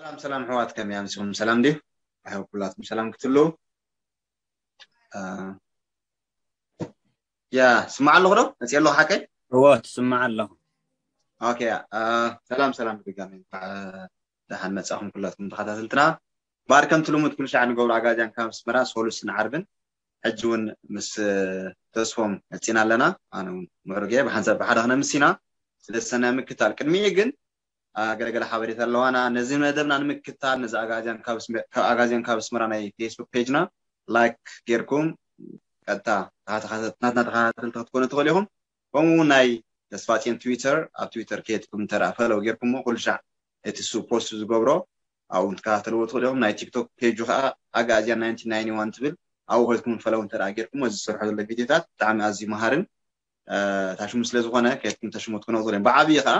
ሰላም ሰላም ኣሕዋት፣ ከመይ ኣምሲኹም? ሰላም ድዩ? ኣሕዋት ኩላትኩም ሰላም ክትሉ። ያ ስማዕ ኣለኹ ዶ? መፅእ ኣለኹ ሓቀይ? እወ ትስማዕ ኣለኹ። ኦኬ። ሰላም ሰላም ብድጋሚ፣ እንኳዕ ደሓን መፃኹም ኩላትኩም ተኸታተልትና። ባር ከምቲ ልሙድ ኩሉ ሻዕ ንገብሮ ኣጋዚያን ካብ ኣስመራ ሰሉስን ዓርብን ሕጂ እውን ምስ ተስፎም መፂና ኣለና። ኣነ እውን ምዕሩግ እየ። ብሓንሳብ ብሓደ ክነምስ ኢና። ስለ ሰናይ ምክታል ቅድሚኡ ግን ገለገለ ሓበሬታ ኣለዋና። ነዚ መደብና ንምክታል ነዚ ኣጋዚያን ካብ ኣስመራ ናይ ፌስቡክ ፔጅና ላይክ ጌርኩም ቀጥታ ናትና ተኸታተልቲ ክትኮኑ ትኽእሉ ኢኹም። ከምኡ እውን ናይ ተስፋፅዮን ትዊተር ኣብ ትዊተር ከየትኩም እንተ ፈለው ጌርኩሞ ኩሉ ሻዕ እቲ ሱ ፖስት ዝገብሮ ኣብኡ ትከታተልዎ ትኽእሉ ኢኹም። ናይ ቲክቶክ ፔጁ ከዓ ኣጋዚያን ናይንቲን ናይንቲ ዋን ትብል ኣብኡ ከድኩም ፈለው እንተ ጌርኩሞ እዚ ዝሰርሖ ዘሎ ቪዲዮታት ብጣዕሚ ኣዝዩ መሃርን ታሽሙ ስለ ዝኾነ ከየትኩም ተሽሙ ትኮኑ ትኽእሉ እዮም። ብዓብዪ ከዓ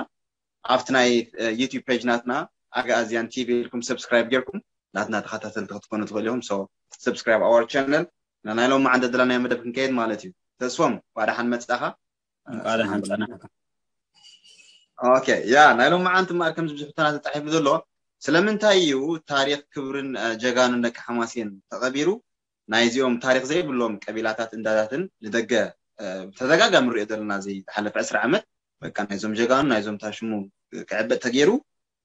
ኣብቲ ናይ ዩቲዩብ ፔጅ ናትና ኣጋዚያን ቲቪ ኢልኩም ሰብስክራይብ ጌርኩም ናትና ተኸታተልቲ ክትኮኑ ትኽእሉ ኢኹም። So subscribe our channel። ናይ ሎማዓንቲ ደለናዮ መደብ ክንከይድ ማለት እዩ። ተስፎም እንኳዕ ደሓን መጻኻ። እንኳዕ ደሓን ጸናሕካ። ኦኬ ያ ናይ ሎማዓንቲ እምበኣር ከምዚ ብዙሕ ሕቶታት ተጻሒፉ ዘሎ ስለምንታይ እዩ ታሪኽ ክብርን ጀጋኑን ደቂ ሓማሴን ተቐቢሩ? ናይዚኦም ታሪኽ ዘይብሎም ቀቢላታት እንዳታትን ንደገ ብተደጋጋሚ ንሪኦ ዘለና እዚ ዝሓለፈ ዕስራ ዓመት በቃ ናይዞም ጀጋኑ ናይዞም ታሽሙ ክዕበጥ ተገይሩ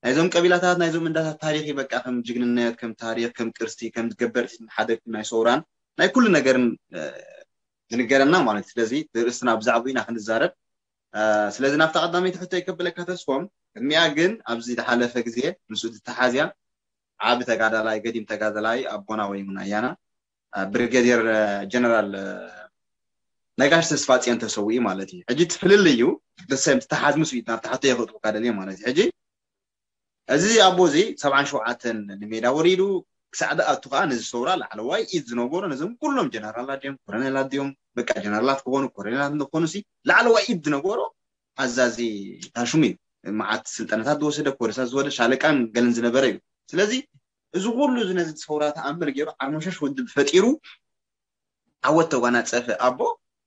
ናይዞም ቀቢላታት ናይዞም እንዳታት ታሪኽ በቃ ከም ጅግንነት ከም ታሪኽ ከም ቅርሲ ከም ገበርቲ ሓደግቲ ናይ ሰውራን ናይ ኩሉ ነገርን ዝንገረና ማለት እዩ። ስለዚ ርእስትና ብዛዕባኡ ኢና ክንዛረብ። ስለዚ ናብታ ቀዳመይቲ ሕቶ ይከብለካ ተስፎም። ቅድሚያ ግን ኣብዚ ዝሓለፈ ግዜ ምስኡ ዝተሓዝያ ዓቢ ተጋዳላይ ገዲም ተጋዳላይ ኣቦና ወይ እውን ኣያና ብሪጌድየር ጀነራል ነጋሽ ተስፋጽዮን ተሰዊኡ ማለት እዩ። ሕጂ እቲ ፍልልዩ ደሰም ተሓዝምስ እዩ ናብቲ ሕቶ የኽእልካ ደልየ ማለት እዩ። ሕጂ እዚ ኣቦ እዚ ሰብዓን ሸውዓተን ንሜዳ ወሪዱ ክሳዕ ዝኣቱ ከዓ ነዚ ሰውራ ላዕለዋይ ኢድ ዝነበሮ ነዞም ኩሎም ጀነራላት ድዮም ኮረኔላት ድዮም በቃ ጀነራላት ክኾኑ ኮረኔላት ንኾኑ ሲ ላዕለዋይ ኢድ ዝነበሮ ኣዛዚ ታሽሙ እዩ። መዓት ስልጠናታት ዝወሰደ ኮርሳት ዝወደ ሻለቃን ገለን ዝነበረ እዩ። ስለዚ እዚ ኩሉ እዚ ነዚ ሰውራ ተኣምር ገይሩ ዓርሞሸሽ ውድብ ፈጢሩ ዓወት ተጓናፀፈ ኣቦ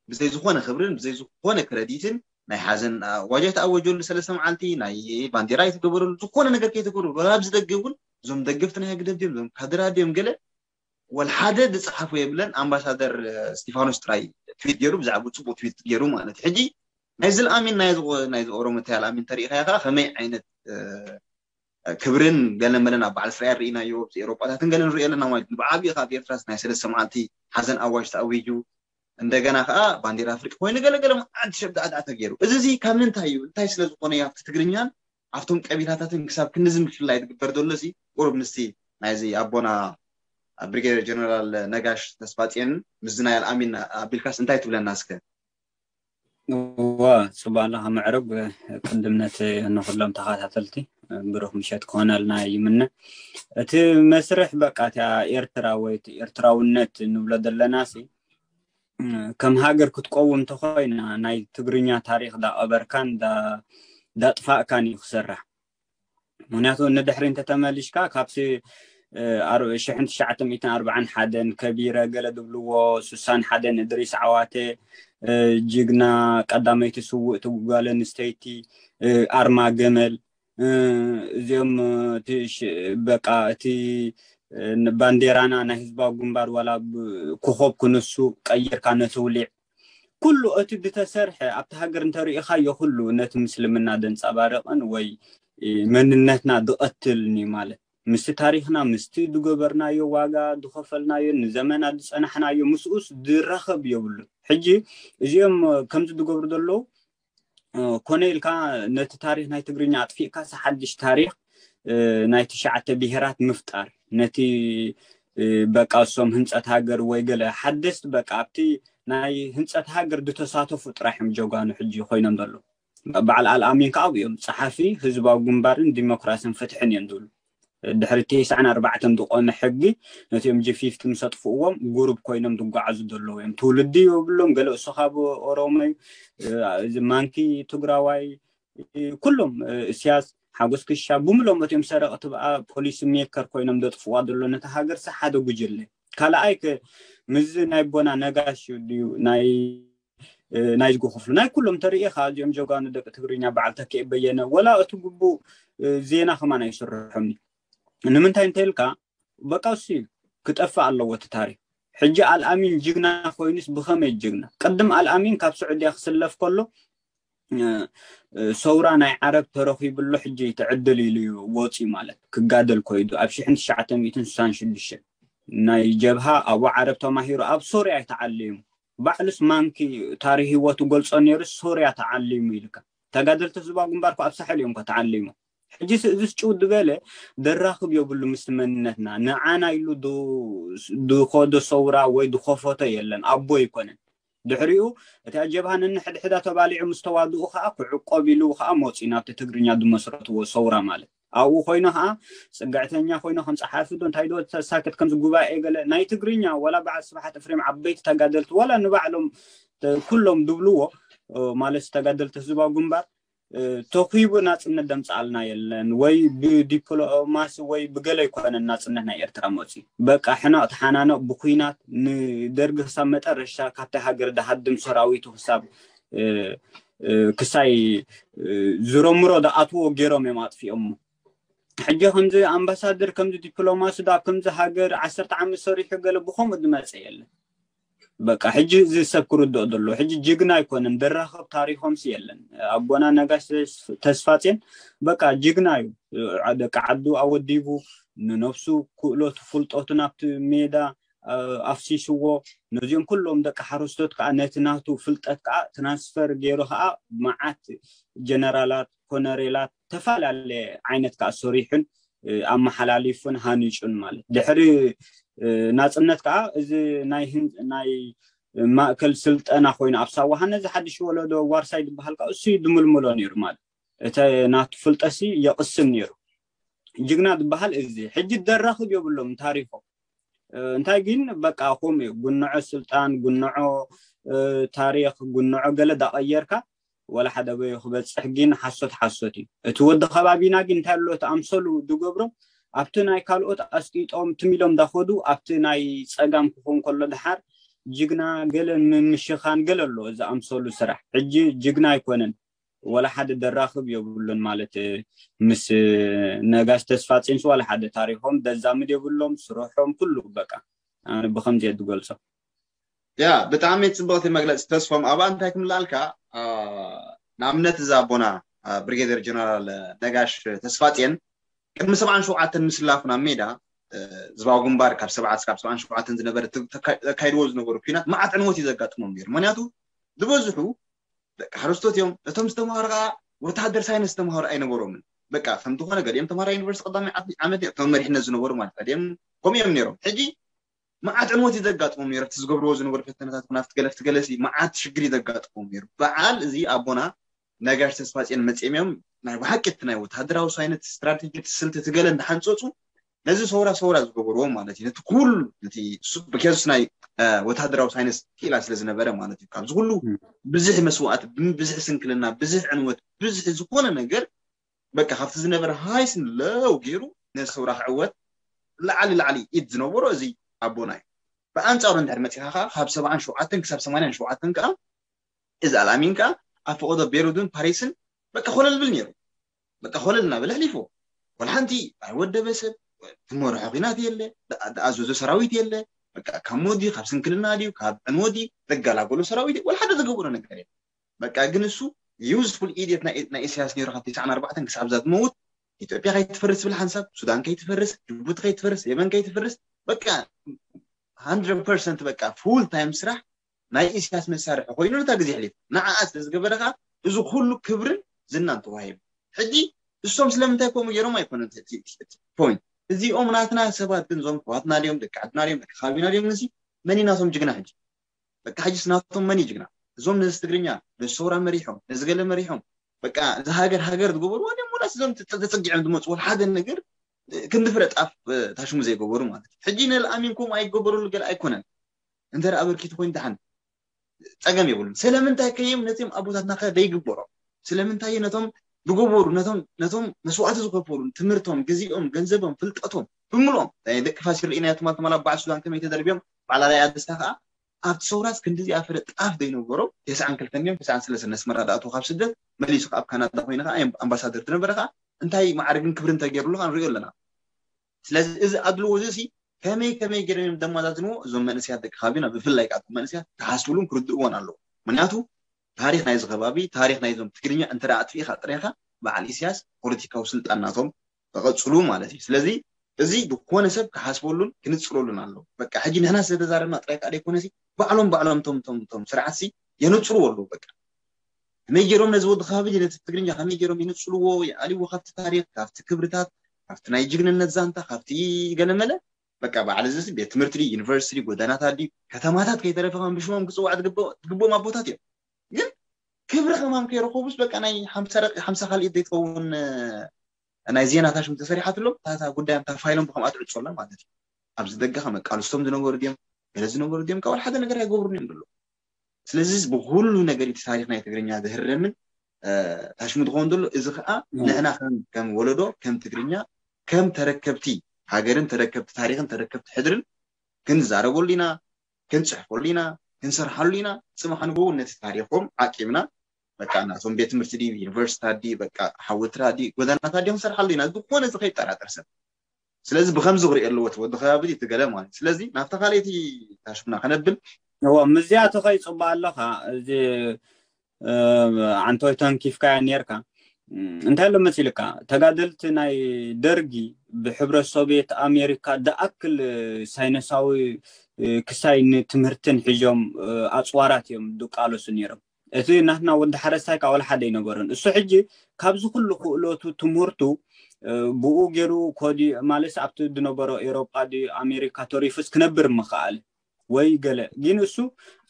ብዘይ ዝኾነ ክብርን ብዘይ ዝኾነ ክረዲትን ናይ ሓዘን ኣዋጅ ኣይተኣወጀሉ ሰለስተ መዓልቲ ናይ ባንዴራ ኣይተገበረሉ ዝኾነ ነገር ከይተገበሩ ወላ ኣብዚ ደገ እውን እዞም ደገፍቲ ናይ ህግደፍ ድዮም እዞም ካድራ ድዮም ገለ ወላ ሓደ ዝፀሓፎ የብለን። ኣምባሳደር እስቲፋኖስ ጥራይ ትዊት ገይሩ ብዛዕባ ፅቡቅ ትዊት ገይሩ ማለት እዩ። ሕጂ ናይዚ ልኣሚን ናይዚ ኦሮሞ እንታይ ልኣሚን ተሪኢኻ ኢኻ ከመይ ዓይነት ክብርን ገለ መለን ኣብ በዓል እስራኤል ርኢናዮ ኣብዚ ኤሮጳታትን ገለ ንሪኦ ኣለና ማለት እዩ። ብዓብዪ ካብ ኤርትራስ ናይ ሰለስተ መዓልቲ ሓዘን ኣዋጅ ተኣዊጁ እንደገና ከዓ ባንዴራ ኣፍሪቃ ኮይኑ ገለገለ መዓልቲ ሸብዳዕዳዕ ተገይሩ። እዚ እዚ ካብ ምንታይ እዩ እንታይ ስለ ዝኾነ እዩ ኣብቲ ትግርኛን ኣብቶም ቀቢላታትን ክሳብ ክንድዚ ምፍልላይ ዝግበር ዘሎ እዚ ቁሩብ ምስቲ ናይዚ ኣቦና ብሪጌደር ጀነራል ነጋሽ ተስፋጽዮንን ምስዚ ናይ ኣልኣሚን ኣቢልካስ እንታይ ትብለና እስከ? እወ ጽቡቅ ኣለኻ ምዕሩግ። ቅድም ነቲ ንኩሎም ተኸታተልቲ ብሩኽ ምሸት ክኾነልና ይምነ። እቲ መስርሕ በቃ እቲኣ ኤርትራ ወይ እቲ ኤርትራውነት ንብሎ ዘለና ሲ ከም ሃገር ክትቀውም እንተኾይና ናይ ትግርኛ ታሪኽ ዳቐበርካን ዳጥፋእካን እዩ ክስራሕ። ምክንያቱ ንድሕሪ እንተተመሊሽካ ካብቲ ሽሕን ትሽዓተ ሚእትን ኣርባዓን ሓደን ከቢረ ገለ ዝብልዎ ሱሳን ሓደን እድሪስ ዓዋተ ጅግና ቀዳመይቲ ስውእቲ ጓል ኣንስተይቲ ኣርማ ገመል እዚኦም በቃ እቲ ባንዴራና ናይ ህዝባዊ ግንባር ዋላ ኮኾብ ክንሱ ቀይርካ ነተውሊዕ ኩሉ እቲ ዝተሰርሐ ኣብቲ ሃገር እንተሪኢኻዮ ኩሉ ነቲ ምስልምና ደንፃባርቕን ወይ መንነትና ዝቐትልን እዩ ማለት ምስቲ ታሪኽና ምስቲ ዝገበርናዮ ዋጋ ዝኸፈልናዮ ንዘመናት ዝፀናሕናዮ ምስኡስ ዝራኸብ የብሉን። ሕጂ እዚኦም ከምዚ ዝገብሩ ዘለዉ ኮነ ኢልካ ነቲ ታሪኽ ናይ ትግርኛ ኣጥፊእካ ሓድሽ ታሪኽ ናይ ትሽዓተ ብሄራት ምፍጣር ነቲ በቃ እሶም ህንፀት ሃገር ወይ ገለ ሓደስቲ በቃ ኣብቲ ናይ ህንፀት ሃገር ዝተሳተፉ ጥራሕ እዮም ጀጋኑ ሕጂ ኮይኖም ዘለዉ። በዓል ኣልኣሚን ከዓ ኣብኡ እዮም ፀሓፊ ህዝባዊ ግንባርን ዲሞክራስን ፍትሕን እዮም ዝብሉ። ድሕሪ ተስዓን ኣርባዕተን ዝቆመ ሕጊ ነቲኦም ጂ ፊፍቲ ምስ ኣጥፍእዎም ጉሩብ ኮይኖም ዝጓዓዙ ዘለዉ እዮም። ትውልዲ የብሎም። ገለ እሱ ካብ ኦሮሞ እዩ፣ እዚ ማንኪ ትግራዋይ፣ ኩሎም እስያስ ሓጎስ ክሻ ብምሎም እቲኦም ሰረቕቲ ብኣ ፖሊሲ ሜከር ኮይኖም ዘጥፍዋ ዘሎ ነቲ ሃገር ሲ ሓደ ጉጅለ ካልኣይ ምስ ናይ ቦና ነጋሽ ድዩ ናይ ናይዝጎ ክፍሉ ናይ ኩሎም ተርእኻ እዚኦም ጀጋኑ ደቂ ትግርኛ በዓል ተክኤ በየነ ወላ እቲ ግቡእ ዜና ከማን ኣይስርሖም እዩ። ንምንታይ እንተልካ በቃ እሱ እዩ ክጠፍእ ኣለዎ እቲ ታሪክ። ሕጂ ኣልኣሚን ጅግና ኮይኑስ ብኸመይ ጅግና? ቅድም ኣልኣሚን ካብ ስዑድያ ክስለፍ ከሎ ሰውራ ናይ ዓረብ ተረኺብሉ ሕጂ ትዕድል ኢሉ እዩ ወፂ ማለት ክጋደል ኮይዱ ኣብ ሽሕን ትሽዓተ ሚእትን ስሳን ሽዱሽተ ናይ ጀብሃ ኣብኡ ዓረብ ተማሂሩ ኣብ ሶርያ ተዓሊሙ። ባዕሉስ ማንኪ ታሪክ ህይወቱ ገልጾ ነይሩ። ሶርያ ተዓሊሙ ኢልካ ተጋደልቲ ህዝባዊ ግንባር ኣብ ሳሕል እዮም ተዓሊሙ። ሕጂ እዚ ጭው ዝበለ ደራኽብ የብሉ ምስ መንነትና ንዓና ኢሉ ዝኸዶ ሰውራ ወይ ዝኸፈቶ የለን ኣቦ ኣይኮነን። ድሕሪኡ እቲ ኣጀብሃ ነንሕድሕዳ ተባሊዑ ምስ ተዋድኡ ከዓ ክዕቆብ ኢሉ ከዓ መፂኡ ናብቲ ትግርኛ ዝመስረትዎ ሰውራ ማለት ኣብኡ ኮይኑ ከዓ ፅግዕተኛ ኮይኑ ከም ፀሓፊ ዶ እንታይ ዶ ተሳክት ከምዚ ጉባኤ ገለ ናይ ትግርኛ ወላ በዓል ስብሓት እፍሬም ዓበይቲ ተጋደልቲ ወላ ንባዕሎም ኩሎም ድብልዎ ማለት ተጋደልቲ ህዝባዊ ግንባር ተኺቡ ናፅነት ደምፅኣልና የለን ወይ ብዲፕሎማሲ ወይ ብገለ ኣይኮነን ናፅነት ናይ ኤርትራ መፂ በቃ ሕናቕ ተሓናነቕ ብኩናት ንደርጊ ክሳብ መጠረሻ ካብቲ ሃገር ድሃድም ሰራዊቱ ክሳብ ክሳይ ዝረምሮ ድኣትዎ ገይሮም እዮም ኣጥፊኦሞ። ሕጂ ከምዚ ኣምባሳደር ከምዚ ዲፕሎማሲ ዳ ከምዚ ሃገር ዓሰርተ ዓመት ሰሪሑ ገለ ብኸምኡ ዝመፀ የለን። በቃ ሕጂ እዚ ሰብ ክርድኦ ዘሎ ሕጂ ጅግና ኣይኮነን። ደራኸብ ታሪኾምሲ የለን። ኣቦና ነጋሽ ተስፋጼን በቃ ጅግና እዩ። ደቂ ዓዱ ኣወዲቡ ንነብሱ ክእለቱ ፍልጠቱ ናብቲ ሜዳ ኣፍሲስዎ። ነዚኦም ኩሎም ደቂ ሓረስቶት ከዓ ነቲ ናቱ ፍልጠት ከዓ ትራንስፈር ገይሩ ከዓ መዓት ጀነራላት ኮነሬላት ተፈላለየ ዓይነት ከዓ ሰሪሑን ኣመሓላሊፉን ሃኒጩን ማለት ድሕሪ ናፅነት ከዓ እዚ ናይ ናይ ማእከል ስልጠና ኮይኑ ኣብ ሳዋሃ ነዚ ሓድሽ ወለዶ ዋርሳይ ዝበሃል ከዓ እሱ ድምልምሎ ነይሩ ማለት እቲ ናቱ ፍልጠሲ የቕስም ነይሩ። ጅግና ዝበሃል እዚ ሕጂ ደራኽብ የብሎም ታሪኮም እንታይ ግን በቃ ከምኡ እዩ። ጉንዖ ስልጣን፣ ጉንዖ ታሪክ፣ ጉንዖ ገለ ዳቐየርካ ወላ ሓደ በዮ ክበፅሕ ግን ሓሶት ሓሶት እዩ። እቲ ወዲ ከባቢና ግን እንታይ ኣሎ እቲ ኣምሰሉ ድገብሮም ኣብቲ ናይ ካልኦት ኣስጢጦም ትም ኢሎም ዳኸዱ ኣብቲ ናይ ፀጋም ክኾን ከሎ ድሓር ጅግና ገለ ምምሽኻን ገለ ኣሎ እዚ ኣምሰሉ ስራሕ። ሕጂ ጅግና ኣይኮነን ወላ ሓደ ደራኽብ የብሉን ማለት ምስ ነጋሽ ተስፋ ፂንስ ወላ ሓደ ታሪኾም ደዛምድ የብሎም ስርሖም ኩሉ በቃ ኣነ ብኸምዚ እየ ዝገልፆ። ያ ብጣዕሚ ፅብቕቲ መግለፂ ተስፎም ኣብኣ እንታይ ክምልኣልካ ንኣብነት እዚ ኣቦና ብሪጌደር ጀነራል ነጋሽ ተስፋፅን ቅድሚ ሰብዓን ሸውዓተን ምስላፉ ናብ ሜዳ ህዝባዊ ግንባር ካብ ሰብዓ ክሳብ ሰብዓን ሸውዓተን ዝነበረ ዘካይድዎ ዝነበሩ ኩናት መዓት ዕንወት እዩ ዘጋጥሞም ነይሩ። ምክንያቱ ዝበዝሑ ደቂ ሓረስቶት እዮም። እቶም ዝተምሃሩ ከዓ ወታሃደር ሳይንስ ዝተምሃሩ ኣይነበሮምን። በቃ ከም ዝኾነ ገሊኦም ተምሃራይ ዩኒቨርሲቲ ቀዳማይ ዓመት እዮም፣ እቶም መሪሕነት ዝነበሩ ማለት ገሊኦም ከምኡ እዮም ነይሮም። ሕጂ መዓት ዕንወት እዩ ዘጋጥሞም ነይሩ። እቲ ዝገብርዎ ዝነበሩ ፈተነታት ኩናፍቲ ገለፍቲ ገለሲ መዓት ሽግር እዩ ዘጋጥሞም ነይሩ። በዓል እዚ ኣቦና ነጋሽ ተስፋፅዮን መፅኦም እዮም ናይ ብሓቂ እቲ ናይ ወታሃደራዊ ሳይንስ ስትራቴጂ ስልቲ ትገለ እንዳሓንፀፁ ነዚ ሰውራ ሰውራ ዝገበርዎ ማለት እዩ። ነቲ ኩሉ ነቲ ብኬዙስ ናይ ወታሃደራዊ ሳይንስ ክኢላ ስለ ዝነበረ ማለት እዩ። ካብዚ ኩሉ ብዙሕ መስዋእቲ፣ ብዙሕ ስንክልና፣ ብዙሕ ዕንወት፣ ብዙሕ ዝኾነ ነገር በቃ ካብቲ ዝነበረ ሃይስን ለው ገይሩ ነዚ ሰውራ ክዕወት ላዕሊ ላዕሊ ኢድ ዝነበሮ እዚ ኣቦና እዩ። ብኣንፃሩ እንድሕር መፂኻ ከዓ ካብ ሰብዓን ሸውዓተን ክሳብ ሰማንያን ሸውዓተን ከዓ እዚ ኣልኣሚን ከዓ ኣብ ፈቐዶ ቤሩድን ፓሪስን በቃ ኮለል ብል ነይሩ። በቃ ኮለል እናበለ ኣሕሊፎ። ወላ ሓንቲ ኣይወደበ ሰብ፣ ዝመርሖ ኲናት የለ፣ ዝኣዘዞ ሰራዊት የለ። በቃ ካብ ሞት ድዩ፣ ካብ ስንክልና ድዩ፣ ካብ ዕንወት ድዩ፣ ዘገላገሎ ሰራዊት ወላ ሓደ ዝገበሮ ነገር የለ። በቃ ግን እሱ ዩዝፉል ኢድየት ናይ ኢሳያስ ነይሩ ካብ ተስዓን ኣርባዕተን ክሳብ እዛ ዝመውት ኢትዮጵያ ከይትፈርስ ዝብል ሓንሳብ፣ ሱዳን ከይትፈርስ፣ ጅቡቲ ከይትፈርስ፣ የመን ከይትፈርስ በቃ ሃንድረድ ፐርሰንት በቃ ፉል ታይም ስራሕ ናይ ኢሳያስ መሳርሒ ኮይኑ ነታ ግዜ ኣሕሊፉ። ንዓኣ ስለ ዝገበረ ከዓ እዚ ኩሉ ክብርን ዝናን ተዋሂቡ። ሕጂ እሶም ስለምንታይ ከምኡ ገይሮም ኣይኮነን እቲ ፖይንት። እዚኦም ናትና ሰባት ግን እዞም ኣሕዋትና ድዮም ደቂ ዓድና ድዮም ደቂ ከባቢና ድዮም ንሲ መን እዩ ናቶም ጅግና? ሕጂ በቃ ሕጂስ ናቶም መን እዩ ጅግና? እዞም ነዚ ትግርኛ ነዚ ሰውራ መሪሖም ነዚ ገለ መሪሖም በቃ እዚ ሃገር ሃገር ዝገበርዋ ድዮም ወላስ እዞም ተፀጊዖም ዝመፅዎ ሓደ ነገር ክንዲ ፍረ ጣፍ ታሽሙ ዘይገበሩ ማለት እዩ። ሕጂ ነልኣሚን ከምኡ ኣይገበሩሉ ገለ ኣይኮነን። እንተ ኣበርኪቱ ኮይኑ ደሓን ፀገም የብሉን። ስለምንታይ ከየም ነዚም ኣቦታትና ከ ዘይግበሮም? ስለምንታይ ነቶም ዝገበሩ ነቶም ነቶም መስዋእቲ ዝኸፈሉ ትምህርቶም፣ ግዜኦም፣ ገንዘቦም፣ ፍልጠቶም ብምልኦም ናይ ደቂ ፋሲል ርኢናዮ ትማል ትማል ኣብ በዓል ሱዳን ከመይ ተደርብዮም በዓል ኣርኣያ ደስታ ከዓ ኣብቲ ሰውራስ ክንድዚኣ ፍረ ጣፍ ዘይነበሮም ተስዓን ክልተን እዮም ተስዓን ሰለስተን ነስመራ ዝኣተዉ ካብ ስደት መሊሱ ኣብ ካናዳ ኮይኑ ከዓ ኣምባሳደር ዝነበረ ከዓ እንታይ ማዕርግን ክብርን ተገይሩሉ ከዓ ንሪኦ ኣለና። ስለዚ እዚ ኣድልዎ እዚ ሲ ከመይ ከመይ ገይሮም እዮም ደማዛዝንዎ? እዞም መንእሰያት ደቂ ከባቢና፣ ብፍላይ ከዓ እቶም መንእሰያት ክሓስብሉን ክርድእዎን ኣለዎ። ምክንያቱ ታሪኽ ናይዚ ከባቢ፣ ታሪኽ ናይዞም ትግርኛ እንተ ኣጥፊእካ ጥራይካ በዓል ኢሳያስ ፖለቲካዊ ስልጣን ናቶም ተቐጽሉ ማለት እዩ። ስለዚ እዚ ዝኾነ ሰብ ክሓስበሉን ክንጽረሉን ኣለዎ። በቃ ሕጂ ንሕና ስለተዛረብና ጥራይ ከዓ ደይኮነሲ ባዕሎም ባዕሎም ቶም ቶም ቶም ስርዓትሲ የነጽርዎ ኣለዉ። በቃ ከመይ ገይሮም ነዚ ወዲ ከባቢ ነቲ ትግርኛ ከመይ ገይሮም ይንጽልዎ ይኣልዎ ካብቲ ታሪኽ ካብቲ ክብርታት ካብቲ ናይ ጅግንነት ዛንታ ካብቲ ገለመለ በቃ በዓል እዚ ቤት ትምህርቲ ድዩ ዩኒቨርሲቲ ድዩ ጎደናታት ድዩ ከተማታት ከይተረፈ ከም ብሽሞም ክፅዋዕ ዝግብኦም ኣቦታት እዮም። ግን ክብሪ ከማም ከይረኸቡስ በቃ ናይ ሓምሳ ካልኢት ዘይትኸውን ናይ ዜናታት ሽም ተሰሪሓትሎም ታታ ጉዳዮም ታፋይሎም ብከምኣ ትዕፅወሎም ማለት እዩ። ኣብዚ ደገ ከመቃልስቶም ዝነበሩ ድዮም ገለ ዝነበሩ ድዮም ካብ ሓደ ነገር ኣይገብሩን እዮም ዘሎ። ስለዚ ብኩሉ ነገር እቲ ታሪኽ ናይ ትግርኛ ዝህረምን ታሽሙ ዝኸውን ዘሎ እዚ ከዓ ንሕና ከም ወለዶ ከም ትግርኛ ከም ተረከብቲ ሃገርን ተረከብቲ ታሪኽን ተረከብቲ ሕድርን ክንዛረበሉ ኢና፣ ክንፅሕፈሉ ኢና፣ ክንሰርሓሉ ኢና። ፅባሕ ንግሆ እውን ነቲ ታሪኾም ዓቂብና በቃ ናቶም ቤት ትምህርቲ ድዩ ዩኒቨርሲቲታት ድዩ በቃ ሓወልትታት ድዩ ጎደናታት ድዩ ክንሰርሓሉ ኢና። ዝኾነ እዚ ከይጠራጠር ሰብ ስለዚ ብከምዚ ክርኢ ኣለዎ እቲ ወዲ ከባቢ እቲ ገለ ማለት እዩ። ስለዚ ናብታ ካልኣይቲ ታሽሙና ከነብል እዎ ምስዚኣ ትኸይ ፅቡቅ ኣለኻ። እዚ ዓንቶይ ተንኪፍካያ ነርካ እንታይ ኣሎ መሲልካ ተጋደልቲ ናይ ደርጊ ብሕብረት ሶቪየት ኣሜሪካ ደኣክል ሳይነሳዊ ክሳይ ንትምህርትን ሒዞም ኣፅዋራት እዮም ድቃለሱ ነይሮም። እቲ ናትና ወዲ ሓረስታይ ካብ ወላ ሓደ ኣይነበሮን። እሱ ሕጂ ካብዚ ኩሉ ክእለቱ ትምህርቱ ብኡ ገይሩ ኮዲ ማለት ኣብቲ ዝነበሮ ኤሮጳ ድዩ ኣሜሪካ ተሪፉስ ክነብር ምኽኣለ ወይ ገለ ግን እሱ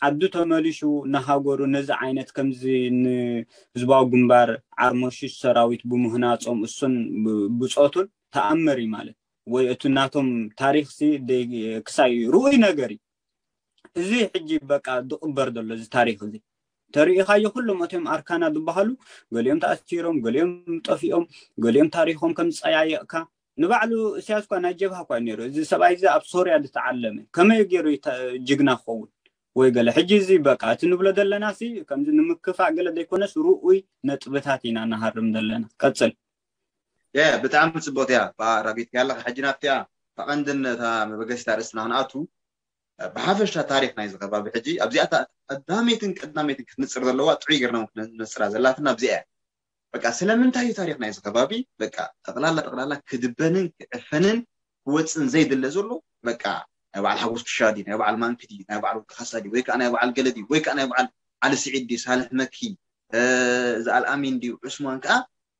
ዓዱ ተመሊሹ ንሃገሩ ነዚ ዓይነት ከምዚ ንህዝባዊ ግንባር ዓርሞሽሽ ሰራዊት ብምህናጾም እሱን ብጾቱን ተኣመር እዩ ማለት ወይ እቲ ናቶም ታሪክ ሲ ክሳይ ርኡይ ነገር እዩ። እዚ ሕጂ በቃ ዝቕበር ዘሎ እዚ ታሪክ እዚ ተርእኻዮ ኩሎም እቶም ኣርካና ዝበሃሉ ገሊኦም ተኣሲሮም፣ ገሊኦም ጠፊኦም፣ ገሊኦም ታሪኮም ከም ዝፀያየቕካ ንባዕሉ እስያስ እኳ ናይ ጀብሃ እኳ ነይሩ። እዚ ሰብኣይ እዚ ኣብ ሶርያ ዝተዓለመ ከመይ ገይሩ ጅግና ክኸውን ወይ ገለ። ሕጂ እዚ በቃ እቲ ንብሎ ዘለና ሲ ከምዚ ንምክፋእ ገለ ዘይኮነስ ርኡይ ነጥብታት ኢና ንሃርም ዘለና። ቀፅል። ያ ብጣዕሚ ፅቡቅ እያ። ራቢት ያለካ ሕጂ ናብቲያ ተቐንድን እታ መበገሲታ ርእስትና ክንኣቱ ብሓፈሻ ታሪክ ናይዚ ከባቢ ሕጂ ኣብዚኣ ቀዳመይትን ቀዳመይትን ክትንፅር ዘለዋ ጥዑይ ገርና ክንነፅራ ዘላትና ኣብዚኣ እያ። በቃ ስለምንታይ እዩ ታሪክ ናይዚ ከባቢ በቃ ጠቅላላ ጠቅላላ ክድበንን ክዕፈንን ክወፅን ዘይድለ ዘሎ በቃ ናይ በዓል ሓጎስ ክሻ ድዩ ናይ በዓል ማንኪ ድዩ ናይ በዓል ወዲ ካሳ ድዩ ወይ ከዓ ናይ በዓል ገለ ድዩ ወይ ከዓ ናይ በዓል ዓሊ ስዒድ ድዩ ሳልሕ መኪ እዚ ኣልኣሚን ድዩ ዑስማን ከዓ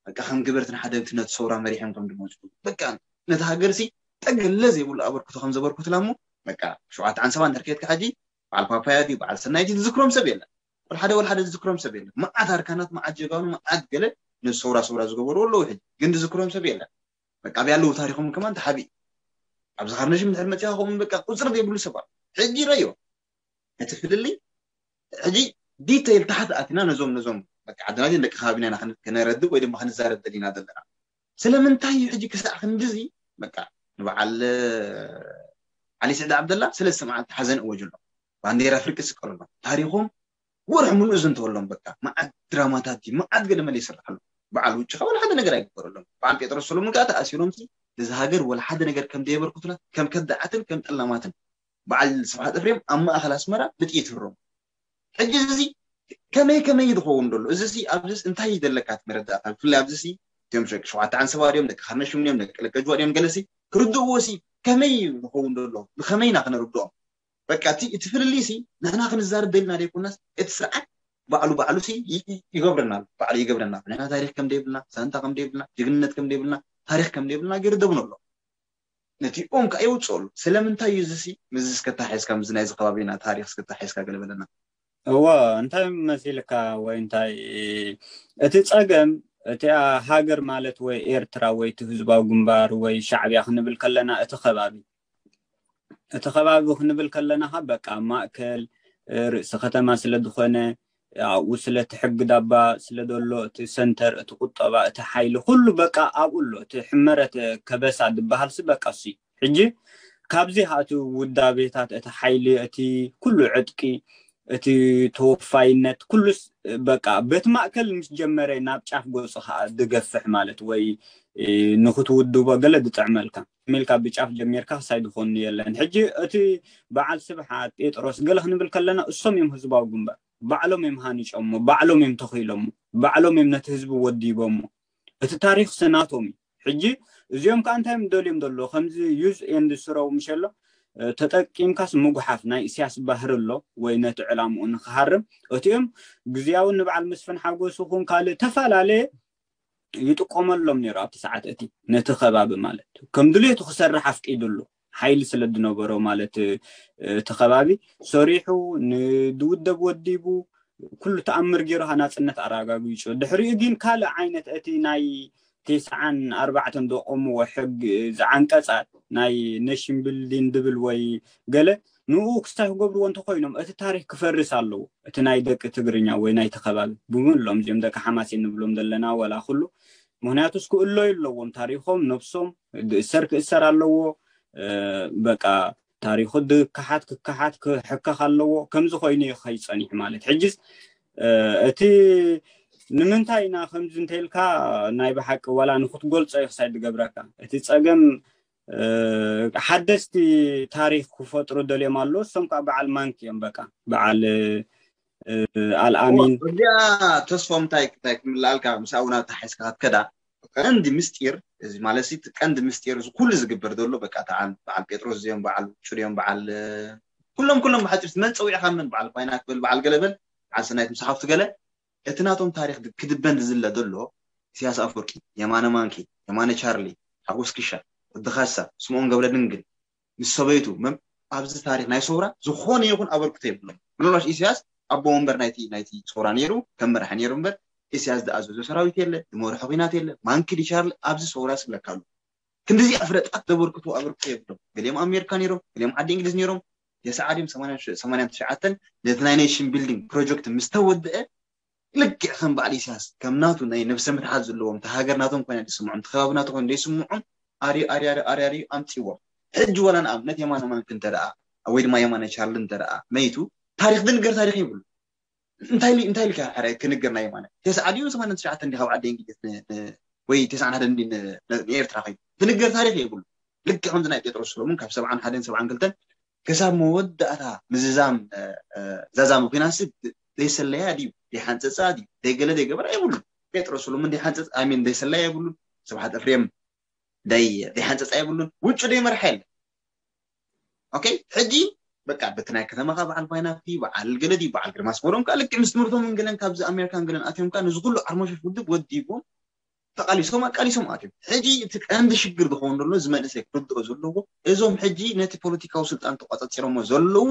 በቃ ከም ግበርትን ሓደግቲ ነቲ ሰውራ መሪሖም ከም ድመፁ በቃ ነቲ ሃገር ሲ ጠገለ ዘይብሉ ኣበርክቶ ከም ዘበርክቱላ እሞ በቃ ሸውዓተ ዓንሰባ እንድሕር ከድካ ሕጂ በዓል ፓፓያ ድዩ በዓል ሰናይ ድዩ ዝዝክሮም ሰብ የለን። ወልሓደ ወልሓደ ዝዝክሮም ሰብ የለን። መዓት ኣርካናት መዓት ጀጋኑ መዓት ገለ ነዚ ሰውራ ሰውራ ዝገበሩ ኣለዉ ሕጂ ግን ዝዝክሮም ሰብ የለን። በቃ ኣብያ ኣለዉ ታሪኮም ከማን ተሓቢእ ኣብዚ ካርነሽም እንድሕር መፂኻ ከምኡ በቃ ቁፅሪ ዘይብሉ ሰባት ሕጂ ረዮ እቲ ፍልልይ ሕጂ ዲተይል ታሕቲ ኣቲና ነዞም ነዞም በቃ ዓድና ግን ደቂ ከባቢና ኢና ክን- ክነረድእ ወይ ድማ ክንዛረብ ደሊና ዘለና። ስለምንታይ እዩ ሕጂ ክሳዕ ክንድዚ በቃ ንበዓል ዓሊ ስዕድ ዓብደላ ሰለስተ መዓልቲ ሓዘን እወጅሎም ባንዴራ ፍርቂ ስቀሉሎም ታሪኾም ወርሒ ሙሉእ ዘንተወሎም በቃ መዓት ድራማታት እዩ መዓት ገለመለ ይስርሓሉ በዓል ውጭ ከ ወላ ሓደ ነገር ኣይግበረሎም በዓል ጴጥሮስ ሰሎሙን ከዓ ተኣሲሮም እዚ ሃገር ወላ ሓደ ነገር ከም ደየበርክቱላ ከም ከዳዓትን ከም ጠላማትን በዓል ስብሓት እፍሬም ኣብ ማእኸል ኣስመራ ብጥይት ህሮም ሕጂ እዚ ከመይ ከመይ ዝኸውን ዘሎ እዚ ሲ ኣብዚ እንታይ ዘለካ መረዳእታ ብፍላይ ኣብዚ ሲ እቶም ሸቂ ሸውዓተ ዓንሰባ ድዮም ደቂ ካርነሽም ድዮም ደቂ ለቀጅዋ ድዮም ገለሲ ክርድእዎ ሲ ከመይ ዝኸውን ዘሎ ብከመይና ክነርድኦም በቃ እቲ እቲ ፍልልይ ሲ ንሕና ክንዛረብ ደልና ዘይኮናስ እቲ ስርዓት ባዕሉ ባዕሉ ሲ ይገብረና ኣሎ ባዕሉ ይገብረና ንሕና ታሪክ ከም ደይብልና ዛንታ ከም ደይብልና ጅግንነት ከም ደይብልና ታሪክ ከም ደይብልና ገይሩ ደብኖ ኣሎ ነቲኦም ከዓ የውፅኦሉ ስለምንታይ እዩ እዚ ሲ ምዚ እስከታሒዝካ ምዚ ናይዚ ከባቢና ታሪክ እስከታሒዝካ ገለ በለና እወ እንታይ መሲልካ ወይ እንታይ እቲ ፀገም እቲኣ ሃገር ማለት ወይ ኤርትራ ወይ እቲ ህዝባዊ ግንባር ወይ ሻዕብያ ክንብል ከለና እቲ ከባቢ እቲ ከባቢ ክንብል ከለና ካ በቃ ማእከል ርእሲ ከተማ ስለ ዝኾነ ኣብኡ ስለ እቲ ሕጊ ዳባ ስለ ዘሎ እቲ ሰንተር እቲ ቁጠባ እቲ ሓይሊ ኩሉ በቃ ኣብኡ ኣሎ እቲ ሕመረት ከበሳ ዝበሃል ሲ በቃ እሱ ሕጂ ካብዚ እቲ ውዳቤታት እቲ ሓይሊ እቲ ኩሉ ዕጥቂ እቲ ተወፋይነት ኩሉስ በቃ በቲ ማእከል ምስ ጀመረ ናብ ጫፍ ገጹ ከዓ ዝገፍሕ ማለት ወይ ንክትውድቦ ገለ ዝጥዕመልካ ሚልካ ብጫፍ ጀሚርካ ክሳይ ዝኾኑ የለን። ሕጂ እቲ በዓል ስብሓት ጴጥሮስ ገለ ክንብል ከለና እሶም እዮም ህዝባዊ ግንባር ባዕሎም እዮም ሃኒጾሞ፣ ባዕሎም እዮም ተኺሎሞ፣ ባዕሎም እዮም ነቲ ህዝቢ ወዲቦሞ። እቲ ታሪክ ስናቶም እዩ። ሕጂ እዚኦም ከዓ እንታይ እዮም ደልዮም ዘሎ ከምዚ use and throw ምሸሎ ተጠቂምካስ ምጉሓፍ ናይ እስያስ ባህሪ ኣሎ ወይ ነቲ ዕላምኡ ንክሃርም እቲኦም ግዝያዊ ንበዓል መስፍን ሓጎስ ኹን ካልእ ተፈላለየ ይጥቀመሎም ነይሩ ኣብቲ ሰዓት እቲ ነቲ ከባቢ ማለት ከም ድልየቱ ክሰርሕ ኣፍቂድሉ ሓይሊ ስለ ዝነበሮ ማለት እቲ ከባቢ ሰሪሑ ንድውደብ ወዲቡ ኩሉ ተኣምር ገይሩ ናፅነት ኣረጋጊፁ ድሕሪኡ ግን ካልእ ዓይነት እቲ ናይ ተስዓን ኣርባዕተን ዘቆምዎ ሕግ ዝዓንቀፃት ናይ nation building ድብል ወይ ገለ ንኡ ክስታይ ክገብርዎ እንተኮይኖም እቲ ታሪክ ክፈርስ ኣለዎ። እቲ ናይ ደቂ ትግርኛ ወይ ናይ ተከባቢ ብምሎም እዚኦም ደቂ ሓማሴን ንብሎም ዘለና ወላ ኩሉ ምክንያቱ ክእለዩ ኣለዎም ታሪኮም ነብሶም ዝእሰር ክእሰር ኣለዎ። በቃ ታሪኩ ዝከሓት ክከሓት ክሕከክ ኣለዎ። ከምዚ ኮይኑ እዩ ከይፀኒሕ ማለት ሕጅስ እቲ ንምንታይ ኢና ከምዚ እንተኢልካ ናይ ብሓቂ ዋላ ንክትገልፆ እዩ ክሳይ ዝገብረካ እቲ ፀገም ሓደስቲ ታሪክ ክፈጥሩ ደልዮም ኣለዉ። እሶም ከዓ በዓል ማንክ እዮም በቃ በዓል ኣልኣሚን እዚኣ ተስፎም እንታይ እንታይ ክምልኣልካ ምስ ኣቡና ተሓይስካ ክትከዳ ቀንዲ ምስጢር እዚ ማለት ቀንዲ ምስጢር እዚ ኩሉ ዝግበር ዘሎ በቃ ተዓል በዓል ጴጥሮስ እዚኦም በዓል ጩድዮም በዓል ኩሎም ኩሎም ብሓፂር መን ፀዊዕካ መን በዓል ኳይና ክብል በዓል ገለበል በዓል ሰናይት ምስ ሓፍቱ ገለ እቲ ናቶም ታሪክ ክድበን ዝዝለ ዘሎ ኢሳያስ ኣፈወርቂ፣ የማነ ማንኪ፣ የማነ ቻርሊ፣ ሓጎስ ክሻ፣ ወዲ ካሳ፣ ስምኦን ገብረድንግል ምስ ሰበይቱ መም ኣብዚ ታሪክ ናይ ሰውራ ዝኾነ ይኹን ኣበርክቶ የብሎም። ምናልባሽ ኢሳያስ ኣቦ ወንበር ናይቲ ናይቲ ሰውራ ነይሩ ከም መራሒ ነይሩ እምበር ኢሳያስ ዝኣዘዞ ሰራዊት የለ፣ ዝመርሖ ኲናት የለ። ማንኪ ዲ ቻርሊ ኣብዚ ሰውራ ስብለካ ኣሎ። ክንዲዚ ኣፍረጣት ዘበርክቶ ኣበርክቶ የብሎም። ገሊኦም ኣሜሪካ ነይሮም፣ ገሊኦም ዓዲ እንግሊዝ ነይሮም። የሰዓድዮም ሰማንያን ትሽዓተን ነቲ ናይ ኔሽን ቢልዲንግ ፕሮጀክት ምስ ተወድአ ልክዕ ከም በዓል ኢሳያስ ከም ናቱ ናይ ነብሰ ምትሓት ዘለዎም እቲ ሃገር ናቶም ኮይና ደይስምዖም እቲ ከባቢ ናቶ ኮይና ደይስምዖም ኣርዩ ኣርዩ ኣርዩ ኣምፅዎም። ሕጂ ወላ ንኣብነት የማነ ማንክ እንተ ደኣ ወይ ድማ የማነ ቻርሊ እንተ ደኣ መይቱ ታሪክ ዝንገር ታሪክ የብሉ። እንታይ እንታይ ኢልካ ሕረ ክንገር ናይ የማነ ተስዓ ድዩ ሰማንያን ትሽዓተን እንዲ ካብ ዓዲ እንግሊዝ ወይ ተስዓን ሓደ እንዲ ንኤርትራ ከይዱ ዝንገር ታሪክ የብሉ። ልክዕ ከምዚ ናይ ጴጥሮስ ሰሎሙን ካብ ሰብዓን ሓደን ሰብዓን ክልተን ክሳብ መወዳእታ ምዝዛም ዛዛሚ ኩናት ሲ ዘይሰለያ ድዩ ዘይሓንፀፃ ድዩ ዘይገለ ዘይገበራ የብሉ። ጴጥሮስ ሰሎሙን ዘይሓንፀፅ ኣሚን ዘይሰለያ የብሉን። ስብሓት እፍሬም ዘይሓንፀፃ የብሉን። ውጩ ዘይመርሓ የለን። ኦኬ ሕጂ በቃ በቲ ናይ ከተማኻ በዓል ፋይናፍቲ በዓል ገለ ድዩ በዓል ግርማስ መሮም ከዓ ልክዕ ምስ ትምህርቶም እንግለን ካብዚ ኣሜሪካ እንግለን ኣትዮም ከዓ ነዚ ኩሉ ዓርሞሸሽ ውድብ ወዲቦም ተቃሊሶም ኣቃሊሶም ኣትዮም። ሕጂ እቲ ቀንዲ ሽግር ዝኸውን ዘሎ እዚ መንእሰይ ክርድኦ ዘለዎ እዞም ሕጂ ነቲ ፖለቲካዊ ስልጣን ተቋፃፂሮሞ ዘለዉ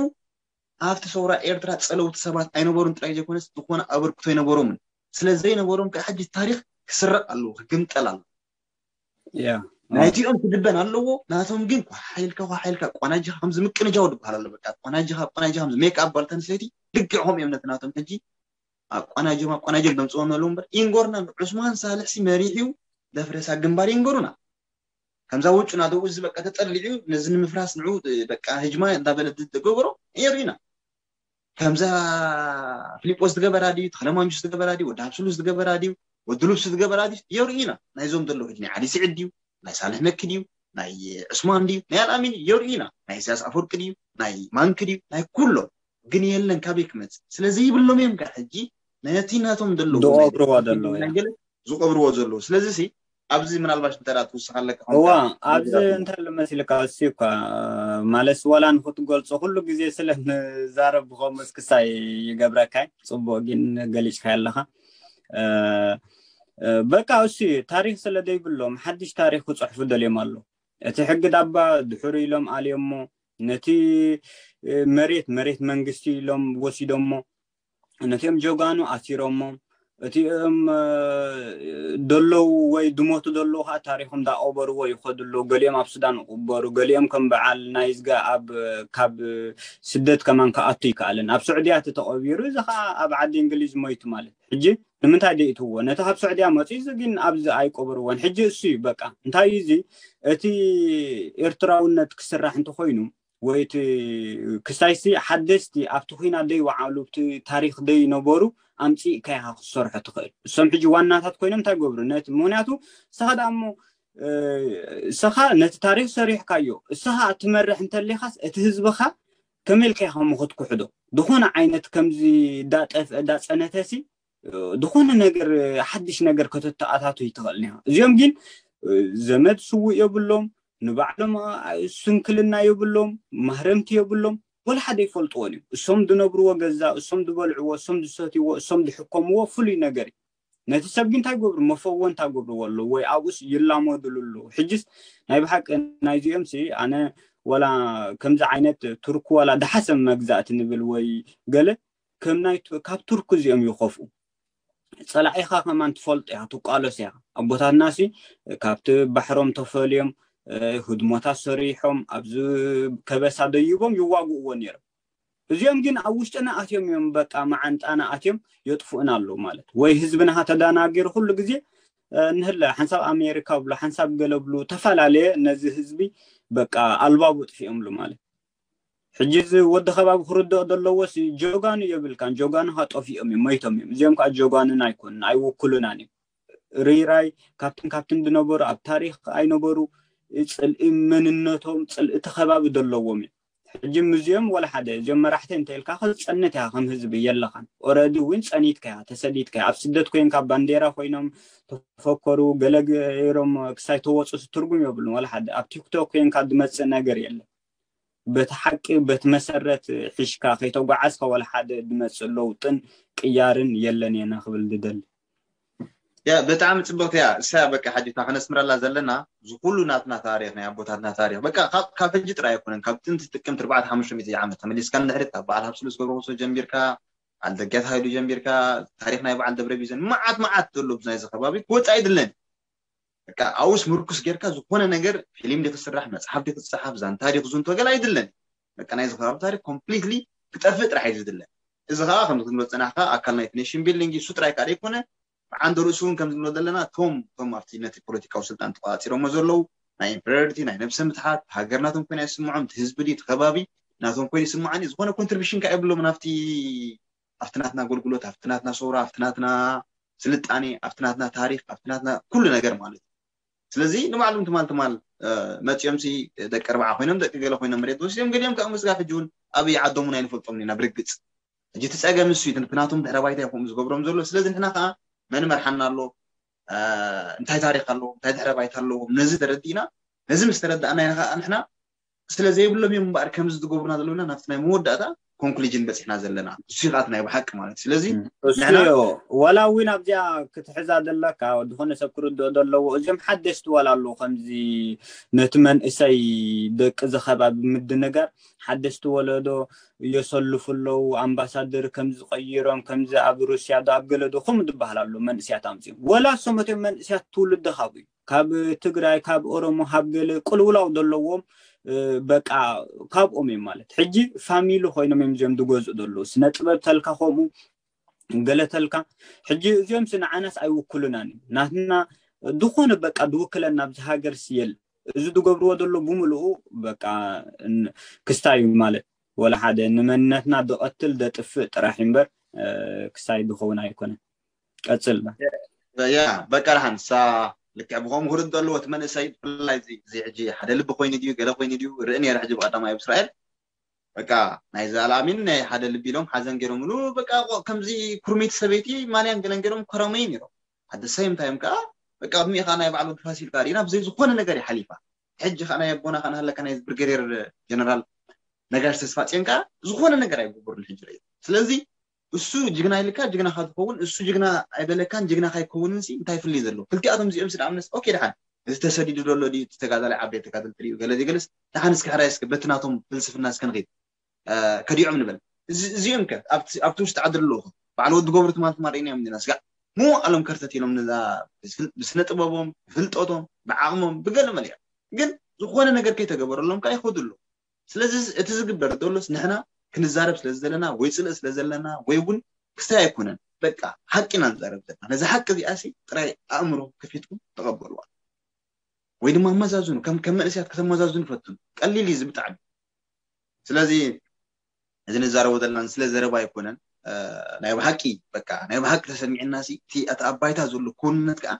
ኣብቲ ሰውራ ኤርትራ ፀለውቲ ሰባት ኣይነበሩን ጥራይ ዘይኮነስ ዝኾነ ኣበርክቶ ኣይነበሮምን። ስለ ዘይነበሮም ከዓ ሕጂ ታሪክ ክስረቅ ኣለዎ ክግምጠል ኣለዎ። ናይቲኦም ክድበን ኣለዎ። ናቶም ግን ኳሓይልካ ኳሓይልካ ቆናጅኻ ከምዚ ምቅንጃው ዝበሃል ኣሎ። በቃ ቆናጅኻ ቆናጅኻ ከምዚ ሜክ ኣፕ ጓል ኣንስተይቲ ልክዕ ከምኡ እዮም ነቲ ናቶም ሕጂ ኣቋናጅም ኣቋናጅም ደምፅዎም ኣለዉ እምበር ኢንጎርና ዑስማን ሳልሕ ሲ መሪሕ እዩ። ደፍረሳ ግንባር ይንገሩና ከምዛ ውጩ ናደው እዚ በቃ ተጠሊዑ ነዚ ንምፍራስ ንዑ በቃ ህጅማ እንዳበለ ዝገበሮ የርእዩና። ከምዛ ፊሊጶስ ዝገበራ ድዩ ተክለማንጁስ ዝገበራ ድዩ ወዲ ሃብስሉስ ዝገበራ ድዩ ወዲ ሉብሱ ዝገበራ ድዩ የርእዩና። ናይዞም ዘለዉ ሕጂ ናይ ዓሊ ስዒድ ድዩ ናይ ሳልሕ መኪ ድዩ ናይ ዕስማን ድዩ ናይ ኣልኣሚን ድዩ የርእዩና። ናይ ኢሳያስ ኣፈወርቂ ድዩ ናይ ማንኪ ድዩ ናይ ኩሎም ግን የለን ካበይ ክመፅእ ስለዚ ይብሎም እዮም ከዓ ሕጂ ነቲ ናቶም ዘለዉ ዝቀብርዎ ዘለዉ ስለዚ ሲ ኣብዚ ምናልባሽ እንተ ትውስኽ ኣለካ እዋ ኣብዚ እንታይ ለመሲልካ እሱ እኳ ማለት ዋላ ንክትገልፆ ኩሉ ግዜ ስለ ንዛረብ ብከምኡ እስክሳይ ይገብረካ ጽቡቅ ግን ገሊጭካ ኣለካ በቃ እሱ ታሪክ ስለ ዘይብሎም ሓድሽ ታሪክ ክፅሕፉ ደልዮም ኣሎ እቲ ሕጊ ዳባ ድሕሩ ኢሎም ኣልዮሞ ነቲ መሬት መሬት መንግስቲ ኢሎም ወሲዶሞ ነቲኦም ጀጋኑ ኣሲሮሞም እቲኦም ደለዉ ወይ ድሞቱ ደለዉ ከዓ ታሪኮም ዳቆበርዎ ይኸዱ ኣለዉ ገሊኦም ኣብ ሱዳን ይቁበሩ ገሊኦም ከም በዓል ናይዝጋ ኣብ ካብ ስደት ከማን ክኣቱ ይከኣልን ኣብ ስዑድያ እቲ ተቀቢሩ እዚ ከዓ ኣብ ዓዲ እንግሊዝ ሞይቱ ማለት ሕጂ ንምንታይ ደይእትዎ ነቲ ካብ ስዑድያ መፂ እዚ ግን ኣብዚ ኣይቆበርዎን ሕጂ እሱ እዩ በቃ እንታይ እዩ እዚ እቲ ኤርትራውነት ክስራሕ እንተኮይኑ ወይ እቲ ክሳይሲ ሓደስቲ ኣብቲ ኩናት ደይወዓሉ ኣብቲ ታሪክ ደይነበሩ ኣምፂእካ ኢካ ክትሰርሖ ትኽእል። እሶም ሕጂ ዋናታት ኮይኖም እንታይ ገብሩ ነቲ ምክንያቱ ንስኻ ደኣ እሞ ንስኻ ነቲ ታሪክ ሰሪሕካዮ እስኻ ትመርሕ እንተሊኻስ እቲ ህዝብኻ ከመይ ኢልካ ኢኻ ክትኩሕዶ? ዝኾነ ዓይነት ከምዚ እንዳጠፍአ እንዳፀነተሲ ዝኾነ ነገር ሓድሽ ነገር ከተተኣታቱ ይትኽእል ኒኻ። እዚኦም ግን ዘመድ ስውእ የብሎም፣ ንባዕሎም ስንክልና የብሎም፣ ማህረምቲ የብሎም፣ ወላ ሓደ ይፈልጥዎን እዮም። እሶም ዝነብርዎ ገዛ፣ እሶም ዝበልዕዎ፣ እሶም ዝሰትይዎ፣ እሶም ዝሕከምዎ ፍሉይ ነገር እዩ። ነቲ ሰብ ግን እንታይ ገብሩ መፈወንታ ገብርዎ ኣለዉ ወይ ኣብኡስ ይላመድሉ ኣለዉ። ሕጅስ ናይ ብሓቂ ናይዚኦም ሲ ኣነ ወላ ከምዚ ዓይነት ቱርክ ወላ ደሓሰብ መግዛእቲ ንብል ወይ ገለ ከም ናይ ካብ ቱርክ እዚኦም ይኸፍኡ። ጸላዒኻ ከማን ትፈልጦ ኢኻ ትቋለስ ኢኻ። ኣቦታትና ሲ ካብቲ ባሕሮም ተፈልዮም ህድሞታት ሰሪሖም ኣብዚ ከበሳ ደይቦም ይዋግእዎ ነይሮም። እዚኦም ግን ኣብ ውሽጥና ኣትዮም እዮም በቃ መዓንጣና ኣትዮም የጥፍኡና ኣለዉ ማለት ወይ ህዝብና ተዳናጊሩ ኩሉ ግዜ ንህለ ሓንሳብ ኣሜሪካ ብሎ ሓንሳብ ገለ ብሉ ተፈላለየ ነዚ ህዝቢ በቃ ኣልባቡ ጥፊኦምሉ ማለት ሕጂ እዚ ወዲ ከባቢ ክርድኦ ዘለዎስ ጆጋኑ የብልካን ጆጋኑ ካጠፊኦም እዮም መይቶም እዮም እዚኦም ከዓ ጆጋኑን ኣይኮኑን ኣይውክሉናን እዮም ርይራይ ካብትን ካብትን ዝነበሩ ኣብ ታሪክ ኣይነበሩ ፅልኢ መንነቶም ፅልኢ እቲ ከባቢ ዘለዎም እዮም ሕጂ እዚኦም ወላ ሓደ እዚኦም መራሕቲ እንተ ኢልካ ክፀንት እያ ከም ህዝቢ የለኻን ኦረዲ እውን ፀኒትካ እያ ተሰዲድካ እያ ኣብ ስደት ኮይንካ ባንዴራ ኮይኖም ተፈከሩ ገለ ገይሮም ክሳይ ተወፁ ትርጉም የብሉን ወላ ሓደ ኣብ ቲክቶክ ኮይንካ ዝመፅእ ነገር የለን በቲ ሓቂ በቲ መሰረት ሒሽካ ከይተጓዓዝካ ወላ ሓደ ዝመፅእ ለውጥን ቅያርን የለን እየ ክብል ዝደሊ ያ ብጣዕሚ ፅብቅቲ እያ እሳ በቃ ሕጂ እታ ከነስምረላ ዘለና እዚ ኩሉ ናትና ታሪክ ናይ ኣቦታትና ታሪክ በቃ ካብ ሕጂ ጥራይ ኣይኮነን ካብ ጥንቲ ጥቅምቲ ኣርባዕተ ሓሙሽተ ሚእቲ ዓመት ተመሊስካ ንድሕሪት ካብ በዓል ሃብስሉስ ገብረክርስቶስ ጀሚርካ በዓል ደጊያት ሃይሉ ጀሚርካ ታሪክ ናይ በዓል ደብረ ቢዘን መዓት መዓት ዘሎ ናይዚ ከባቢ ክወፅእ ኣይድለን በቃ ኣብኡስ ምርኩስ ጌርካ ዝኾነ ነገር ፊልም ዲ ክስራሕ መፅሓፍ ዲ ክፅሓፍ ዛንታ ዲ ክዝንቶ ገለ ኣይድለን በቃ ናይዚ ከባቢ ታሪክ ኮምፕሊትሊ ክጠፍእ ጥራሕ እዩ ዝድለ እዚ ከዓ ከምዚ ክንብል ዝፀናሕካ ኣካል ናይቲ ኔሽን ቢልዲንግ እዩ እሱ ጥራይ ከዓ ዘይኮነ ብዓንደ ርእሱ እውን ከምዚ ንብሎ ዘለና እቶም እቶም ኣብቲ ነቲ ፖለቲካዊ ስልጣን ተቆፃፂሮሞ ዘለዉ ናይ ኢምፔሪዮሪቲ ናይ ነብሰ ምትሓት ሃገር ናቶም ኮይና ይስምዖም እቲ ህዝቢ ድዩ እቲ ከባቢ ናቶም ኮይኑ ይስምዓኒ ዝኾነ ኮንትሪቢሽን ከዓ የብሎም ናብቲ ኣብቲ ናትና ኣገልግሎት ኣብቲ ናትና ሰውራ ኣብቲ ናትና ስልጣኔ ኣብቲ ናትና ታሪክ ኣብቲ ናትና ኩሉ ነገር ማለት እዩ ስለዚ ንባዕሎም ትማል ትማል መፂኦም ሲ ደቂ ኣርባዓ ኮይኖም ደቂ ገለ ኮይኖም መሬት ወሲዶም ገሊኦም ከዓ ምስጋ ሕጂ እውን ኣበይ ዓዶም እውን ኣይንፈልጦም ኢና ብርግፅ ሕጂ እቲ ፀገም እሱ እዩ እቲ ናቶም ድሕረ ባይታ ይኹም ዝገብሮም ዘሎ ስለዚ ንሕና ከዓ መን መርሓና ኣሎ እንታይ ታሪክ ኣለዎም እንታይ ድሕረ ባይታ ኣለዎም ነዚ ተረዲእና ነዚ ምስ ተረዳእና ኢና ከዓ ንሕና ስለ ዘይብሎም እዮም እምበኣር ከምዚ ዝገብሩና ዘለውና ናብቲ ናይ መወዳእታ ኮንክሉጅን በፂሕና ዘለና እሱ ይኸኣት ናይ ብሓቂ ማለት ስለዚ ንሕና ወላ እውን ኣብዚኣ ክትሕዛ ዘለካ ዝኾነ ሰብ ክርድኦ ዘለዎ እዚኦም ሓደስቲ ዋላ ኣለዉ ከምዚ ነቲ መንእሰይ ደቂ ዝኸባቢ ምድንጋር ሓደስቲ ወለዶ የሰልፉ ኣለዉ ኣምባሳደር ከምዚ ቀይሮም ከምዚ ኣብ ሩስያ ዶ ኣብ ገለ ዶ ከምኡ ዝበሃል ኣሎ መንእስያት ኣምፅኦም ወላ እሶም እቶም መንእስያት ትውልዲ ካብኡ እዩ ካብ ትግራይ ካብ ኦሮሞ ካብ ገለ ቅልውላው ዘለዎም በቃ ካብኦም እዮም ማለት ሕጂ ፋሚሊ ኮይኖም እዮም እዚኦም ዝገዝኡ ዘለዉ ስነ ጥበብ ተልካ ከምኡ ገለ ተልካ ሕጂ እዚኦም ስ ንዓናስ ኣይውክሉናን እዩ ናትና ዝኾነ በቃ ዝውክለና ኣብዚ ሃገር ስየል እዚ ዝገብርዎ ዘሎ ብምልኡ በቃ ክስታይ እዩ ማለት ወላ ሓደ ንመንነትና ዝቐትል ዘጥፍእ ጥራሕ እምበር ክሳይ ዝኸውን ኣይኮነን ቀፅል ያ በቃ ደሓን ንሳ ልክዕ ብኸምኡ ክርድ ዘለዎ እቲ መንእሰይ ብፍላይ እዚ ሕጂ ሓደ ልቢ ኮይኑ ድዩ ገለ ኮይኑ ድዩ ርኢ ነረ ሕጂ ብቀዳማይ ኣብ እስራኤል በቃ ናይዚ ኣልኣሚን ናይ ሓደ ልቢ ኢሎም ሓዘን ገይሮምሉ በቃ ከምዚ ኩርሚቲ ሰበይቲ ማልያን ገለን ገይሮም ኮረመይ ነይሮም ሓደ ሰይም ታይም ከዓ በቃ ቅድሚኡ ከዓ ናይ ባዕሉ ፋሲል ከዓ ርኢና ብዘይ ዝኾነ ነገር ይሓሊፋ ሕጂ ከዓ ናይ ኣቦና ከዓ ናሃለካ ናይ ብርገዴር ጀነራል ነጋሽ ተስፋፅዮን ከዓ ዝኾነ ነገር ኣይግበሩን ሕጂ ርእ ስለዚ እሱ ጅግና ኢልካ ጅግናካ ትኸውን እሱ ጅግና ኣይበለካን ጅግናካ ኣይከውንን ሲ እንታይ ፍልይ ዘለዎ ክልቲኣቶም እዚኦም ሲ ንኣብነት ኦኬ ድሓን እዚ ተሰዲዱ ዘሎ ድዩ እቲ ተጋዳላይ ዓበይቲ ተጋደልቲ ድዩ ገለ ዘይገለስ ድሓን እስኪ ሕራይ እስኪ በቲ ናቶም ፍልስፍና እስኪ ንኺድ ከዲዖም ንበል እዚኦም ከ ኣብቲ ውሽጢ ዓዲ ኣለዉ በዓል ወዲ ገብሩ ትማል ትማል ርኢናዮም ዲና ስጋዕ ምዉቕ ኣሎም ከርተት ኢሎም ነዛ ብስነ ጥበቦም ብፍልጠቶም ብዓቕሞም ብገለ መሊኦም ግን ዝኾነ ነገር ከይተገበረሎም ከዓ ይኸዱ ኣለዉ ስለዚ እቲ ዝግበር ዘሎስ ንሕና ክንዛረብ ስለ ዘለና ወይ ፅልእ ስለ ዘለና ወይ እውን ክስታይ ኣይኮነን በቃ ሓቂ ኢና ንዛረብ ዘለና ነዚ ሓቂ እዚኣ ሲ ጥራይ ኣእምሮ ከፊትኩም ተቐበልዋ ወይ ድማ ኣመዛዝኑ ከም ከም መንእስያት ከተመዛዝኑ ፈትኑ ቀሊል እዩ እዚ ብጣዕሚ ስለዚ እዚ ንዛረቦ ዘለና ስለ ዘረባ ኣይኮነን። ናይ ብሓቂ በቃ ናይ ብሓቂ ተሰሚዕና ሲ እቲ ኣባይታ ዘሎ ክውንነት ከዓ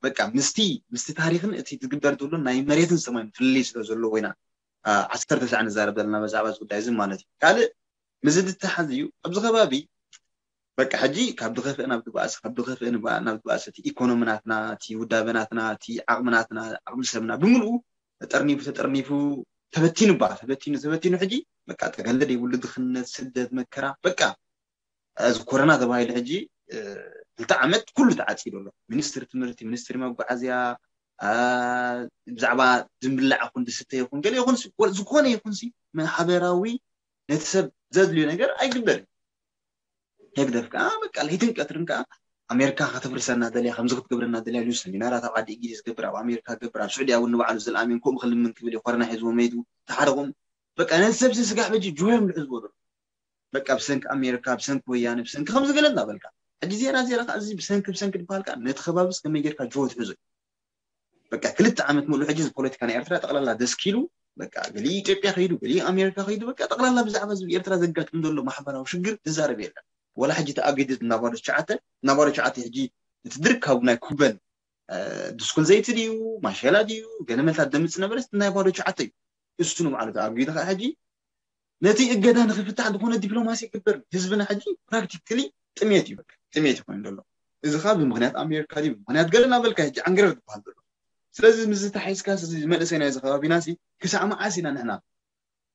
በቃ ምስቲ ምስቲ ታሪክን እቲ ዝግበር ዘሎ ናይ መሬትን ሰማይን ፍልልይ ስለ ዘሎ ወይና ዓሰርተ ሰዓት ንዛረብ ዘለና መዛዕባ እዚ ጉዳይ እዚ ማለት እዩ። ካልእ ምስዚ ዝተሓዝ እዩ ኣብዚ ከባቢ በቃ ሕጂ ካብ ድኸፍእ ናብ ድባእስ ካብ ድኸፍእ ናብ ድባእስ እቲ ኢኮኖሚ ናትና እቲ ውዳበ ናትና እቲ ዓቕሚ ናትና ዓቕሚ ሰብና ብምልኡ ተጠርኒፉ ተጠርኒፉ ተበቲኑ ባ ተበቲኑ ተበቲኑ ሕጂ በቃ ጠገለ ዘይብሉ ድኽነት ስደት መከራ በቃ እዚ ኮረና ተባሂሉ ሕጂ ክልተ ዓመት ኩሉ ተዓፂዱ ኣሎ። ሚኒስትሪ ትምህርቲ፣ ሚኒስትሪ መጓዓዝያ፣ ብዛዕባ ዝብላዕ ይኹን ዝስተ ይኹን ገለ ይኹን ዝኾነ ይኹን ማሕበራዊ ነቲ ሰብ ዘድልዮ ነገር ኣይግበርን። ህግደፍ ከዓ በቃ ለይትን ቀትርን ከዓ ኣሜሪካ ከተፍርሰና ደልያ ከምዚ ክትገብረና ደልያ ኢሉ ሰሚናራት ኣብ ዓዲ እንግሊዝ ገብር ኣብ ኣሜሪካ ገብር ኣብ ስዑዲ እውን ንባዕሉ ዘልኣሜን ከምኡ ክልምን ክብል እዩ። ኮረና ሒዝዎ መይቱ ተሓረቑም በቃ ነቲ ሰብ ስጋዕ በጂ ጆዮም ዝሕዝዎ ዘሎ በቃ ብሰንኪ ኣሜሪካ ብሰንኪ ወያነ ብሰንኪ ከምዚ ገለ እናበልካ ሕጂ ዜና ዜና ከዓ እዚ ብሰንኪ ብሰንኪ ዝበሃል ከዓ ነቲ ከባቢ ከመይ ጌርካ ጆ ትሕዞ በቃ ክልተ ዓመት ሙሉ ሕጂ ፖለቲካ ናይ ኤርትራ ጠቕላላ ደስኪሉ በቃ ገሊኡ ኢትዮጵያ ከይዱ ገሊኡ ኣሜሪካ ከይዱ በቃ ጠቕላላ ብዛዕባ ህዝቢ ኤርትራ ዘጋጥም ዘሎ ማሕበራዊ ሽግር ዝዛረብ የለን። ወላ ሕጂ ተኣጊዱ እናባዶ ትሽዓተ እናባዶ ትሽዓተ ሕጂ እቲ ድርካቡ ናይ ኩበን ድስኩል ዘይቲ ድዩ ማሸላ ድዩ ገለመልታት ደምፅ ነበረ ናይ ባዶ ትሽዓተ እዩ። እሱ ንባዕሉ ተኣጊዱ ከዓ ሕጂ ነቲ እገዳ ንክፍታሕ ዝኾነ ዲፕሎማሲ ይግበር ህዝብና ሕጂ ፕራክቲካሊ ጥሜት እዩ ጥሜት ይኮን ዘሎ። እዚ ከዓ ብምክንያት ኣሜሪካ ድዩ ብምክንያት ገለ እናበልካ ሕጂ ዓንግረር ዝበሃል ዘሎ። ስለዚ ምስ ዝተሓይዝካ እዚ መንእሰይ ናይዚ ከባቢና ሲ ክሳዕ መዓስ ኢና ንሕና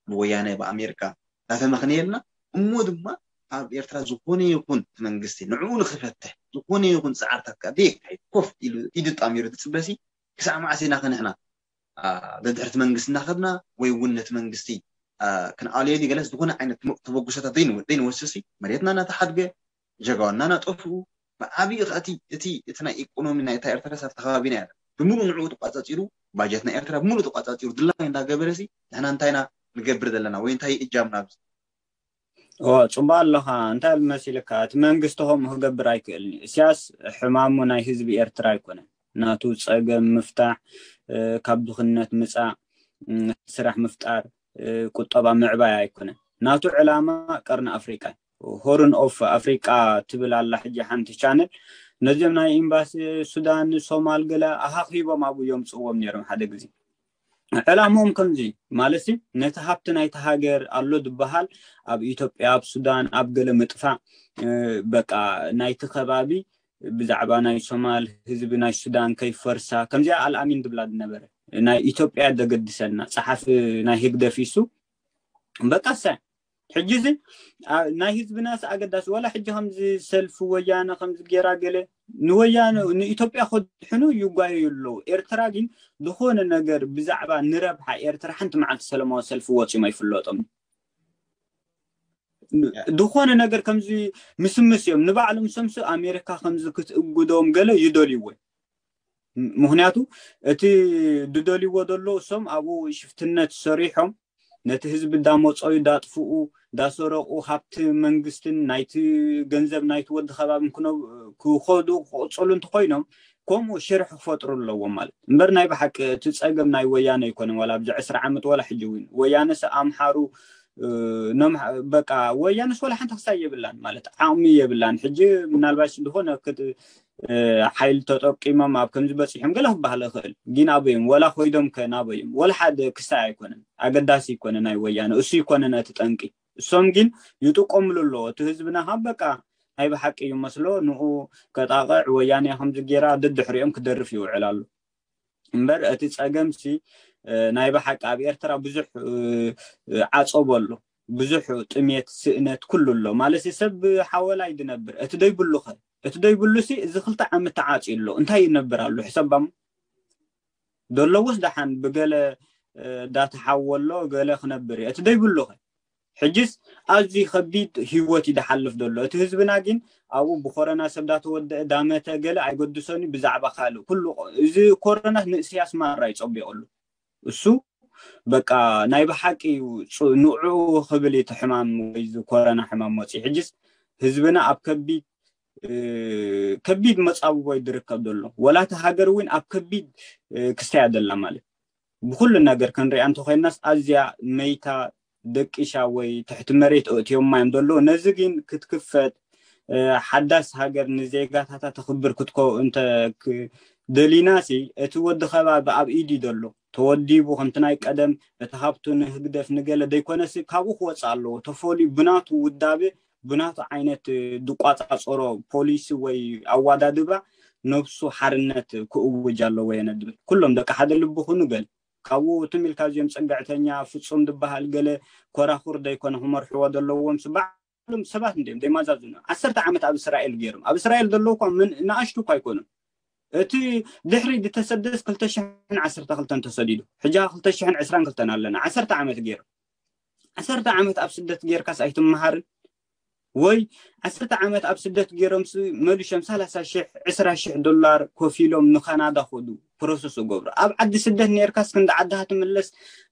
ብወያነ ብኣሜሪካ እናተመኽነየልና እሞ ድማ ኣብ ኤርትራ ዝኾነ ይኹን መንግስቲ ንዕኡ ንክፈትሕ ዝኾነ ይኹን ፃዕርታት ከዓ ደየካይድ ኮፍ ኢሉ ኢዱ ጣሚሩ ዝፅበሲ ክሳዕ መዓስ ኢና ከንሕና ደድሕርቲ መንግስቲ እናኸድና ወይ እውን ነቲ መንግስቲ ክንኣልዮ ገለስ ዝኾነ ዓይነት ተበጉሰታት ዘይንወስሲ መሬትና እናተሓድገ ጀጋውና እናጠፍኡ ብዓብዪ ከእቲ እቲ እቲ ናይ ኢኮኖሚ ናይ እታ ኤርትራ ሰብ ተኸባቢና ያለ ብምሉእ ንዕኡ ተቋፃፂሩ ባጀት ናይ ኤርትራ ብምሉእ ተቋፃፂሩ ድላይ እንዳገበረ ሲ ንሕና እንታይና ንገብር ዘለና ወይ እንታይ እጃምና ኣብዚ ኦ ፅቡቅ ኣለኻ እንታይ መሲልካ እቲ መንግስቲ ከምኡ ክገብር ኣይክእልን እዩ እስያስ ሕማሙ ናይ ህዝቢ ኤርትራ ኣይኮነን ናቱ ፀገም ምፍታሕ ካብ ድኽነት ምፃእ ስራሕ ምፍጣር ቁጠባ ምዕባይ ኣይኮነን ናቱ ዕላማ ቀርኒ ኣፍሪቃ ሆርን ኦፍ ኣፍሪቃ ትብል ኣላ ሕጂ ሓንቲ ቻነል ነዚም ናይ ኤምባሲ ሱዳን ሶማል ገለ ኣሃኺቦም ኣብኡ የምፅዎም ነይሮም ሓደ ግዜ ዕላምኦም ከምዚ ማለት ነቲ ሃብቲ ናይቲ ሃገር ኣሎ ዝበሃል ኣብ ኢትዮጵያ ኣብ ሱዳን ኣብ ገለ ምጥፋእ በቃ ናይቲ ከባቢ ብዛዕባ ናይ ሶማል ህዝቢ ናይ ሱዳን ከይፈርሳ ከምዚኣ ኣልኣሚን ዝብላ ዝነበረ ናይ ኢትዮጵያ ዘገድሰና ፀሓፊ ናይ ህግደፍ ኢሱ በቃ ሰ ሕጂ እዚ ናይ ህዝብናስ ኣገዳሲ ዋላ ሕጂ ከምዚ ሰልፊ ወያነ ከምዚ ጌራ ገለ ንወያነ ንኢትዮጵያ ከድሕኑ ይጓየዩ ኣለዉ ኤርትራ ግን ዝኾነ ነገር ብዛዕባ ንረብሓ ኤርትራ ሓንቲ መዓልቲ ሰለማዊ ሰልፊ ወፂኦም ኣይፍለጦም ዝኾነ ነገር ከምዚ ምስምስ እዮም ንባዕሎም ሰምሱ ኣሜሪካ ከምዚ ክትእጉዶም ገለ ይደልይዎ ምክንያቱ እቲ ዝደልይዎ ዘሎ እሶም ኣብኡ ሽፍትነት ሰሪሖም ነቲ ህዝቢ እንዳመፀዩ እንዳጥፍኡ እንዳሰረቁ ሃብቲ መንግስትን ናይቲ ገንዘብ ናይቲ ወዲ ከባብን ክኸዱ ክቅፅሉ እንተኮይኖም ከምኡ ሽርሒ ክፈጥሩ ኣለዎም ማለት እምበር ናይ ብሓቂ እቲ ፀገም ናይ ወያነ ኣይኮነን ዋላ ኣብዚ ዕስራ ዓመት ዋላ ሕጂ እውን ወያነስ ኣምሓሩ በቃ ወያነስ ዋላ ሓንቲ ክሳይ የብላን ማለት ዓቕሚ የብላን ሕጂ ምናልባሽ ዝኾነ ሓይል ተጠቂሞም ኣብ ከምዚ በፂሖም ገለ ክበሃል ይኽእል ግን ኣበዮም ወላ ኮይዶም ከ ናበዮም ወላ ሓደ ክሳይ ኣይኮነን ኣገዳሲ ይኮነ ናይ ወያነ እሱ ይኮነ ነቲ ጠንቂ እሶም ግን ይጥቀምሉ ኣለዎ እቲ ህዝብና ካብ በቃ ናይ ብሓቂ እዩ መስሎ ንኡ ከጣቕዕ ወያነ ከምዚ ጌራ ደድሕሪኦም ክደርፍ ይውዕል ኣሎ እምበር እቲ ፀገም ሲ ናይ ብሓቂ ኣብ ኤርትራ ብዙሕ ዓፀቦ ኣሎ ብዙሕ ጥሜት ስእነት ኩሉ ኣሎ ማለት ሰብ ሓወላይ ዝነብር እቲ ደይብሉ ኸ እቲ ደይብሉ ሲ እዚ ክልተ ዓመት ተዓፂ ኣሎ እንታይ ይነብር ኣሎ ሕሰባም ደለዎስ ደሓን ብገለ ዳተሓወሎ ገለ ክነብር እዩ እቲ ደይብሉኸ ሕጅስ ኣዝዩ ከቢድ ህይወት እዩ ዝሓልፍ ዘሎ እቲ ህዝብና ግን ኣብኡ ብኮረና ሰብ ዳተወደአ ዳመተ ገለ ኣይገድሶን እዩ ብዛዕባ ካልእ ኩሉ እዚ ኮረና ንእስያስ ማራ ይፀቢቀሉ እሱ በቃ ናይ ብሓቂ እዩ ንዑ ክብል እቲ ሕማም ወይ ኮረና ሕማም መፅኡ ሕጅስ ህዝብና ኣብ ከቢድ ከቢድ መፃብቦ ዝርከብ ዘሎ ወላቲ ሃገር እውን ኣብ ከቢድ ክስተያ ዘላ ማለት ብኩሉ ነገር ክንሪኣ እንተኮይናስ ኣዝያ መይታ ደቂሻ ወይ ትሕቲ መሬት ኣእትዮማ እዮም ዘለዉ። ነዚ ግን ክትክፈት፣ እ፣ ሓዳስ ሃገር ንዜጋታታ ተኽብር ክትኮ እንተ ክ-፣ ደሊናሲ፣ እቲ ወዲ ከባቢ ኣብ ኢድ እዩ ዘሎ። ተወዲቡ ከምቲ ናይ ቀደም እቲ ሃብቱ ንህግደፍ ንገለ ደይኮነሲ ካብኡ ክወፅእ ኣለዎ። ተፈልዩ ብናቱ ውዳቤ፣ ብናቱ ዓይነት፣ እ፣ ዝቋፃፀሮ ፖሊሲ ወይ ኣዋዳድባ ነብሱ ሓርነት ክእውጅ ኣለዎ የነ ድብል። ኩሎም ደቂ ሓደ ልቢ ኩኑ ገለ ካብኡ ትም ኢልካ እዚኦም ፅግዕተኛ ፍፁም ዝበሃል ገለ ኮራኹር ደይኮነ ክመርሕዎ ዘለዎም ስ-፣ ባዕሎም ሰባት እንዲኦም ዘይማዛዝኑ። ዓሰርተ ዓመት ኣብ እስራኤል ገይሮም። ኣብ እስራኤል ዘለዉ እኳ ምን-፣ ንኣሽቱ እኳ ኣይኮኑን። እቲ ድሕሪ ዝተሰደስ ክልተ ሽሕን ዓሰርተ ክልተን ተሰዲዱ። ሕጂ ክልተ ሽሕን ዕስራን ክልተን ኣለና። ዓሰርተ ዓመት ገይሮም። ዓሰርተ ዓመት ኣብ ስደት ጌርካስ ኣይትመሃርን? ወይ ዓሰርተ ዓመት ኣብ ስደት ገይሮም ስ-፣ መሊሾም ሰላሳ ሽሕ፣ ዕስራ ሽሕ ዶላር ከፊሎም ንካናዳ ከዱ ፕሮሰስ እገብሩ። ኣብ ዓዲ ስደት ኔርካስ ክንዲ ዓድኻ ትምለስ፣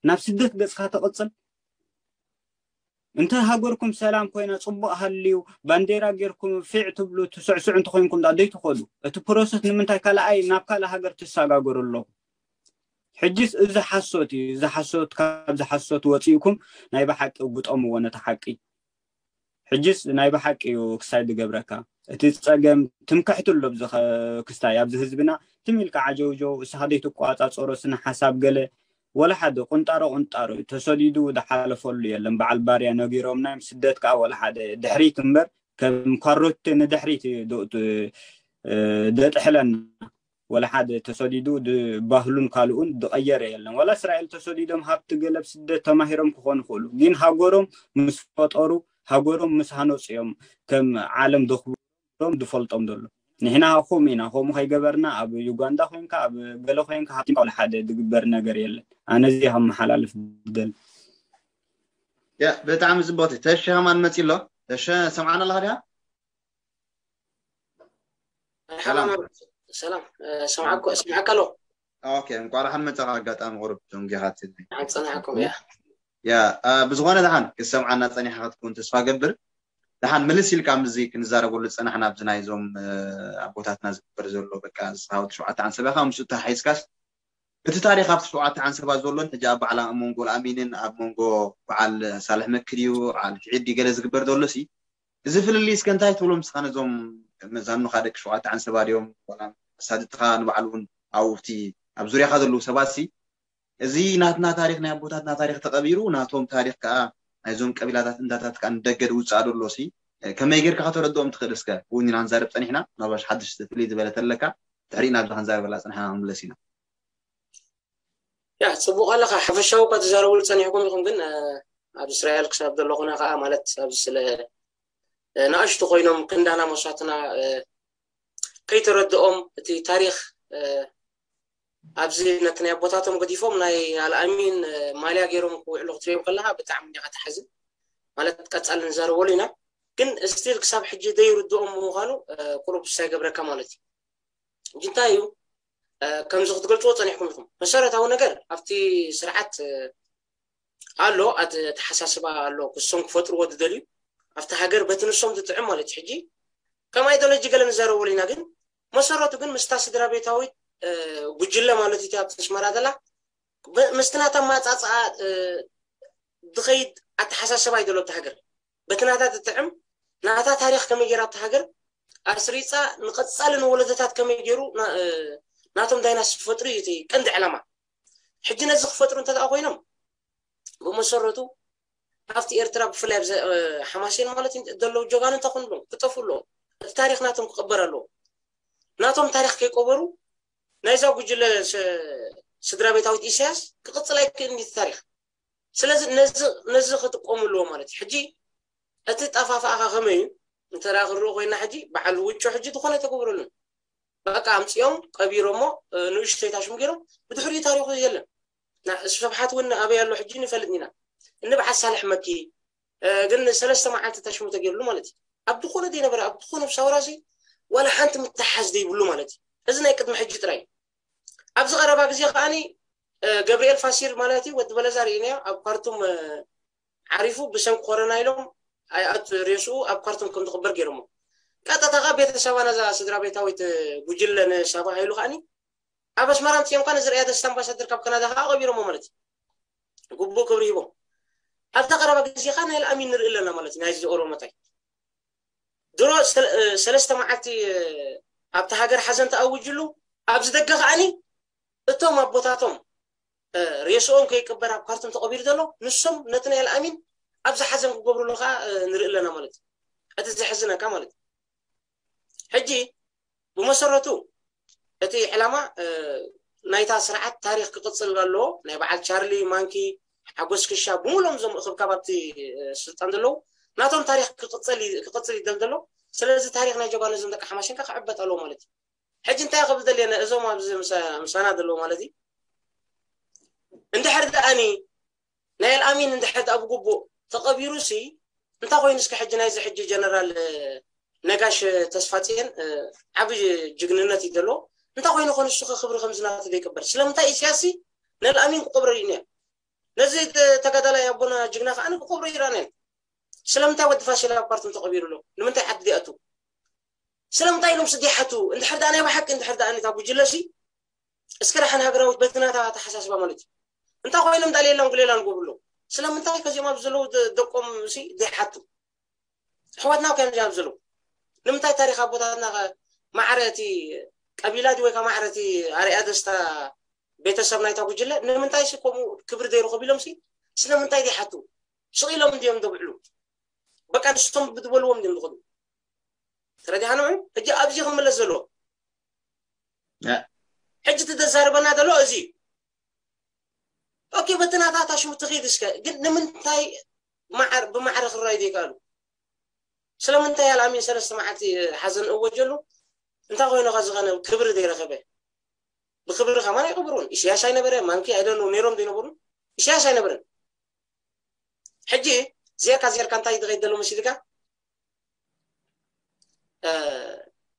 ናብ ስደት ገጽካ ትቕጽል? እንተ ሃገርኩም ሰላም ኮይና ጽቡቕ ሃልዩ፣ ባንዴራ ጌርኩም ፊዕ ትብሉ ትስዕስዑ እንተኾይንኩም ዳ ደይ ትኸዱ? እቲ ፕሮሰስ ንምንታይ ካልኣይ ናብ ካልእ ሃገር ትሰጋገሩ ኣለኹም? ሕጅስ እዚ ሓሶት እዩ። እዚ ሓሶት፣ ካብዚ ሓሶት ወጺእኩም ናይ ብሓቂ ግጠምዎ ነቲ ሓቂ። ሕጅስ ናይ ብሓቂ እዩ ክሳይ ዝገብረካ። እቲ ጸገም ትምክሕቲ ኣሎ ኣብዚ ኸ-፣ ክስታይ ኣብዚ ህዝብና ትም ኢልካ ዓጀውጀው፣ እስኻ ዘይትቋጻጸሮ ስነ ሓሳብ ገለ፣ ወላ ሓደ ቁንጣሮ ቁንጣሮ እዩ። ተሰዲዱ ዝሓለፈሉ የለን። በዓል ባርያ ነጊሮምና እዮም። ስደት ከኣ ወላ ሓደ ድሕሪት እምበር ከም ካሮቴ ንድሕሪት እዩ ዶ-፣ እ፣ ደጥሕለና። ወላ ሓደ ተሰዲዱ ድ-፣ ባህሉን ካልኡን ዝቐየረ የለን። ወላ እስራኤል ተሰዲዶም ሃብቲ ገለብ ስደት ተማሂሮም ክኾኑ ይኽእሉ። ግን ሃገሮም ምስ ፈጠሩ፣ ሃገሮም ምስ ሃነጹ እዮም ከም ዓለም ዘኽብሮም ዝፈልጦም ዘሎ። ንሕና ከምኡ ኢና። ከምኡ ከይገበርና ኣብ ዩጋንዳ ኮይንካ፣ ኣብ ገለ ኮይንካ ሃብቲ ወላ ሓደ ዝግበር ነገር የለን። ኣነ እዚ ከመሓላልፍ ዝደሊ። ያ፣ ብጣዕሚ ጽቡቕቲ። ተሸ ከማን መጺ ኣሎ። ተሸ፣ ሰምዓና ኣለኻ ድያ? መርሓባ ሰላም። መም-፣ ሰላም። እ፣ ሰምዓኩ-፣ ሰምዓካ ኣሎ። ኦኬ፣ እንቋዕ ደሓን መጻኻ። ኣጋጣሚ ቁሩብ ደንጊኻ ትህልኒ። ደሓን ጸናሕኩም፣ ያ። ያ፣ እ፣ ብዝኾነ ደሓን ክትሰምዓና ጸኒሕካ ክትከውን ተስፋ ገብር። ደሓን ምልስ ኢልካ ምስዚ ክንዛረበሉ ዝጸናሕና ኣብዚ ናይዞም፣ እ፣ ኣቦታትና ዝግበር ዘሎ በቃ ዝሓወት ሸውዓተ ዓንሰባ ኢኻ ምስኡ ተሓሒዝካስ እቲ ታሪኽ ኣብቲ ሸውዓተ ዓንሰባ ዘሎን ሕጂ ኣብ በዓል ኣሞንጎ ኣልኣሚንን ኣብ መንጎ በዓል ሳልሕ መክድ እዩ፣ በዓል ኪዒድ እዩ ገለ ዝግበር ዘሎሲ፣ እዚ ፍልልይ እስከ እንታይ ትብሎ ምስኻ ነዞም መዛኑኻ ደቂ ሸውዓተ ዓንሰባ ድዮም? ዋላ ኣሳድትኻ ንባዕሉ እውን ኣብኡ ኣብቲ ኣብ ዙርያኻ ዘለዉ ሰባትሲ፣ እዚ ናትና ታሪኽ ናይ ኣቦታትና ታሪኽ ተቐቢሩ፣ ናቶም ታሪኽ ከኣ ናይዞም ቀቢላታት እንዳታት ከኣ ንደገ ዝውጽኣ ዘሎሲ፣ ከመይ ጌርካ ከተረድኦም ትኽእል? እስከ እውን ኢና ክንዛረብ ጸኒሕና፣ ናባሽ ሓድሽ ፍልይ ዝበለ ተለካ፣ ድሕሪኡ ናብዚ ክንዛረበላ ጸኒሕና ክንምለስ ኢና። ያ፣ ጽቡቕ ኣለኻ። ሓፈሻዊ እኳ ትዛረቡሉ ጸኒሕኩም ኢኹም፣ ግን፣ እ፣ ኣብ እስራኤል ክሳብ ዘለኹና ከኣ፣ ማለት፣ ኣብዚ ስለ፣ እ፣ ንኣሽቱ ኮይኖም ክንዳና መስዋእትና፣ እ፣ ከይተረድኦም እቲ ታሪኽ፣ እ፣ ኣብዚ ነቲ ናይ ኣቦታቶም ገዲፎም ናይ ኣልኣሚን፣ እ፣ ማልያ ገይሮም ክውዕሉ ክትሪኦም ከለኻ ብጣዕሚ ኢኻ ትሓዝን። ማለት፣ ቀጻሊ ንዛረበሉ ኢና። ግን ስቲል ክሳብ ሕጂ ዘይርድኦም ብምዃኑ፣ እ፣ ቁሩብ ሳይገብረካ ማለት እዩ። ሕጂ እንታይ እዩ፣ እ፣ ከምዚ ክትገልጽዎ ጸኒሕኩም ኢኹም። መሰረታዊ ነገር ኣብቲ ስርዓት፣ እ፣ ኣሎ፣ ኣት-፣ ኣተሓሳስባ ኣሎ፣ ክሶም ክፈጥርዎ ዝደልዩ፣ ኣብቲ ሃገር በቲ ንሶም ዝጥዕም ማለት እዩ። ሕጂ ከም ኣይዲዮሎጂ ገለ ንዛረበሉ ኢና፣ ግን መሰረቱ ግን ምስታ ስድራ ቤታዊት፣ እ፣ ጉጅለ ማለት እዩ ኣብቲ ኣስመራ ዘላ፣ ብ-፣ ምስቲ ናታ ኣመጻጽኣ፣ እ፣ ዝኸይድ ኣተሓሳስባ እዩ ዘሎ ኣብቲ ሃገር። በቲ ናታ ዝጥዕም፣ ናታ ታሪኽ ከመይ ገይራ ኣብቲ ሃገር ኣስሪጻ ንቐጻሊ ንወለዶታት ከመይ ገይሩ ና-፣ እ፣ ናቶም ዳይናስቲ ክፈጥሩ እዩ እቲ ቀንዲ ዕላማ። ሕጂ ነዚ ክፈጥሩ እንተ ደኣ ኮይኖም፣ ብመሰረቱ ኣብቲ ኤርትራ ብፍላይ ኣብ ዘ-፣ እ፣ ሓማሴን ማለት እዩ ዘለዉ ጀጋኑ እንታይ ክኾኑ ኣለዎም? ክጠፍኡ ኣለዎም። እቲ ታሪኽ ናቶም ክቕበር ኣለዎ። ናቶም ታሪኽ ከይቀበሩ ናይዛ ጉጅለ ስ-፣ ስድራ ቤታዊት ኢሳያስ ክቕጽል ኣይክእልን እዩ እቲ ታሪኽ። ስለዚ ነዚ፣ ነዚ ክጥቀሙ ኣለዎ ማለት እዩ። ሕጂ እቲ ጠፋፍኣኻ ከመይ እዩ? እንተ ደኣ ክንሪኦ ኮይና ሕጂ በዓል ውጮ ሕጂ ዝኾነ ኣይተገብረሉን። በቃ ኣምጺኦም ቀቢሮሞ፣ እ፣ ንእሽተይ ታሽሙ ገይሮም ብድሕሪኡ ታሪኹ የለን። ና-፣ ስብሓት እውን ኣበይ ኣሎ ሕጂ ንፈልጥ ኢና። እኒ በዓል ሳልሕ መኪ፣ እ፣ ግን ሰለስተ መዓልቲ ታሽሙ ተገይሩሉ ማለት እዩ። ኣብ ዝኾነ ዘይነበረ፣ ኣብ ዝኾነ ሳውራሲ ዋላ ሓንቲ ምትሓዝ ዘይብሉ ማለት እዩ። እዚ ናይ ቅድሚ ሕጂ ጥራይ እዩ። ኣብዚ ቀረባ ግዜ ከኣኒ፣ እ፣ ገብርኤል ፋሲል ማለት እዩ፣ ወዲ በለዛ ርኢናዮ፣ ኣብ ካርቱም፣ እ፣ ዓሪፉ ብሰንኪ ኮረና ኢሎም ኣይኣት ሬስኡ ኣብ ካርቱም ከም ዝቕበር ገይሮሞ። ቀጥታ ከኣ ቤተሰባ ነዛ ስድራ ቤታዊት፣ እ፣ ጉጅለ ንሳባ ሃይሉ ከኣኒ ኣብ ኣስመራ ኣምጺኦም ከኣ ንዝርኣያ ደስታ ኣምባሳደር ካብ ካናዳ ከኣ ቀቢሮሞ ማለት እዩ። ግቡእ ክብሪ ሂቦም። ኣብታ ቀረባ ግዜ ከ ናይ ኣልኣሚን ንርኢ ኣለና ማለት እዩ። ናይዚ ኦሮሞታይ ድሮ ሰለ- እ፣ ሰለስተ መዓልቲ እ፣ ኣብታ ሃገር ሓዘን ተኣውጅሉ ኣብዚ ደገ ከኣኒ እቶም ኣቦታቶም እ፣ ሬስኦም ከይቅበር ኣብ ካርቱም ተቐቢሩ ዘሎ ንሶም ነቲ ናይ ኣልኣሚን ኣብዚ ሓዘን ክገብሩሉ ከኣ እ፣ ንርኢ ኣለና ማለት እዩ። እቲ ዘሕዝነካ ማለት እዩ። ሕጂ ብመሰረቱ እቲ ዕላማ እ፣ ናይታ ስርዓት ታሪክ ክቅፅል ኣለዎ። ናይ በዓል ቻርሊ ማንኪ ሓጎስ ክሻ ብምሎም እዞም እክብካብ ኣብቲ እ፣ ስልጣን ዘለዉ ናቶም ታሪክ ክቅፅል ይ- ክቅፅል ይደል ዘሎ። ስለዚ ታሪክ ናይ ጀጋኑ እዞም ደቂ ሓማሽንካ ክዕበት ኣለዎ ማለት እዩ። ሕጂ እንታይ ክብል ደልየነ እዞም ኣብዚ ምሳ- ምሳና ዘለዉ ማለት እዩ። እንድሕር ደኣኒ ናይ ኣልኣሚን እንድሕር ደኣ ብግቡእ ተቐቢሩ ሲ እንታይ ኮይኑ እስከ ሕጂ ናይዚ ሕጂ ጀነራል እ፣ ነጋሽ ተስፋጽዮን እ፣ ዓቢ ጅግንነት እዩ ዘለዎ። እንታይ ኮይኑ ኮን እሱ ክብሪ ከምዚ ናቱ ዘይቅበር? ስለምንታይ ኢሳያስ ሲ ንኣልኣሚን ክቆብሮ እዩ ነያ? ነዚ ተ- ተጋዳላይ ኣቦና ጅግና ከኣ ክቆብሮ ይራነን። ስለምንታይ ወዲ ፋሲል ኣብ ካርቱም ተቐቢሩ ኣሎ? ንምንታይ ዓዲ ዲኣቱ? ስለምንታይ ኢሎም ስዲ ሓቱ? እንድሕር ደኣ ናይ ብሓቂ እንድሕር ደኣ ነታ ጉጅለ ሲ እስከ ደሓን ሃገራዊት በቲ ናታ ኣተሓሳስባ ማለት እዩ። እንታይ ኮይኖም ዳልየላን ጉሌላን ጎብሎ? ስለምንታይ ከዚኦም ኣብ ዘለዉ ደ- ደቆም ሲ ዘይሓቱ? ኣሕዋትና ከ እዮም ኣብ ዘለዉ? ንምንታይ ታሪክ ኣቦታትና ከ ማዕረ እቲ ቀቢላ ድዩ ወይ ከ ማዕረ እቲ ኣርያ ደስታ ቤተሰብ ናይታ ጉጅለ ንምንታይ ሲ ከምኡ ክብሪ ዘይረኸቡ ኢሎም ሲ ስለምንታይ ዘይሓቱ? ስቕ ኢሎም እንዲዮም ደብዕሉ? በቃ ንሶም ብዝበልዎም እንዲዮም ዝኸዱ። ተረዲኻ ንዑ? ሕጂ ኣብዚ ክምለስ ዘለዎ ሕጂ ትተዛረበና ዘሎ እዚ እዩ። ኦኬ በቲ ናታታ ሽሙ ትኺድ እስከ ግን ንምንታይ ማዕር ብማዕረ ክረኣዩ ዘይከኣሉ? ስለምንታይ ኣልኣሚን ሰለስተ መዓልቲ ሓዘን እወጀሉ እንታይ ኮይኑኻ ዝኸነ ክብሪ ዘይረኸበ? ብክብሪ ከማን ኣይቀብሩን። ኢሳያስ ኣይነበረ ማንኪ ኣይደኑ ነይሮም ዘይነበሩ ኢሳያስ ኣይነበረን። ሕጂ ዜርካ ዜርካ እንታይ ዝኸይድ ዘሎ መሲልካ?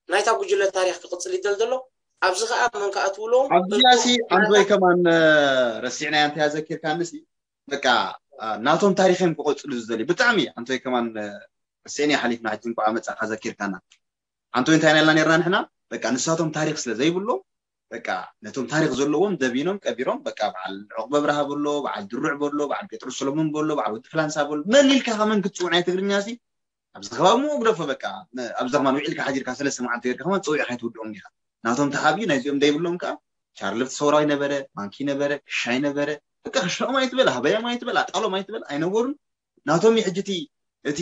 ናይታ ጉጅለ ታሪክ ክቕፅል ይደል ዘሎ ኣብዚ ከዓ መን ከዓ ትብሎም ኣብዚኣ ሲ ኣንቶይ ከማን ረሲዕናያ እንታይ ኣዘኪርካኒ ሲ በቃ ናቶም ታሪክ እዮም ክቐፅሉ ዝደልዩ ብጣዕሚ ኣንቶይ ከማን ረሲዕናያ ሓሊፍና ሕጂ እንኳዓ መፃእካ ዘኪርካና ኣንቶይ እንታይ ናልና ነርና ንሕና በቃ ንሳቶም ታሪክ ስለ ዘይብሎም በቃ ነቶም ታሪክ ዘለዎም ደቢኖም ቀቢሮም በቃ በዓል ዑቕበ ብርሃ በሎ በዓል ድሩዕ በሎ በዓል ጴጥሮስ ሰሎሞን በሎ በዓል ወዲ ፍላንሳ በሎ መን ኢልካ ከመን ክትፅውዕ ናይ ትግርኛ ሲ ኣብዚ ከባቢ ሞ ግደፎ በቃ ኣብዚ ከማን ውዒልካ ሓዲርካ ሰለስተ መዓልቲ ጌርካ ከማን ፀዊዕካ ኣይትውድኦም ዲኻ ናቶም ተሓብዩ ናይዚኦም ደይብሎም ከዓ ቻርልፍት ሰውራዊ ነበረ ማንኪ ነበረ ክሻይ ነበረ በቃ ክሻኦም ኣይትበል ሃበያም ኣይትበል ኣጣሎም ኣይትበል ኣይነበሩን ናቶም ሕጂ እቲ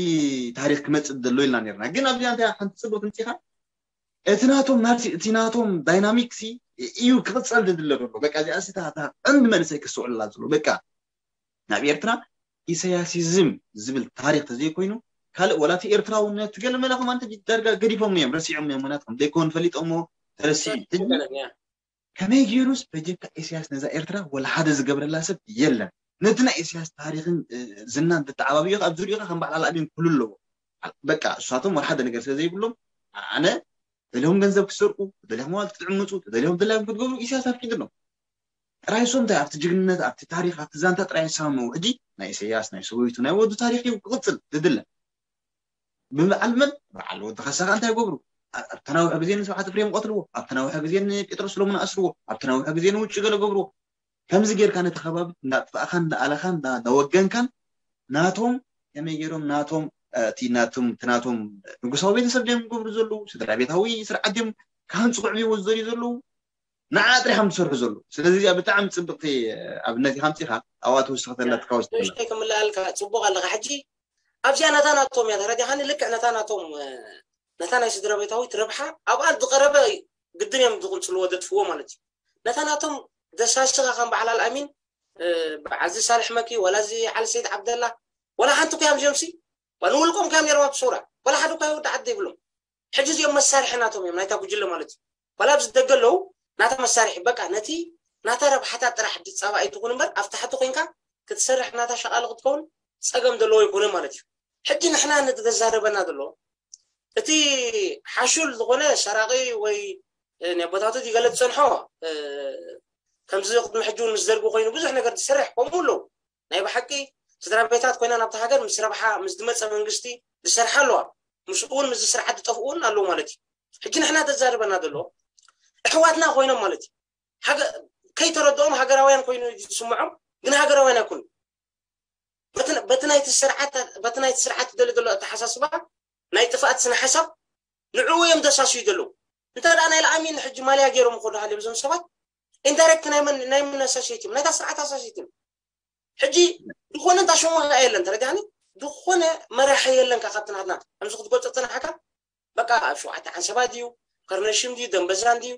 ታሪክ ክመፅእ ዘሎ ኢልና ነርና ግን ኣብዚኣ እንታይ ሓንቲ ፅቡቅ ትምፂኻ እቲ ናቶም ናርሲ እቲ ናቶም ዳይናሚክሲ እዩ ክቅፀል ዝድለ ዘሎ በቃ እዚኣ ስታ ቀንዲ መንእሰይ ክስተውዕልላ ዘሎ በቃ ናብ ኤርትራ ኢሳያሲዝም ዝብል ታሪክ ተዘይኮይኑ ካልእ ወላ እቲ ኤርትራውነት ገለ መለ ከማን ዳርጋ ገዲፎም እዮም ረሲዖም እዮም ምክንያቱ ከም ዘይኮን ፈሊጦሞ ተረሲዑ ሕጂ ከመይ ገይሩስ በጀካ ኢሳያስ ነዛ ኤርትራ ወላ ሓደ ዝገብረላ ሰብ የለን ነቲ ናይ ኢሳያስ ታሪክን ዝናን ተተዓባቢኡ ኣብ ዙሪኡ ከም በዓል ኣልኣሚን ክህሉ ኣለዎ በቃ እሳቶም ወላ ሓደ ነገር ስለ ዘይብሎም ኣነ ደልዮም ገንዘብ ክሰርቁ ደልዮም ዋል ክትዕምፁ ደልዮም ድላዮም ክትገብሩ ኢሳያስ ኣፍቂድሎም ጥራይ እሶም እንታይ ኣብቲ ጅግንነት ኣብቲ ታሪክ ኣብቲ ዛንታ ጥራይ ይሰማምዑ ሕጂ ናይ ኢሳያስ ናይ ሰበይቱ ናይ ወዱ ታሪክ እዩ ክቅፅል ዝድለ ብበዓል መን በዓል ወዲ ካሳ ከ እንታይ ይገብሩ ኣብ ተናውሐ ግዜ ንስብሓት ፍሬም ቀትልዎ ኣብ ተናውሐ ግዜ ንጴጥሮስ ሎሙን ኣስርዎ ኣብ ተናውሐ ግዜ ንውጭ ገለ ገብርዎ ከምዚ ጌርካ ነቲ ከባቢ እንዳጥፋእካን እንዳኣለኻን እንዳወገንካን ናቶም ከመይ ገይሮም ናቶም እቲ ናቶም እቲ ናቶም ንጉሳዊ ቤተሰብ ድዮም ዝገብሩ ዘለዉ ስድራ ቤታዊ ስርዓት ድዮም ክሃንፁ ክዕብይዎ ዝደልዩ ዘለዉ ንዓ ጥሪሖም ዝሰርሑ ዘለዉ ስለዚ እዚኣ ብጣዕሚ ፅብቅቲ ኣብነት ኢካ ምፅኢካ ኣብኣ ተወስኸተላ ትካወስ ንእሽተይ ክምልኣልካ ፅቡቅ ኣለካ ሕጂ ኣብዚኣ ነታ ናቶም እያ ተረዲኻኒ ልክዕ ነታ ናቶም ነታ ናይ ስድራ ቤታዊት ረብሓ ኣብኣ ዝቀረበ ግድን እዮም ዝቅልፅልዎ ዘጥፍዎ ማለት እዩ ነታ ናቶም ደሳስኻ ከም በዓል ኣልኣሚን በዓል እዚ ሳልሕ መኪ ወላ እዚ ዓሊ ሰይድ ዓብደላ ወላ ሓንቲ ኮያም እዚኦም ሲ ንውልቆም ኮያም ነይሮም ኣብቲ ሰውራ ወላ ሓደ ኮያ ወዲ ዓዲ ይብሎም ሕጂ እዚኦም መሳርሒ ናቶም እዮም ናይታ ጉጅለ ማለት እዩ ዋላ ኣብዚ ደገ ኣለዉ ናታ መሳርሒ በቃ ነቲ ናታ ረብሓታት ጥራሕ ድፃባ ኣይትኹን እምበር ኣብ ታሕቲ ኮንካ ክትሰርሕ ናታ ሸቃሊ ክትከውን ፀገም ዘለዎ ኣይኮነ ማለት እዩ ሕጂ ንሕና ንተዛረበና ዘሎ እቲ ሓሹል ዝኾነ ሰራቂ ወይ ናይ ቦታቱ ይገለፅ ፀንሖ ከምዚ ቅድሚ ሕጂ እውን ምስ ደርጊ ኮይኑ ብዙሕ ነገር ዝሰርሕ ከምኡ ኣለዉ ናይ ብሓቂ ስድራ ቤታት ኮይና ናብቲ ሃገር ምስ ረብሓ ምስ ዝመፀ መንግስቲ ዝሰርሓ ኣለዋ ምስኡ እውን ምስ ስርዓት ዝጠፍኡ እውን ኣለዉ ማለት እዩ ሕጂ ንሕና ተዛርበና ዘሎ ኣሕዋትና ኮይኖም ማለት እዩ ከይተረድኦም ሃገራውያን ኮይኑ ዝስምዖም ግን ሃገራውያን ኣይኮኑ በቲ በቲ ናይቲ ስርዓት በቲ ናይቲ ስርዓት ደሊ ዘሎ ኣተሓሳስባ ናይ ጥፍኣት ስነ ሓሳብ ንዕኡ እዮም ዘሳስዩ ዘለዉ። እንተ ደኣ ናይ ለኣሚን ሕጂ ማልያ ገይሮም ይኸዱ ሃልዮም እዞም ሰባት ኢንዳይሬክት ናይ መን ናይ መን ኣሳሽየት እዮም ናይታ ስርዓት ኣሳሽየት እዮም። ሕጂ ዝኾነ እንታ ሽሙ ከኣ የለን ተረዲኣኒ። ዝኾነ መራሒ የለን ከ ካብቲ ናትና ከምዚ ክትገልጾ ተናሓካ በቃ ኣብ ሸውዓተ ዓንሰባ ድዩ ከርነሽም ድዩ ደንበዛን ድዩ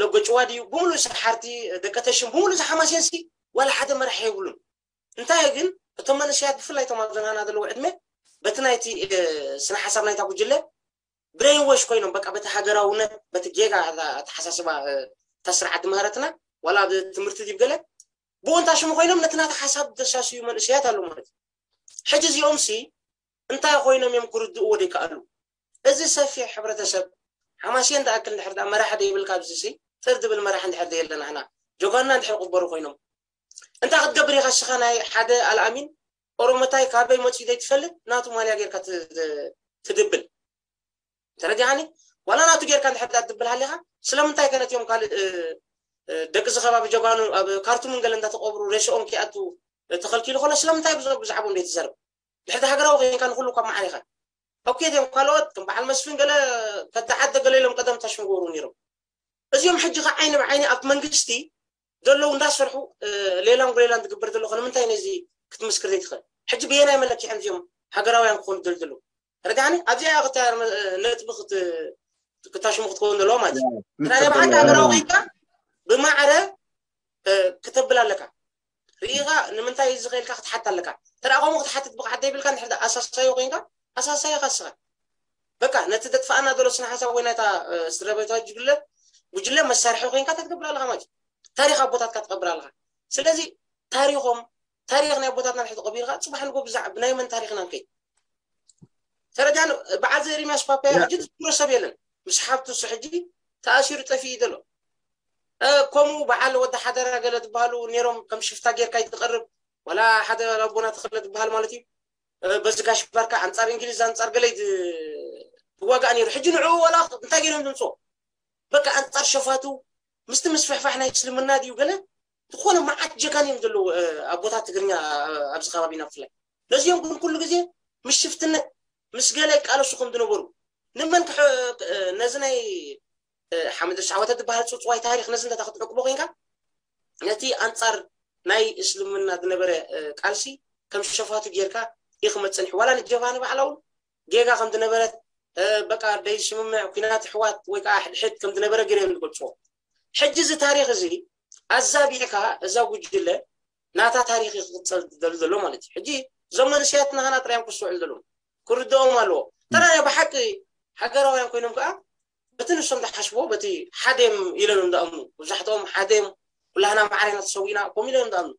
ለጎጭዋ ድዩ ብምሉእ ሰሓርቲ ደቀተሽም ብምሉእ ዝሓማሴንሲ ዋላ ሓደ መራሒ የብሉን። እንታይ ግን እቶም መንእሰያት ብፍላይ እቶም ኣብ ዘናና ዘለዉ ዕድመ በቲ ናይቲ ስነ ሓሳብ ናይታ ጉጅለ ብሬንወሽ ኮይኖም በቃ በቲ ሃገራውነት በቲ ጌጋ ኣተሓሳስባ እታ ስርዓት ድምህረትና ዋላ ኣብ ትምህርቲ ድዩ ገለ ብኡ እንታ ሽሙ ኮይኖም ነቲ ናቲ ሓሳብ ዘሳስዩ መንእሰያት ኣለዉ ማለት እዩ። ሕጂ እዚኦም ሲ እንታይ ኮይኖም እዮም ክርድእዎ ዘይከኣሉ? እዚ ሰፊሕ ሕብረተሰብ ሓማሴን ዝኣክል እንድሕር ደኣ መራሒ ዘይብልካ ኣብዚ ሲ ጥር ዝብል መራሒ እንድሕር ዘየለ ናህና ጆጋና እንድሕር ቅበሩ ኮይኖም እንታይ ክትገብር ኢኻ እስኻ ናይ ሓደ ኣልኣሚን ኦሮሞታይ ካበይ መፅኡ ዘይትፈልጥ ናቱ ማልያ ጌርካ ትድብል ተረዲኻኒ ዋላ ናቱ ጌርካ እንድሕር ደኣ ትድብል ሃሊኻ ስለምንታይ ከ ነቲኦም ካልእ ደቂ እዚ ከባቢ ጀጋኑ ኣብ ካርቱምን ገለ እንዳተቀብሩ ሬስኦም ኪኣቱ ተኸልኪሉ ከሎ ስለምንታይ ብዛዕቦም ዘይትዘርብ ድሕርቲ ሃገራዊ ኮይንካ ንኩሉ ካብ መዓር ኢኻ ኦኬ እዮም ካልኦት ከም በዓል መስፍን ገለ ከተዓደ ገለ ኢሎም ቀደም ታሽም ገብሩ ነይሮም እዚኦም ሕጂ ከ ዓይኒ ብዓይኒ ኣብ መንግስቲ ዘለዉ እንዳሰርሑ ሌላን ጉሌላን ትግበር ዘሎ ከ ንምንታይ ነዚ ክትምስክር ዘይትኽእል ሕጂ ብየናይ መለኪዖም እዚኦም ሃገራውያን ክኾኑ ደልድሉ ርዳኒ ኣብዚኣ ክታ ነጥቢ ክታሽሙ ክትከውን ዘለዋ ማለት እዩ ናይ ብሓቂ ሃገራዊ ኮይንካ ብማዕረ ክተብል ኣለካ ርኢኻ ንምንታይ እዚ ከኢልካ ክትሓት ኣለካ ተደኣ ከምኡ ክትሓትት ብቕዓት ዘይብልካ እንድሕር ኣሳሳዮ ኮይንካ ኣሳሳዮ ካስኻ በቃ ነቲ ዘጥፋኣና ዘሎ ስነ ሓሳብ ወይ ናይታ ስድራቤታዊ ጉጅለ ጉጅለ መሳርሒ ኮይንካ ተትገብር ኣለካ ማለት እዩ ታሪክ ኣቦታትካ ትቀብር ኣለካ ስለዚ ታሪኮም ታሪክ ናይ ኣቦታትና ንሕቲ ቀቢርካ ፅባሕ ንጎ ብዛዕ ብናይ መን ታሪክና ንከይድ ተረዳን በዓል ዘ ኤርሚያስ ፓፓያ ሕጂ ዝዝክሮ ሰብ የለን ምስ ሓብቱ እሱ ሕጂ ተኣሲሩ ጠፊኡ ዘሎ ከምኡ በዓል ወዲ ሓደራ ገለ ዝበሃሉ ነይሮም ከም ሽፍታ ጌርካ ይትቐርብ ወላ ሓደ ኣቦና ተኽለ ዝበሃል ማለት እዩ በዚ ጋሽ ባርካ ኣንጻር እንግሊዝ ኣንጻር ገለ ይዋጋእ ነይሩ ሕጂ ንዕኡ ወላ እንታይ ገይሮም ዝምፅኦ በቃ ኣንጻር ሸፋቱ ምስቲ ምስፍሕፋሕ ናይ እስልምና ድዩ ገለ ዝኾነ መዓት ጀጋን እዮም ዘለዉ ኣቦታት ትግርኛ ኣብዚ ከባቢና ብፍላይ ነዚኦም ግን ኩሉ ግዜ ምስ ሽፍትነት ምስ ገለ ይቃለሱ ከም ዝነበሩ ንመን ነዚ ናይ ሓመድ ሻወተ ዝበሃል ፅፅዋይ ታሪክ ነዚ እንተ ክትዕቅቦ ኮይንካ ነቲ ኣንፃር ናይ እስልምና ዝነበረ ቃልሲ ከም ሸፋቱ ጌርካ ኢኽመፅንሕ ዋላ ንጀብሃ ንባዕላ እውን ጌጋ ከም ዝነበረት በቃ ደይ ስምምዕ ኩናት ኣሕዋት ወይ ከዓ ሕድሕድ ከም ዝነበረ ገይሮም ዝገልፅዎ ሕጂ እዚ ታሪክ እዚ ኣዛቢዕካ እዛ ጉጅለ ናታ ታሪክ ክቅፀል ዝደሊ ዘሎ ማለት እዩ ሕጂ እዞም መንስያትና ሃና ጥራዮም ክስውዕል ዘለዎም ክርድኦም ኣለዎ ተራ ናይ ብሓቂ ሃገራውያን ኮይኖም ከዓ በቲ ንሶም ዝሓስቦ በቲ ሓደም ኢለኖም ዝኣምኑ መብዛሕትኦም ሓደም ኩላህና ማዕረ ኢና ተሰዊእና ከምኡ ኢለኖም ዝኣምኑ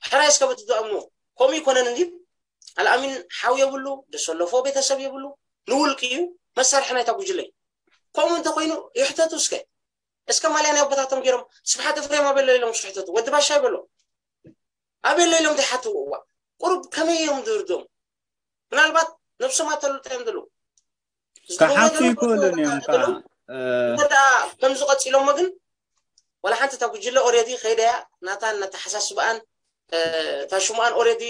ሕራይ እስከ በቲ ዝኣምኑ ከምኡ ይኮነን እንዲ ኣልኣሚን ሓው የብሉ ደሰለፎ ቤተሰብ የብሉ ንውልቂ እዩ መሳርሒ ናይታ ጉጅለ እዩ ከምኡ እንተኮይኑ ይሕተቱ እስከ እስከ ማልያ ናይ ኣቦታቶም ገይሮም ስብሓት እፍሬም ኣበሎ ኢሎም ዝሕተቱ ወዲ ባሻ ይበሎ ኣበሎ ኢሎም ዘይሓትዎ እዋ ቁሩብ ከመይ እዮም ዝርድኦም ምናልባት ነብሶም ኣተልጦ እዮም ዘለዉ ክሓቱ ይክእሉን እዮም ከዓ እንተ ደኣ ከምዚ ቀፂሎሞ ግን ዋላ ሓንቲ እታ ጉጅለ ኦሬዲ ከይደያ ናታን ነተሓሳስበኣን እታ ሽሙኣን ኦሬዲ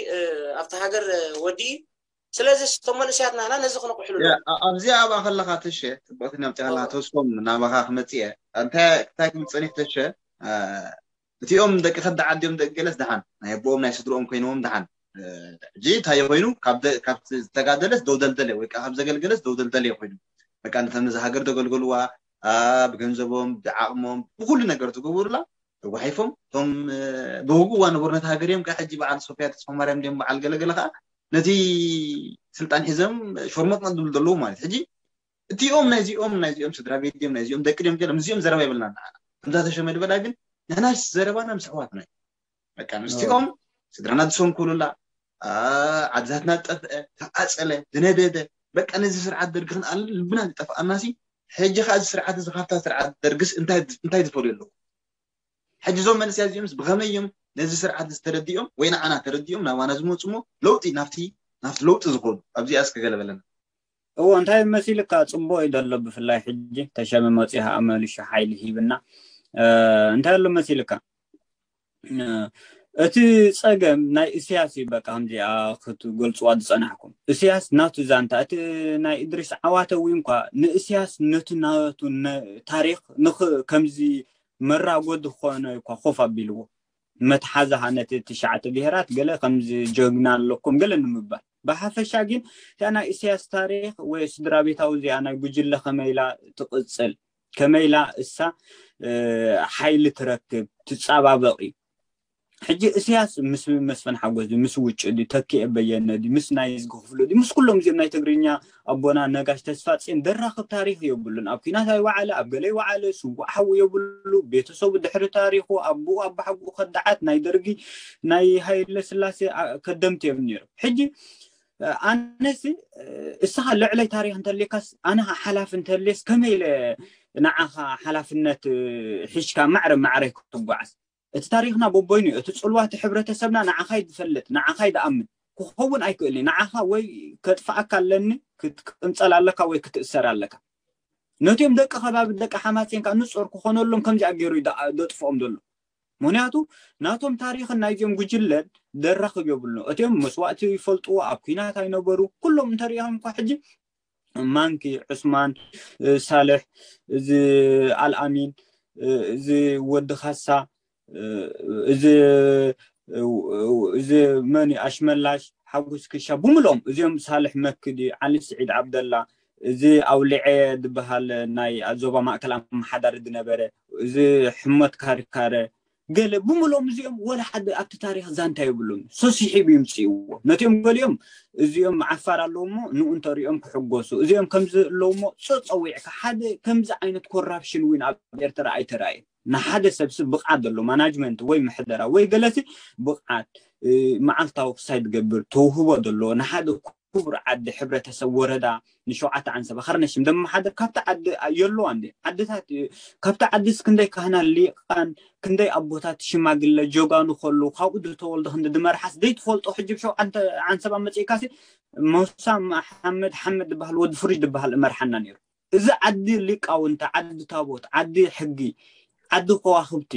ኣብቲ ሃገር ወዲኡ ስለዚ እቶም መንእሰያት ናህና ነዚ ክነቁሕሉ ኣለዎ ኣብዚኣ ኣብኣ ከለካ ተሸ ፅቡቅቲ ነምፅኣላ ተስፎም ናባካ ክመፅእ እየ እንታይ እንታይ ክብል ፀኒሕ ተሸ እቲኦም ደቂ ከዲ ዓዲኦም ደቂ ገለስ ደሓን ናይ ኣቦኦም ናይ ስድርኦም ኮይኖም ደሓን ሕጂ እንታይ ኮይኑ ካብ ዝተጋደለስ ደውደልደለ ወይ ካብ ዘገልገለስ ደውደልደለ ኮይኑ በቃ ነተም ነዚ ሃገር ዘገልገልዋ ብገንዘቦም ብዓቕሞም ብኩሉ ነገር ዝገበሩላ ተጓሒፎም እቶም ብውግዋ ነበሩ ነቲ ሃገር እዮም ከዓ ሕጂ በዓል ሶፍያ ተስፋ ማርያም ድዮም በዓል ገለገለ ከዓ ነቲ ስልጣን ሒዞም ሾርመጥመጥ ዝብሉ ዘለዉ ማለት ሕጂ እቲኦም ናይዚኦም ናይዚኦም ስድራ ቤት ድዮም ናይዚኦም ደቂ ድዮም ገለ ምስዚኦም ዘረባ ይብልና ንዓና ከምዛ ተሸመ ዝበላ ግን ንሕና ዘረባና ምስ ኣሕዋትና እዩ ደቂ ኣንስቲኦም ስድራና ዝሰንኩሉላ ዓድታትና ዝጠፍአ ተቃፀለ ዝነደደ በቃ ነዚ ስርዓት ደርጊ ክንኣልን ልብና ዝጠፍኣና ሲ ሕጂ ከዓ እዚ ስርዓት እዚ ካብታ ስርዓት ደርግስ እንታይ ዝፈልዩ ኣለዉ ሕጂ እዞም መንእሰያት እዚኦምስ ብኸመይ እዮም ነዚ ስርዓት ዝተረዲኦም ወይ ንዓና ተረዲኦም ናባና ዝመፁ እሞ ለውጢ ናብቲ ናብቲ ለውጢ ዝኾኑ ኣብዚኣ እስከ ገለ በለና እዎ እንታይ መሲልካ ፅቡቅ እዩ ዘሎ ብፍላይ ሕጂ ተሸመ መፂኡ ከዓ መሊሹ ሓይሊ ሂብና እንታይ ኣሎ መሲልካ እቲ ጸገም ናይ እስያስ እዩ። በቃ ከምዚኣ ክትገልጽዋ ዝጸናሕኩም፣ እስያስ ናቱ ዛንታ፣ እቲ ናይ እድሪስ ዓዋተ እውን እንኳ ንእስያስ ነቲ ናቱ ታሪኽ ንኽ ከምዚ መራጎዲ ክኾነ እኳ ኮፍ ኣቢልዎ፣ መትሓዛኻ ነቲ ትሽዓተ ብሄራት ገለ ከምዚ ጀግና ኣለኩም ገለ ንምባል። ብሓፈሻ ግን እቲኣ ናይ እስያስ ታሪኽ ወይ ስድራ ቤታዊ እዚኣ ናይ ጉጅለ ከመይላ ትቕጽል፣ ከመይላ እሳ ሓይሊ ትረክብ ትጻባበቕ እዩ። ሕጂ እስያስ ምስ መስፍን ሓጎስ ድዩ፣ ምስ ውጭ ድዩ፣ ተኪኤ በየነ ድዩ፣ ምስ ናይ ዝጊ ክፍሉ ድዩ፣ ምስ ኩሎም እዚኦም ናይ ትግርኛ ኣቦና ነጋሽ ተስፋጽዮን ደራኽብ ታሪኽ የብሉን። ኣብ ኲናት ኣይወዓለ፣ ኣብ ገለ ይወዓለ፣ ስዉእ ሓዉ የብሉ። ቤተሰቡ ድሕሪ ታሪኹ ኣቦኡ ኣባሓጎኡ ከዳዓት ናይ ደርጊ ናይ ሃይለ ስላሴ ከደምቲ እዮም ነይሮም። ሕጂ ኣነሲ እስኻ ልዕለይ ታሪኽ እንተልየካስ ኣነ ሓላፊ እንተልየስ ከመይ ኢለ ንዓኻ ሓላፍነት ሒሽካ ማዕረ ማዕረ ክትጓዓዝ? እቲ ታሪኽና በቦይኑ እዩ። እቲ ጽልዋ እቲ ሕብረተሰብና ንዓኻ እዩ ዝፈልጥ፣ ንዓኻ እዩ ዝኣምን። ክኸውን ኣይክእልን እዩ። ንዓኻ ወይ ከጥፍኣካ ኣለኒ፣ ክትቅንጸል ኣለካ ወይ ክትእሰር ኣለካ። ነቲኦም ደቂ ከባቢ ደቂ ሓማሴን ከዓ ንጾር ክኾነሎም ከምዚኣ ገይሩ እዩ ደጥፍኦም ዘሎ። ምክንያቱ ናቶም ታሪኽን ናይዚኦም ጉጅለን ደራኽብ የብሉ። እቲኦም መስዋእቲ ይፈልጥዎ፣ ኣብ ኲናት ኣይነበሩ። ኩሎም እንተሪኢኹም እኳ ሕጂ ማንኪ፣ ዑስማን፣ ሳልሕ፣ እዚ ኣልኣሚን፣ እዚ ወዲ ካሳ፣ እዚ እዚ መን እዩ? ኣሽመላሽ ሓጎስ ክሻ ብምልኦም እዚኦም፣ ሳልሕ መክዲ፣ ዓሊ ስዒድ ዓብደላ፣ እዚ ኣውሊዐ ዝበሃል ናይ ዞባ ማእከል ኣመሓዳሪ ዝነበረ፣ እዚ ሕመት ካሪካረ፣ ገለ ብምልኦም እዚኦም ወላ ሓደ ኣብቲ ታሪኽ ዛንታ የብሎም። ሰሲሒብ ይምፅእዎ ነቲኦም ገሊኦም እዚኦም ዓፋር ኣለውሞ ንኡ እንተሪኦም ክሕጎሱ፣ እዚኦም ከምዚ ኣለውሞ ጸጸዊዕካ ሓደ ከምዚ ዓይነት ኮራፕሽን እውን ኣብ ኤርትራ ኣይተራእየን። ንሓደ ሰብሲ ብቕዓት ዘሎ ማናጅመንት ወይ ምሕደራ ወይ ገለሲ ብቕዓት መዓልታዊ ክሳይ ትገብር ተውህቦ ዘለዎ ንሓደ ክቡር ዓዲ ሕብረተሰብ ወረዳ ንሸውዓተ ዓንሰባ ከርነሽም ደመሓደር ካብቲ ዓዲ የለዋ እንዲ ዓድታት ካብቲ ዓዲ ክንደይ ካህና ሊቃን ክንደይ ኣቦታት ሽማግለ ጀጋኑ ከሉ ካብኡ ዝተወልዶ ክንዲ ድመርሓስ ዘይትፈልጦ ሕጂ ብሸውዓተ ዓንሰባ መፅእካሲ መውሳ መሓመድ ሓመድ ዝበሃል ወዲ ፍሩጅ ዝበሃል እመርሓና ነይሩ። እዚ ዓዲ ሊቃውንቲ፣ ዓዲ ታቦት፣ ዓዲ ሕጊ፣ ዓዲ ከዋኽብቲ።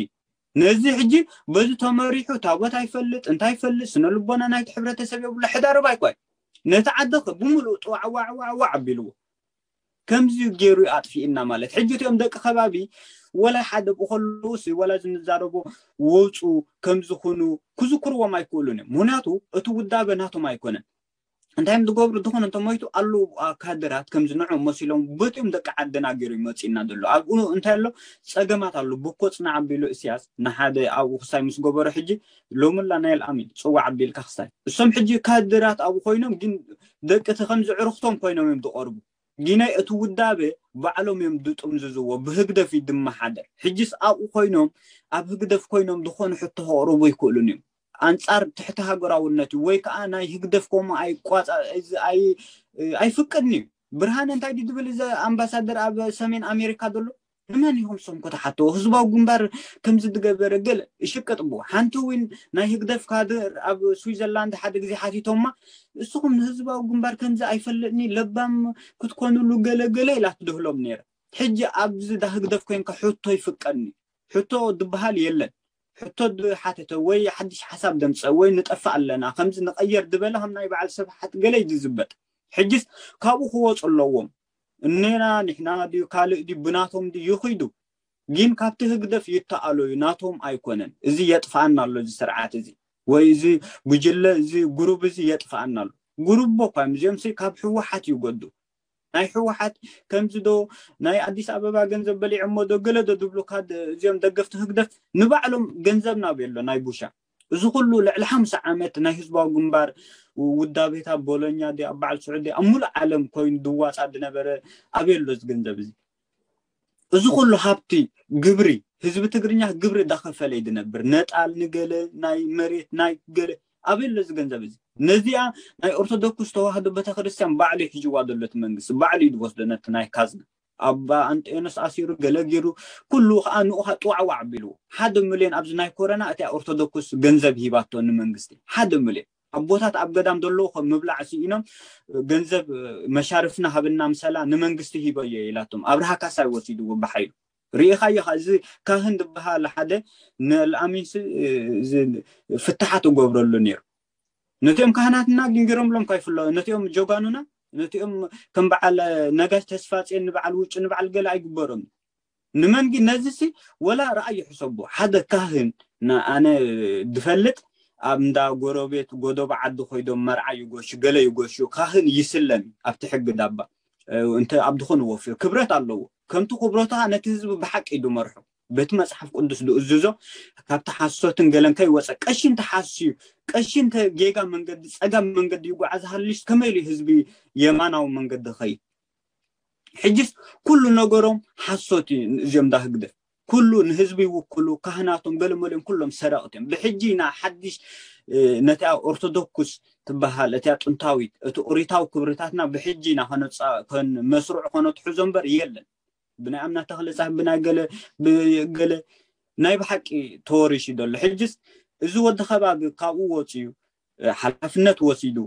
ነዚ ሕጂ በዚ ተመሪሑ ታቦት ኣይፈልጥ እንታይ ይፈልጥ ስነ ልቦና ናይቲ ሕብረተሰብ የብሉ ሕዳርብ ኣይኳይ ነቲ ዓዲ ብምሉእ ጥዋዕዋዕዋዕዋዕ ኣቢልዎ ከምዚ ገይሩ ኣጥፊእና ማለት ሕጂ እቲኦም ደቂ ከባቢ ወላ ሓደ ብከለውስ ወላ ዝንዛረቦ ወፁ ከምዝኹኑ ክዝክርዎም ኣይክእሉን እዮም። ምክንያቱ እቲ ውዳበ ናቶም ኣይኮነን። እንታይ እዮም ዝገብሩ? ዝኾነ እንተሞይቱ ኣለዉ ካድራት ከምዚ ንዑ መሲሎም በቲኦም ደቂ ዓድና ገይሩ ይመፅእና ዘሎ ኣብኡ እንታይ ኣሎ ፀገማት ኣሎ ብኮ ፅናዕ ኣቢሉ እስያስ ንሓደ ኣብኡ ክሳይ ምስ ገበሮ ሕጂ ሎምላ ናይ ኣልኣሚን ፅዋዕ ኣቢልካ ክሳይ እሶም ሕጂ ካድራት ኣብኡ ኮይኖም ግን ደቂ እቲ ከምዚ ዕርኽቶም ኮይኖም እዮም ዝቐርቡ። ግናይ እቲ ውዳበ ባዕሎም እዮም ዝጥምዝዝዎ ብህግደፍ እዩ ዝመሓደር። ሕጂስ ኣብኡ ኮይኖም ኣብ ህግደፍ ኮይኖም ዝኾነ ሕቶ ከቕርቡ ይክእሉን እዮም። ኣንጻር ትሕቲ ሃገራውነት እዩ ወይ ከዓ ናይ ህግደፍ ከምኡ ኣይቋጻ ኣይፍቅድን እዩ። ብርሃነ እንታይ ድዩ ዝብል እዚ ኣምባሳደር ኣብ ሰሜን ኣሜሪካ ዘሎ ንመን ኢኹም ሶም ከተሓተዎ ህዝባዊ ግንባር ከምዚ ዝገበረ ገለ ይሽቅጥቡ ሓንቲ እውን ናይ ህግደፍ ካድር ኣብ ስዊዘርላንድ ሓደ ግዜ ሓቲቶማ እስኹም ንህዝባዊ ግንባር ከምዚ ኣይፈልጥኒ ለባም ክትኮኑሉ ገለ ገለ ኢላ ትድህሎም ነይረ። ሕጂ ኣብዚ ዳህግደፍ ኮንካ ሕቶ ይፍቀድኒ ሕቶ ዝበሃል የለን። ሕቶ ዝሓተተ ወይ ሓድሽ ሓሳብ ደምፀ ወይ ንጠፍእ ኣለና ከምዚ ንቐየር ዝበለ ከም ናይ በዓል ስብሓት ገለ እዩ ዝዝበጥ። ሕጂስ ካብኡ ክወፁ ኣለዎም። እኔና ንሕና ድዩ ካልእ ድዩ ብናቶም ድዩ ይኽይዱ። ግን ካብቲ ህግደፍ ይተኣሎ እዩ ናቶም ኣይኮነን። እዚ የጥፍኣና ኣሎ እዚ ስርዓት እዚ ወይ እዚ ጉጅለ እዚ ጉሩብ እዚ የጥፍኣና ኣሎ። ጉሩብ እኮ እዮም እዚኦም ካብ ህወሓት ይጎዱ። ናይ ህወሓት ከምዚ ዶ ናይ ኣዲስ ኣበባ ገንዘብ በሊዖሞ ዶ ገለ ዶ ዝብሉካ እዚኦም ደገፍቲ ህግደፍ ንባዕሎም ገንዘብ ናበይ ኣሎ ናይ ቡሻ እዚ ኩሉ ልዕሊ ሓምሳ ዓመት ናይ ህዝባዊ ግንባር ውዳቤታት ቦሎኛ ዲ ኣብ በዓል ስዑዲ ኣብ ሙሉእ ዓለም ኮይኑ ድዋፃ ዝነበረ ኣበይ ኣሎ እዚ ገንዘብ እዚ? እዚ ኩሉ ሃብቲ ግብሪ ህዝቢ ትግርኛ ግብሪ ዳኸፈለ እዩ ዝነብር። ነጣል ንገለ ናይ መሬት ናይ ገለ ኣበይ ኣሎ እዚ ገንዘብ እዚ? ነዚኣ ናይ ኦርቶዶክስ ተዋህዶ ቤተክርስትያን ባዕሉ ይሕጅዋ ዘሎ እቲ መንግስቲ ባዕሉ እዩ ዝወስዶ ነቲ ናይ ካዝና ኣባ ኣንጤኖስ ኣሲሩ ገለ ገይሩ ኩሉ ከዓ ንኡ ከዓ ጥዋዕዋዕ ኣቢልዎ ሓደ ሚልዮን ኣብዚ ናይ ኮረና እቲኣ ኦርቶዶክስ ገንዘብ ሂባቶ ንመንግስቲ ሓደ ሚልዮን ኣቦታት ኣብ ገዳም ዘለዉ ከም ምብላዕ ስኢኖም ገንዘብ መሻርፍና ሃብና ምሰላ ንመንግስቲ ሂበዮ ኢላቶም ኣብርሃ ካሳይ ወሲድዎ ብሓይሉ ርኢኻዮ ኸዓ፣ እዚ ካህን ዝበሃል ሓደ ንኣልኣሚንሲ ፍትሓት እገብረሉ ነይሩ። ነቲኦም ካህናትና ግንግሮምሎም ካይፍለ ነቲኦም ጀጋኑና፣ ነቲኦም ከም በዓል ነጋሽ ተስፋ ጽዮን፣ ንበዓል ውጩ፣ ንበዓል ገለ ኣይግበሮም። ንመን ግን ነዚ ሲ ወላ ረኣይ ይሕሰቡ። ሓደ ካህን፣ ኣነ ድፈልጥ፣ ኣብ እንዳ ጎረቤት ጎደቦ ዓዲ ኮይዶም መርዓ ይጎሹ፣ ገለ ይጎሹ፣ ካህን ይስለም ኣብቲ ሕጊ ዳባ። እንተ ኣብ ድኾነ ወፍዮ ክብረት ኣለዎ። ከምቲ ክብረቱ ነቲ ህዝቢ ብሓቂ እዩ ድመርሖ። በቲ መጽሓፍ ቅዱስ ድእዝዞ፣ ካብቲ ሓሶትን ገለን ከይወጸ፣ ቀሺ እንተ ሓስዩ፣ ቀሺ እንተ ጌጋ መንገዲ፣ ጸጋም መንገዲ ይጓዓዝ ሃልዩስ፣ ከመይ ኢሉ ህዝቢ የማናዊ መንገዲ ኸይድ? ሕጅስ ኩሉ ነገሮም ሓሶት እዩ። እዚኦም ዳ ህግደፍ ኩሉ ንህዝቢ ይውክሉ፣ ካህናቶም ገለመሊኦም ኩሎም ሰረቕቲ እዮም። ብሕጂ ኢና ሓድሽ ነቲኣ ኦርቶዶክስ ትበሃል፣ እቲኣ ጥንታዊት፣ እቲ ኦሪታዊ ክብርታትና ብሕጂ ኢና ከነጻ-፣ ከን-፣ መስርዑ ከነትሕዞ እምበር የለን። ብናይ ኣምና ተኽለ ጻህ ብናይ ገለ፣ ብገለ ናይ ብሓቂ ተወሪሹ ዘሎ። ሕጅስ እዚ ወዲ ከባቢ ካብኡ ወጺኡ፣ ሓላፍነት ወሲዱ፣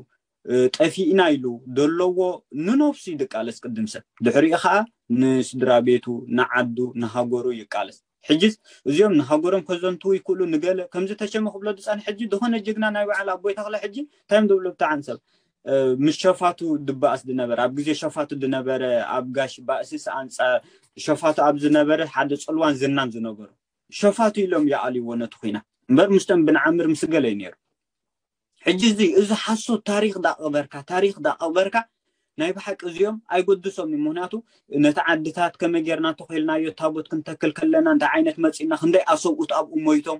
ጠፊእና ኢሉ ደለዎ ንነፍሱ ይቃለስ ቅድም ሰብ። ድሕሪኡ ኸዓ ንስድራ ቤቱ፣ ንዓዱ፣ ንሃገሩ ይቃለስ። ሕጅስ እዚኦም ንሃገሮም ከዘንትዉ ይክእሉ፣ ንገለ ከምዚ ተሸመ ክብሎ ዝጸንሕ ሕጂ፣ ዝኾነ ጅግና ናይ በዓል ኣቦይ ተኽለ ሕጂ እንታይ እዮም ዝብሉ ብጣዕሚ ሰብ፣ ምስ ሸፋቱ ድበኣስ ድነበረ፣ ኣብ ግዜ ሸፋቱ ድነበረ፣ ኣብ ጋሽ ባእስስ ኣንጻር ሸፋቱ ኣብ ዝነበረ ሓደ ጽልዋን ዝናን ዝነበሩ ሸፋቱ ኢሎም ይኣልይዎ ነቲ ኹናት። እምበር ምስቶም ብንዓምር ምስ ገለ እዩ ነይሩ። ሕጂ እዚ፣ እዚ ሓሶት ታሪኽ ዳቐበርካ፣ ታሪኽ ዳቐበርካ፣ ናይ ብሓቂ እዚኦም ኣይጎድሶም እዩ። ምኽንያቱ ነቲ ዓድታት ከመይ ጌርና እንተኾይልናዮ ታቦት ክንተክል ከለና እንታይ ዓይነት መጺእና፣ ክንደይ ኣሰብኡት ኣብኡ ሞይቶም፣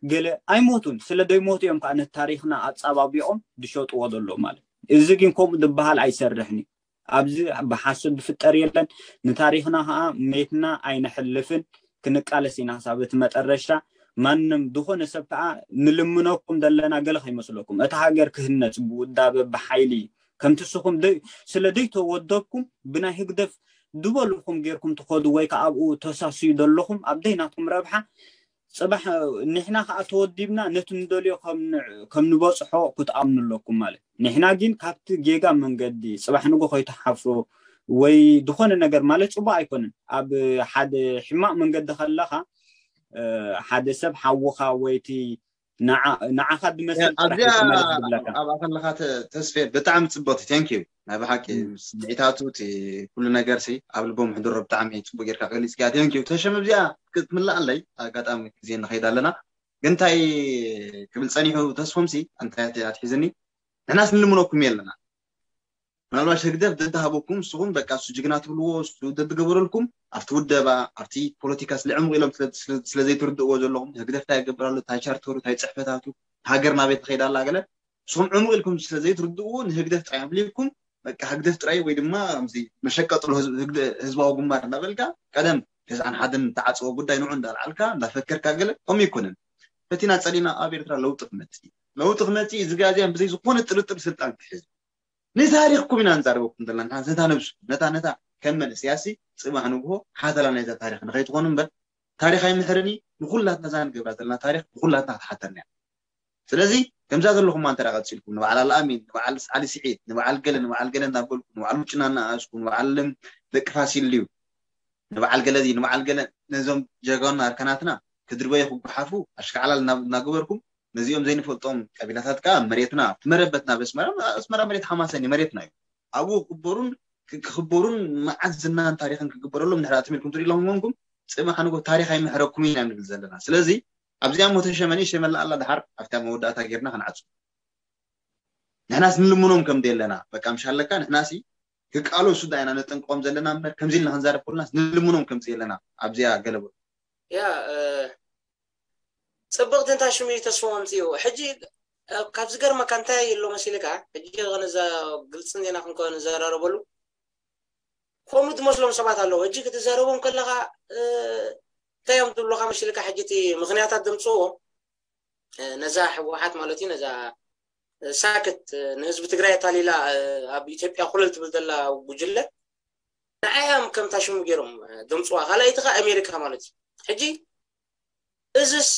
ገለ ኣይሞቱን። ስለ ደይሞቱ እዮም ከዓ ነቲ ታሪኽና ኣጻባቢቖም ድሸጥዎ ዘለዉ ማለት። እዚ ግን ከምኡ ዝበሃል ኣይሰርሕን እዩ። ኣብዚ ብሓሶት ዝፍጠር የለን። ንታሪኽና ከዓ ሜትና ኣይነሕልፍን፣ ክንቃለስ ኢና ክሳብ እቲ መጠረሽታ። ማንም ዝኾነ ሰብ ከዓ ንልምነኩም ዘለና ገለ ከይመስለኩም። እታ ሃገር ክህነጽ ብውዳበ ብሓይሊ ከምቲ ንስኹም ደይ-፣ ስለ ደይተወደብኩም ብናይ ህግደፍ ዝበልኹም ጌርኩም ትኸዱ ወይ ከዓ ኣብኡ ተሳስዩ ዘለኹም ኣብ ደይናትኩም ረብሓ ጽባሕ ንሕና ከዓ ተወዲብና ነቲ ንደልዮ ከም ን-፣ ከም ንበጽሖ ክትኣምኑ ኣለኩም ማለት። ንሕና ግን ካብቲ ጌጋ መንገዲ ጽባሕ ንጎ ከይትሓፍሩ ወይ ዝኾነ ነገር ማለት ጽቡቕ ኣይኮነን። ኣብ ሓደ ሕማቕ መንገዲ ከለኻ፣ እ፣ ሓደ ሰብ ሓውኻ ወይ እቲ ንዓ-፣ ንዓኻ ድመስል ጥራሕ ኣብዚኣ እዩ ክመለስ ዝብለካ። ኣብኣ ከለኻ ተ-፣ ተስፌ ብጣዕሚ ጽብቕቲ፣ thank you። ናይ ብሓቂ እም። ስምዒታቱ፣ እቲ ኩሉ ነገር ሲ ኣብ ልቦም ሕድሮ ብጣዕሚ ጽቡቕ ጌርካ ገሊጽካ። Thank you። ተሸም ኣብዚኣ ክትምልኣለይ ኣጋጣሚ ግዜ ንኸይድ ኣለና። ግን እንታይ ክብል ጸኒሑ ተስፎምሲ፣ እንታይ ኣት-፣ ኣትሒዝኒ፣ ንሕናስ ንልምነኩም የለና። ምናልባሽ ህግደፍ ደድሃበኩም፣ ንስኹም በቃ እሱ ጅግና ትብልዎ፣ እሱ ደድገበረልኩም፣ ኣብቲ ውደባ፣ ኣብቲ ፖለቲካ ስለ ዕሙቕ ኢሎም ስለ፣ ስለ፣ ስለ ዘይትርድእዎ ዘለኹም፣ ህግደፍ እንታይ ይገብር ኣሎ፣ እንታይ ቻርተሩ፣ እንታይ ጽሕፈታቱ፣ ሃገር ናበይ ትኸይድ ኣላ ገለ፣ ንስኹም ዕሙቕ ኢልኩም ስለ ዘይትርድእዎ፣ ንህግደፍ ጥራይ ኣምሊኩም፣ በቃ ህግደፍ ጥራይ ወይ ድማ ከምዚ መሸቀጥሎ ህዝብ-፣ ህግደ-፣ ህዝባዊ ግንባር እንዳበልካ፣ ቀደም ተስዓን ሓደን ተዓጽዎ ጉዳይ ንዑ እንዳልዓልካ፣ እንዳፈከርካ ገለ፣ ከምኡ ኣይኮነን። ፈቲና ጸሊና ኣብ ኤርትራ ለውጢ ክመጽእ እዩ። ለውጢ ክመጽእ እዩ። እዚ ጋዜያን ብዘይ ዝኾነ ጥርጥር ስልጣን ክሕዝ። ንታሪኽኩም ኢና ንዛረበኩም ዘለና። ንታ፣ ነታ ነብሱ፣ ነታ፣ ነታ ከም መንእሰያሲ ጽባሕ ንግሆ ሓተላ ናይዛ ታሪኽ ንኸይትኾኑ እምበር፣ ታሪኽ ኣይምሕርን እዩ። ንኹላትና እዛ ንገብራ ዘለና ታሪኽ ንኹላትና ክትሓተና እያ። ስለዚ ከምዛ ዘለኹማ እንተ ደኣ ቀጺልኩም፣ ንበዓል ኣልኣሚን፣ ንበዓል ዓሊ ስዒድ፣ ንበዓል ገለ፣ ንበዓል ገለ እናበልኩም፣ ንበዓል ውጭና እናኣስኩም፣ ንበዓል ደቂ ፋሲል ድዩ፣ ንበዓል ገለ እዚ፣ ንበዓል ገለ፣ ነዞም ጀጋኑና ኣርካናትና ክድርበዩ ክጓሓፉ ኣሽካዕላል እና-፣ እናገበርኩም፣ ነዚኦም ዘይንፈልጦም ቀቢላታት ከኣ መሬትና፣ ኣብቲ መረበትና፣ ኣብ ኣስመራ፣ ኣስመራ መሬት ሓማሴን እዩ፣ መሬትና እዩ። ኣብኡ ክኽበሩን ክ-፣ ክኽበሩን መዓት ዝናን ታሪኽን ክግበረሎም እንድሕር ኣትም ኢልኩም ትሪኡ ኣለኹም ኮንኩም፣ ጽባሕ ንጎ ታሪኽ ኣይምሕረኩም ኢና ንብል ዘለና። ስለዚ ኣብዚኣ እሞ ተሸመኒ ሸመላ ኣላ፣ ደሓር ኣብታ መወዳእታ ጌርና ክንዓጹ። ንሕናስ ንልምኖም ከም ደየለና፣ በቃ ምሽ ኣለካ፣ ንሕናሲ ክቃለሱ ዳ ኢና ነጠንቅቖም ዘለና እምበር፣ ከምዚ ኢልና ክንዛረብ ከለናስ ንልምኖም ከም ደየለና ኣብዚኣ ገለ በሉ። ያ፣ እ፣ ጽብቕቲ እንታ ሽሙ እዩ ተስፎ ኣምጺኡ። ሕጂ፣ እ፣ ካብ ዝገርመካ እንታይ ኣሎ መሲልካ? ሕጂ ነዛ ግልጽ ዜና ክንከ-፣ ንዘራረበሉ። ከምኡ ዝመስሎም ሰባት ኣለዉ። ሕጂ ክትዛረቦም ከለኻ፣ እ፣ እንታይ እዮም ዝብሉኻ መሲልካ? ሕጂ እቲ ምኽንያታት ዘምጽእዎ፣ እ፣ ነዛ ህወሓት ማለት እዩ፣ ነዛ፣ እ፣ ሳክት፣ እ፣ ንህዝቢ ትግራይ ኣታሊላ፣ እ፣ ኣብ ኢትዮጵያ ኮለል ትብል ዘላ ጉጅለ፣ ንዓያ እዮም ከምታ ሽሙ ገይሮም፣ እ፣ ዘምጽዋ። ካልኣይቲ ከኣ ኣሜሪካ ማለት እዩ። ሕጂ እዝስ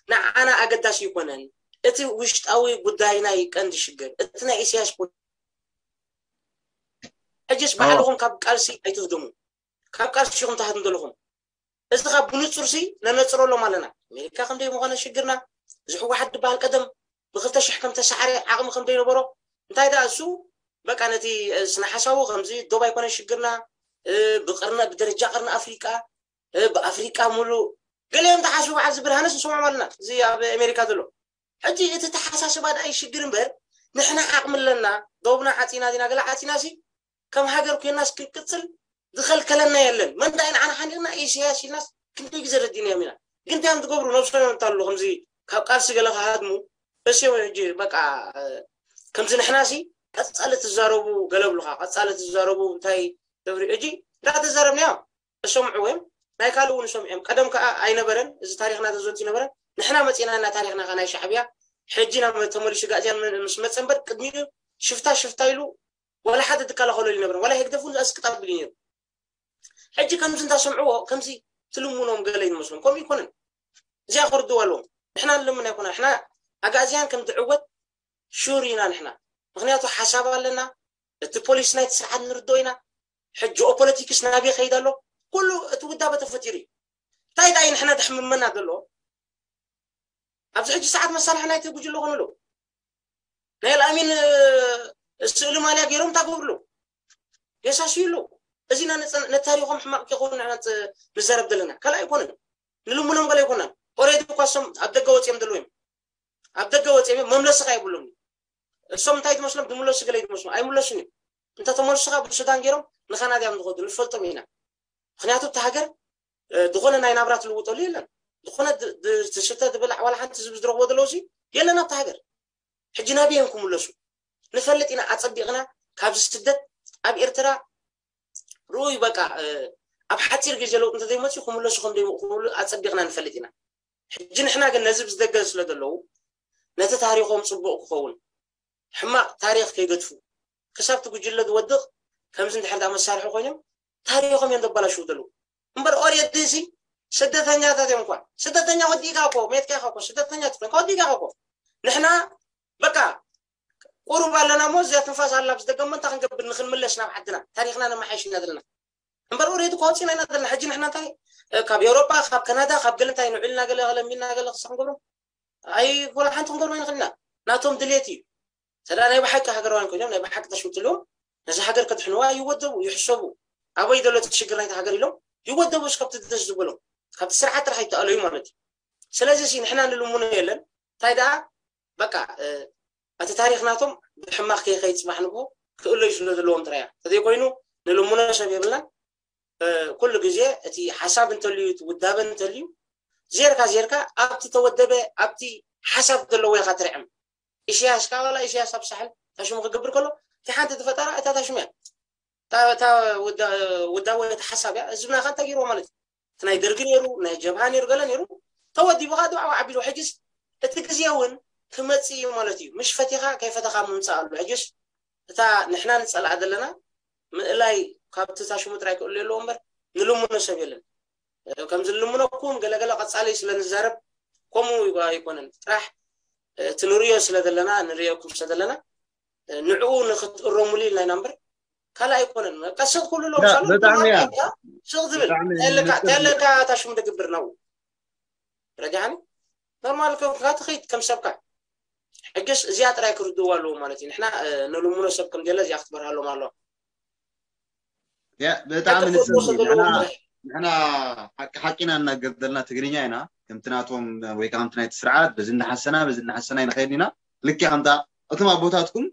ንዓና ኣገዳሲ ኣይኮነን። እቲ ውሽጣዊ ጉዳይና እዩ ቀንዲ ሽግር። እቲ ናይ ኢሳያስ ፖ-፣ ሕጅስ ኣዎ። ባዕልኹም ካብ ቃልሲ ኣይትህድሙ። ካብ ቃልሲ ኢኹም ትሃድሙ ዘለኹም። እዚ ካብ ብንጹር ሲ ነነጽረሎም ኣለና። ኣሜሪካ ከም ደይ ምዃነ ሽግርና፣ እዚ ህወሓት ዝበሃል ቀደም ብክልተ ሽሕ ከም ተሳዕረ ዓቕሚ ከም ደይነበሮ፣ እንታይ ደኣ እሱ በቃ ነቲ ስነ ሓሳቡ ከምዚ ዶብ ኣይኮነ ሽግርና፣ ብቅርነ ብደረጃ ቅርኒ ኣፍሪቃ፣ ብኣፍሪቃ ሙሉእ ገሊኦም ተሓስቡ በዓል ዝብል ሃነስ ንሰምዖም ኣለና። እዚ ኣብ ኣሜሪካ ዘሎ ሕጂ እቲ ተሓሳስባ ደኣ ይሽግር እምበር ንሕና ዓቕሚ ኣለና፣ ዶብና ዓፂና ዲና ገለ ዓፂና ሲ ከም ሃገር ኮይናስ ክንቅፅል ዝኸልከለና የለን። መን ደኣ ንዓና ሓኒቕና ኢሳያስ ኢልናስ ክንደይ ግዜ ረዲናዮም ኢና። ግን እንታይ እዮም ዝገብሩ? ነብሶም እዮም እንታሉ ከምዚ ካብ ቃልሲ ገለ ክሃድሙ እሲዮም ሕጂ በቃ ከምዚ ንሕና ሲ ቀፃሊ ትዛረቡ ገለ ብሉካ ቀፃሊ ትዛረቡ እንታይ ተብሪ እጂ እንዳተዛረብናዮ እሰምዕዎ እዮም። ናይ ካልእ እውን እሰምዑ እዮም። ቀደም ከዓ ኣይነበረን እዚ ታሪኽና ተዘንቱ ይነበረን። ንሕና መፂና እና ታሪኽና ከዓ ናይ ሻዕብያ ሕጂ ናብ ተመሊሱ ጋእዝያን ምስ መፀ እምበር ቅድሚኡ ሽፍታ ሽፍታ ኢሉ ዋላ ሓደ ዝከላኸሎ ይነበረን። ዋላ ህግደፍ እውን ኣስቅጥ ኣቢሉ ነይሩ። ሕጂ ከምዚ እንዳሰምዕዎ ከምዚ ትልምኖም ገለ ይመስሎም። ከምኡ ይኮነን። እዚኣ ክርድዋ ኣለዎም። ንሕና ንልምን ኣይኮና። ንሕና ኣጋእዝያን ከም ዝዕወት ሹር ኢና ንሕና። ምክንያቱ ሓሳብ ኣለና። እቲ ፖሊሲ ናይቲ ስርዓት ንርድኦ ኢና። ሕጂ ጂኦፖለቲክስ ናበይ ከይድ ኣሎ? ኩሉ እቲ ውዳበ ተፈጢሩ እዩ። እንታይ ደኣ እዩ ንሕና ደሕምመና ዘሎ? ኣብዚ ሕጂ ሰዓት መሳርሒ ናይቲ ጉጅለ ኮኑ ኣለዉ። ናይ ኣልኣሚን ስእሊ ማልያ ገይሮም እንታይ ክገብሩ ኣለዉ? የሳስዩ ኣለዉ። እዚ ኢና ነታሪኾም ሕማቕ ከይኸውን ንሕና ንዛረብ ዘለና ካልእ ኣይኮነን። ንልምኖም ገለ ኣይኮናን። ኦሬዲ እኳ እሶም ኣብ ደገ ወፂኦም ዘለዉ እዮም። ኣብ ደገ ወፂኦም እዮም መምለሲ ካ የብሎም። እሶም እንታይ ትመስሎም? ዝምለሱ ገለ ይመስሎም ኣይምለሱን እዮም። እንተተመልሱ ካ ብሱዳን ገይሮም ንካናዳ እዮም ዝኸዱ ንፈልጦም ኢና። ምክንያቱ እቲ ሃገር ዝኾነ ናይ ናብራ ትልውጠሉ የለን። ዝኾነ ትስተ ትብላዕ ዋላ ሓንቲ ዝብ ዝረኽቦ ዘለዉ ሲ የለን ኣብቲ ሃገር። ሕጂ ናበይ እዮም ክምለሱ? ንፈልጥ ኢና ኣፀቢቕና። ካብዚ ስደት ኣብ ኤርትራ ርኡይ በቃ ኣብ ሓፂር ግዜ ለውጥ እንተዘይመፅኡ ክምለሱ ከም ደይምኡ ክምሉ ኣፀቢቕና ንፈልጥ ኢና። ሕጂ ንሕና ግን ነዚ ብዝደገ ስለ ዘለዉ ነቲ ታሪኾም ፅቡቕ ክኸውን ሕማቕ ታሪኽ ከይገድፉ ክሳብ እቲ ጉጅለ ዝወድቕ ከምዚ እንድሕር ዳ መሳርሒ ኮይኖም ታሪኾም እዮም ዘባላሽዉ ዘለዉ። እምበር ኦሬዲ እዚ ስደተኛታት እዮም እኳ። ስደተኛ ወዲእካ እኮ ሜትካ ኢኻ እኮ ስደተኛ ትኮንካ ወዲእካ እኮ። ንሕና በቃ ቁሩብ ኣለና እሞ እዚኣ ትንፋስ ኣላ ብዝደገሞ እንታይ ክንገብር ንክንምለስ ናብ ዓድና ታሪኽና ነመሓይሽ ኢና ዘለና። እምበር ኦሬዲ እኳ ወፂና ኢና ዘለና። ሕጂ ንሕና እንታይ ካብ ኤውሮጳ ካብ ካናዳ ካብ ገለ እንታይ ንውዕልና ገለ ለሚና ገለ ክሳ ክንገብሮም ኣይ ጎላ ሓንቲ ክንገብሮ ኣይንኽእል ኢና። ናቶም ድሌት እዩ። ሰዳ ናይ ብሓቂ ሃገራውያን ኮይኖም ናይ ብሓቂ ተሽውትልዎም ነዚ ሃገር ከድሕንዋ ይወደቡ ይሕሰቡ። ኣበይ ዘሎ እቲ ሽግር ናይቲ ሃገር ኢሎም ይወደቡ እስከብቲ ደስ ዝበሎም ካብቲ ስርዓት ጥራሕ ይተኣለዩ ማለት እዩ። ስለዚ ሲ ንሕና ንልምኖ የለን እንታይ ደኣ በቃ እቲ ታሪኽ ናቶም ብሕማቕ ከይኸይድ ፅባሕ ንግሆ ክእለዩ ስለ ዘለዎም ጥራያ ተዘይኮይኑ ንልምኖ ሰብ የብልናን። ኩሉ ግዜ እቲ ሓሳብ እንተልዩ እቲ ውዳበ እንተልዩ ዜርካ ዜርካ ኣብቲ ተወደበ ኣብቲ ሓሳብ ዘለዎ ኢኻ ትርዕም። ኢሳያስ ካብ ዋላ ኢሳያስ ኣብ ሳሕል ታሽሙ ክገብር ከሎ እቲ ሓንቲ ዝፈጠራ እታ ታሽሙ እያ። እታ ውዳወ እቲ ሓሳብ እያ ህዝብና ከ እንታይ ገይርዎ ማለት እዩ። እቲ ናይ ደርጊ ነይሩ ናይ ጀብሃ ነይሩ ገለ ነይሩ ተወዲቡ ከዓ ድባዕባ ዓቢሉ ሕጅስ እቲ ግዜ እውን ክመፅእ እዩ ማለት እዩ። ምሽ ፈቲኻ ከይፈተኻ ምምፃእ ኣሎ። ሕጅስ እታ ንሕና ንፀልኣ ዘለና ምእላይ ካብቲ ታሽሙ ጥራይ ክእሉ የለዎ እምበር ንልምኖ ሰብ የለን። ከም ዝልምነኩም ገለገለ ቀፃሊ ስለ ንዛረብ ከምኡ ኣይኮነን። ጥራሕ እቲ ንርእዮ ስለ ዘለና ንርእየኩም ስለ ዘለና ንዕኡ ንክትእረሙሉ ኢልና ኢና እምበር ካልእ ኣይኮነን። በቃ ስቕ ኩሉ ሎም ሳሉ ብጣዕሚ እያ። ስቕ ዝብል ብጣዕሚ ተለካ ተለካ ታሽሙ ደግብር ነው ረጃኒ ኖርማል ከ ካትኸይድ ከም ሰብካ ሕጅስ እዚኣ ጥራይ ክርድእዋ ኣለዎ ማለት እዩ። ንሕና ንልምኖ ሰብ ከም ደለ እዚኣ ክትበርሃሎም ኣለዋ። ያ ብጣዕሚ ንስኒ ንሕና ንሕና ሓቂ ሓቂና እናገደልና ትግርኛ ኢና ከምቲ ናቶም ወይ ከዓ ከምቲ ናይቲ ስርዓት በዚ እናሓሰና በዚ እናሓሰና ይንኸይድ ኢና። ልክዕ ከምታ እቶም ኣቦታትኩም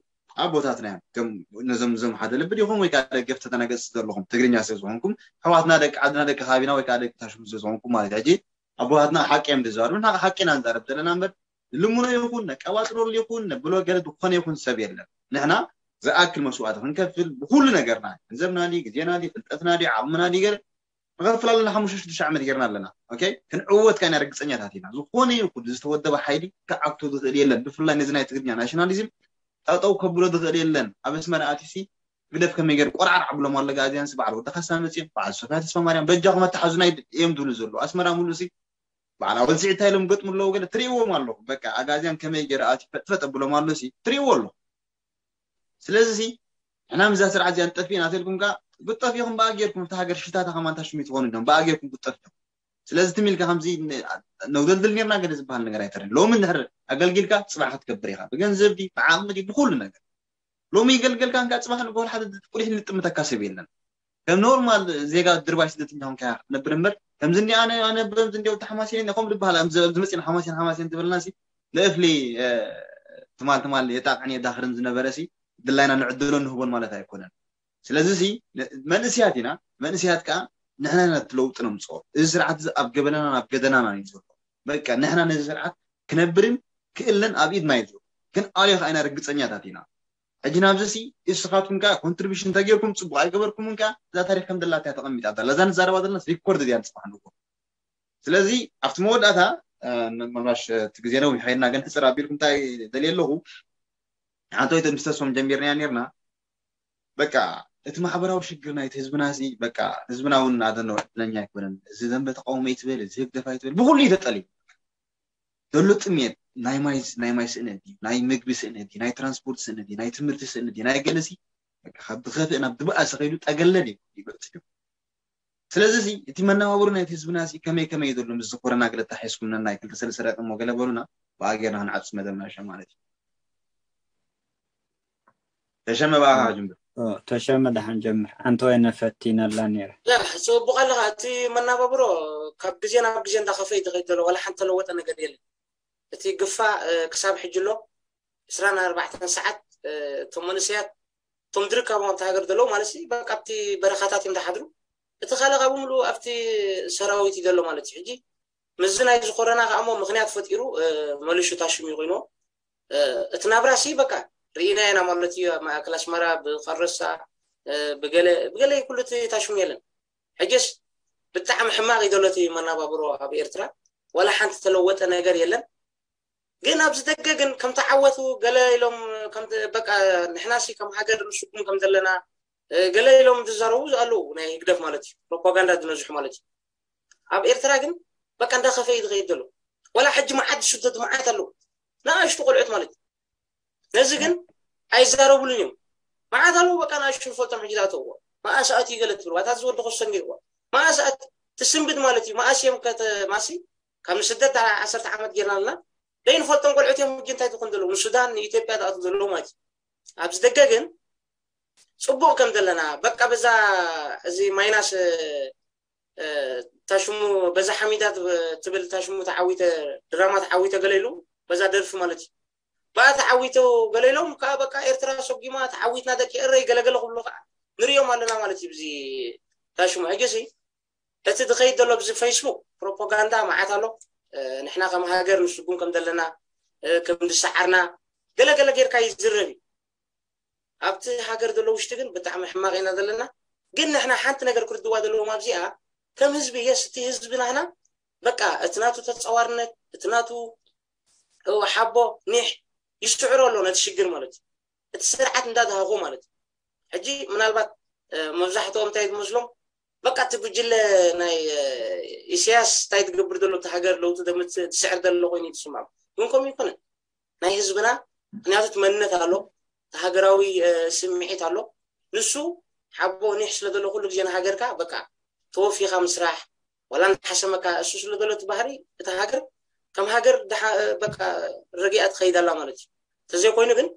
ኣቦታትና እዮም። ከም ነዞም ዞም ሓደ ልቢ ዲኹም ወይ ከዓ ደገፍ ተተናገጽ ዘለኹም ትግርኛ ስለ ዝኾንኩም ኣሕዋትና ደቂ ዓድና ደቂ ከባቢና ወይ ከዓ ደቂ ታሽሙ ስለ ዝኾንኩም ማለት ሕጂ ኣቦታትና ሓቂ እዮም ዝዛረቡ ንሕና ሓቂ ኢና ንዛረብ ዘለና እምበር ልምኖ ይኹን ነቀባጥረሉ ይኹን ነብሎ ገለ ዝኾነ ይኹን ሰብ የለን። ንሕና ዝኣክል መስዋእቲ ክንከፍል ብኩሉ ነገርና ገንዘብና ድዩ ግዜና ድዩ ፍልጠትና ድዩ ዓቕምና ድዩ ገለ ንኸፍል ኣለና ሓሙሽተ ሽዱሽተ ዓመት ጌርና ኣለና ኦኬ ክንዕወት ከኣ ኢና ርግፀኛታት ኢና ዝኾነ ይኹን ዝተወደበ ሓይሊ ክዓግቶ ዝኽእል የለን ብፍላይ ነዚ ናይ ትግርኛ ናሽናሊዝም ጠጠው ከብሎ ዝኽእል የለን ኣብ ኣስመራ ኣትዩሲ ግደፍ ከመይ ገይሩ ቆርዓር ኣብሎም ኣሎ ጋዜያን ሲ በዓል ወዲ ካሳ መፅዮም በዓል ሶፍያ ተስፋ ማርያም በጃኹም ኣተሓዙና እዮም ዝብሉ ዘለዉ ኣስመራ ሙሉእ ሲ በዓል ኣወል ስዒድ እንታይ ኢሎም ገጥሙ ኣለዉ ገለ ትርእይዎም ኣለኹም በቃ ኣጋዝያን ከመይ ገይሩ ኣትዩ ፈጥፈጥ ኣብሎም ኣሎ ሲ ትርእይዎ ኣለኹም ስለዚ ሲ ንሕና ምዛ ስርዓት እዚኣ ንጠፊእና ተልኩም ከ ክትጠፍኡ ኢኹም በኣ ጌርኩም እታ ሃገር ሽታታ ከማን ታሽሙ ትኾኑ ዲኹም በኣ ጌርኩም ክትጠፍኡ ኢኹም ስለዚ ትም ኢልካ ከምዚ ነውደልድል ኔርና ገለ ዝበሃል ነገር ኣይተረን። ሎሚ እንድሕር ኣገልጊልካ ጽባሕ ክትከብር ኢኻ፣ ብገንዘብ ዲ ብዓቕሚ ዲ ብኩሉ ነገር። ሎሚ ይገልገልካ እንካ ጽባሕ ንግሆ ሓደ ቁሊሕ ልጥምተካ ሰብ የለን። ከም ኖርማል ዜጋ ድርባይ ስደተኛ ኾንካ ክትነብር እምበር ከምዚ እንዲ ኣነ ኣነ በምዚ እንዲ ተሓማሲን ኢለ ከምኡ ዝበሃል ኣብዚ ኣብዚ መጺና ሓማሲን ሓማሲን ትብልና ሲ ንእፍሊ ትማል ትማል የጣቕዕን የዳኽርን ዝነበረ ሲ ድላይና ንዕድሎ ንህቦን ማለት ኣይኮነን። ስለዚ ሲ መንእስያት ኢና። መንእስያት ከዓ ንሕና ኢና እቲ ለውጢ ነምፅኦ። እዚ ስርዓት እዚ ኣብ ገበናናን ኣብ ገደናናን እዩ ዘሎ። በቃ ንሕና ነዚ ስርዓት ክነብርን ክእለን ኣብ ኢድና እዩ ዘሎ። ክንኣልዮ ከዓ ኢና ርግፀኛታት ኢና። ሕጂ ናብዚ ሲ እስኻትኩም ከዓ ኮንትሪቢሽን እንተጌርኩም ፅቡቅ ኣይገበርኩምን ከዓ እዛ ታሪክ ከም ዘላትያ ተቐሚጣ ኣላ። እዛ ንዛረባ ዘለና ሪኮርድ እዚኣ ንፅባሕ ንግሆ። ስለዚ ኣብቲ መወዳእታ ምናልባሽ እቲ ግዜ ነዊሕ ከይድና ግን ሕፅር ኣቢልኩም እንታይ ደልየ ኣለኹ ሓንቲ ወይ ምስ ተስፎም ጀሚርናያ ነርና። በቃ እቲ ማሕበራዊ ሽግር ናይቲ ህዝብና እዚ በቃ ህዝብና እውን ኣደነ ዕድለኛ ኣይኮነን። እዚ ዘንበ ተቃውሞ ይትበል፣ እዚ ህግደፍ ኣይትበል፣ ብኩሉ እዩ ተጠልዩ። ዘሎ ጥሜት ናይ ማይ ናይ ማይ ስእነት እዩ፣ ናይ ምግቢ ስእነት እዩ፣ ናይ ትራንስፖርት ስእነት እዩ፣ ናይ ትምህርቲ ስእነት እዩ፣ ናይ ገለሲ ካብ ዝኸፍእ ናብ ዝበኣሰ ከይዱ ጠገለል እዩ ይበፅሕ እዩ። ስለዚ እዚ እቲ መነባብሮ ናይቲ ህዝብና እዚ ከመይ ከመይ እዩ ዘሎ ምስ ዝኾረና ገለ ተሓሒዝኩም ነናይ ክልተ ሰለስተ ደቂ እሞ ገለ በሉና። ብኣጌርና ክንዓፁ መደብና ሸ ማለት እዩ። ተሸመ ብኣኻ ጅምር። ተሸመ ደሓን ጀምር። ኣንተ ወይ ነፈቲነላ ነይረ። ጽቡቕ ኣለኻ። እቲ መናባብሮ ካብ ግዜ ናብ ግዜ እንዳኸፈ እዩ ዝኸይድ ዘሎ። ዋላ ሓንቲ ተለወጠ ነገር የለን። እቲ ግፋ ክሳብ ሕጂ ኣሎ። ዕስራን ኣርባዕተን ሰዓት እቶም መንእሰያት እቶም ዝርከቦም ኣብቲ ሃገር ዘለዉ ማለት ሲ በቃ ኣብቲ በረኻታት እዮም ዝሓድሩ። እቲ ካልእ ካብ ምሉእ ኣብቲ ሰራዊት እዩ ዘሎ ማለት እዩ። ሕጂ ምስዚ ናይ ዝኾረና ከዓ እሞ ምክንያት ፈጢሩ መሊሹ ታሽሙ ኮይኑ እቲ ናብራ ሲ በቃ ርኢና ኢና ማለት እዩ። ኣብ ማእከል ኣስመራ ብቀረሳ ብገለ ብገለ ኩሉ እቲ ታሽሙ የለን። ሕጅስ ብጣዕሚ ሕማቕ እዩ ዘሎ እቲ መናባብሮ ኣብ ኤርትራ። ዋላ ሓንቲ ተለወጠ ነገር የለን። ግን ኣብዚ ደገ ግን ከም ተዓወቱ ገለ ኢሎም ከም በቃ ንሕናሲ ከም ሃገር ንስጉም ከም ዘለና ገለ ኢሎም ዝዛረቡ ኣለዉ። ናይ ህግደፍ ማለት እዩ ፕሮፓጋንዳ ዝነዝሑ ማለት እዩ። ኣብ ኤርትራ ግን በቃ እንዳኸፈ እዩ ዝኸይድ ዘሎ። ዋላ ሕጂ መዓት ዝስደዱ መዓት ኣለዉ ንኣሽቱ ቆልዑት ማለት እዩ። ነዚ ግን ኣይዛረቡሉን እዮም። መዓት ኣለዉ በቃ ንኣሽቱ ንፈልጦም ሕጂ ዝኣተውዎ መኣስ ኣትዩ ገለ ትብል ዋታ ዝወዲ ኮሰን ገይርዎ መኣስ ኣት ትስንብድ ማለት እዩ። መኣስ እዮም ከተማሲ ካብ ንስደት ዓሰርተ ዓመት ጌርና ኣለና። ደይ ንፈልጦም ቆልዑት እዮም ሕጂ እንታይ ትኹን ዘለዉ ንሱዳን ንኢትዮጵያ ዝኣትዉ ዘለዉ ማለት እዩ። ኣብዚ ደገ ግን ጽቡቕ ከም ዘለና በቃ በዛ እዚ ማይናስ ታሽሙ በዛ ሓሚዳ ትብል ታሽሙ ተዓዊተ ድራማ ተዓዊተ ገለ ኢሉ በዛ ደርፊ ማለት እዩ። ብኣ ተዓዊቱ ገለ ኢሎም ከዓ በቃ ኤርትራ ሰጒማ ተዓዊትና ደቂ ኤረይ ገለገለ ክብሉ ከዓ ንሪኦም ኣለና ማለት እዩ። ብዚ ታሽሙ ሕጂ ሲ እቲ ዝኸይድ ዘሎ ብዚ ፌስቡክ ፕሮፓጋንዳ መዓት ኣሎ። ንሕና ከም ሃገር ንስጉም ከም ዘለና ከም ዝሰዓርና ገለገለ ጌርካ ይዝረብ እዩ። ኣብቲ ሃገር ዘሎ ውሽጢ ግን ብጣዕሚ ሕማቕ ኢና ዘለና። ግን ንሕና ሓንቲ ነገር ክርድዋ ዘለዎም ኣብዚኣ ከም ህዝቢ የስ እቲ ህዝቢ ናህና በቃ እቲ ናቱ ተፀዋርነት እቲ ናቱ ሓቦ ኒሕ ይስዕሮ ኣሎ ነቲ ሽግር ማለት እዩ። እቲ ስርዓት እንዳድሃጎ ማለት እዩ። ሕጂ ምናልባት መብዛሕትኦም እንታይ ዝመስሎም በቃ እቲ ጉጅለ ናይ ኢሳያስ እንታይ ትገብር ዘሎ እቲ ሃገር ለውጢ ዘምፅእ ትስዕር ዘሎ ኮይኑ ይትስምዖም። ግን ከምኡ ይኮነን። ናይ ህዝብና ምክንያቱ እቲ መንነት ኣሎ፣ እቲ ሃገራዊ ስምዒት ኣሎ። ንሱ ሓቦ ኒሕ ስለ ዘሎ ኩሉ ግዜ ንሃገርካ በቃ ተወፊኻ ምስራሕ ዋላ እንዳሓሰመካ እሱ ስለ ዘሎ እቲ ባህሪ እቲ ሃገር ከም ሃገር በቃ ረጊኣ ትኸይድ ኣላ ማለት እዩ። ተዘይኮይኑ ግን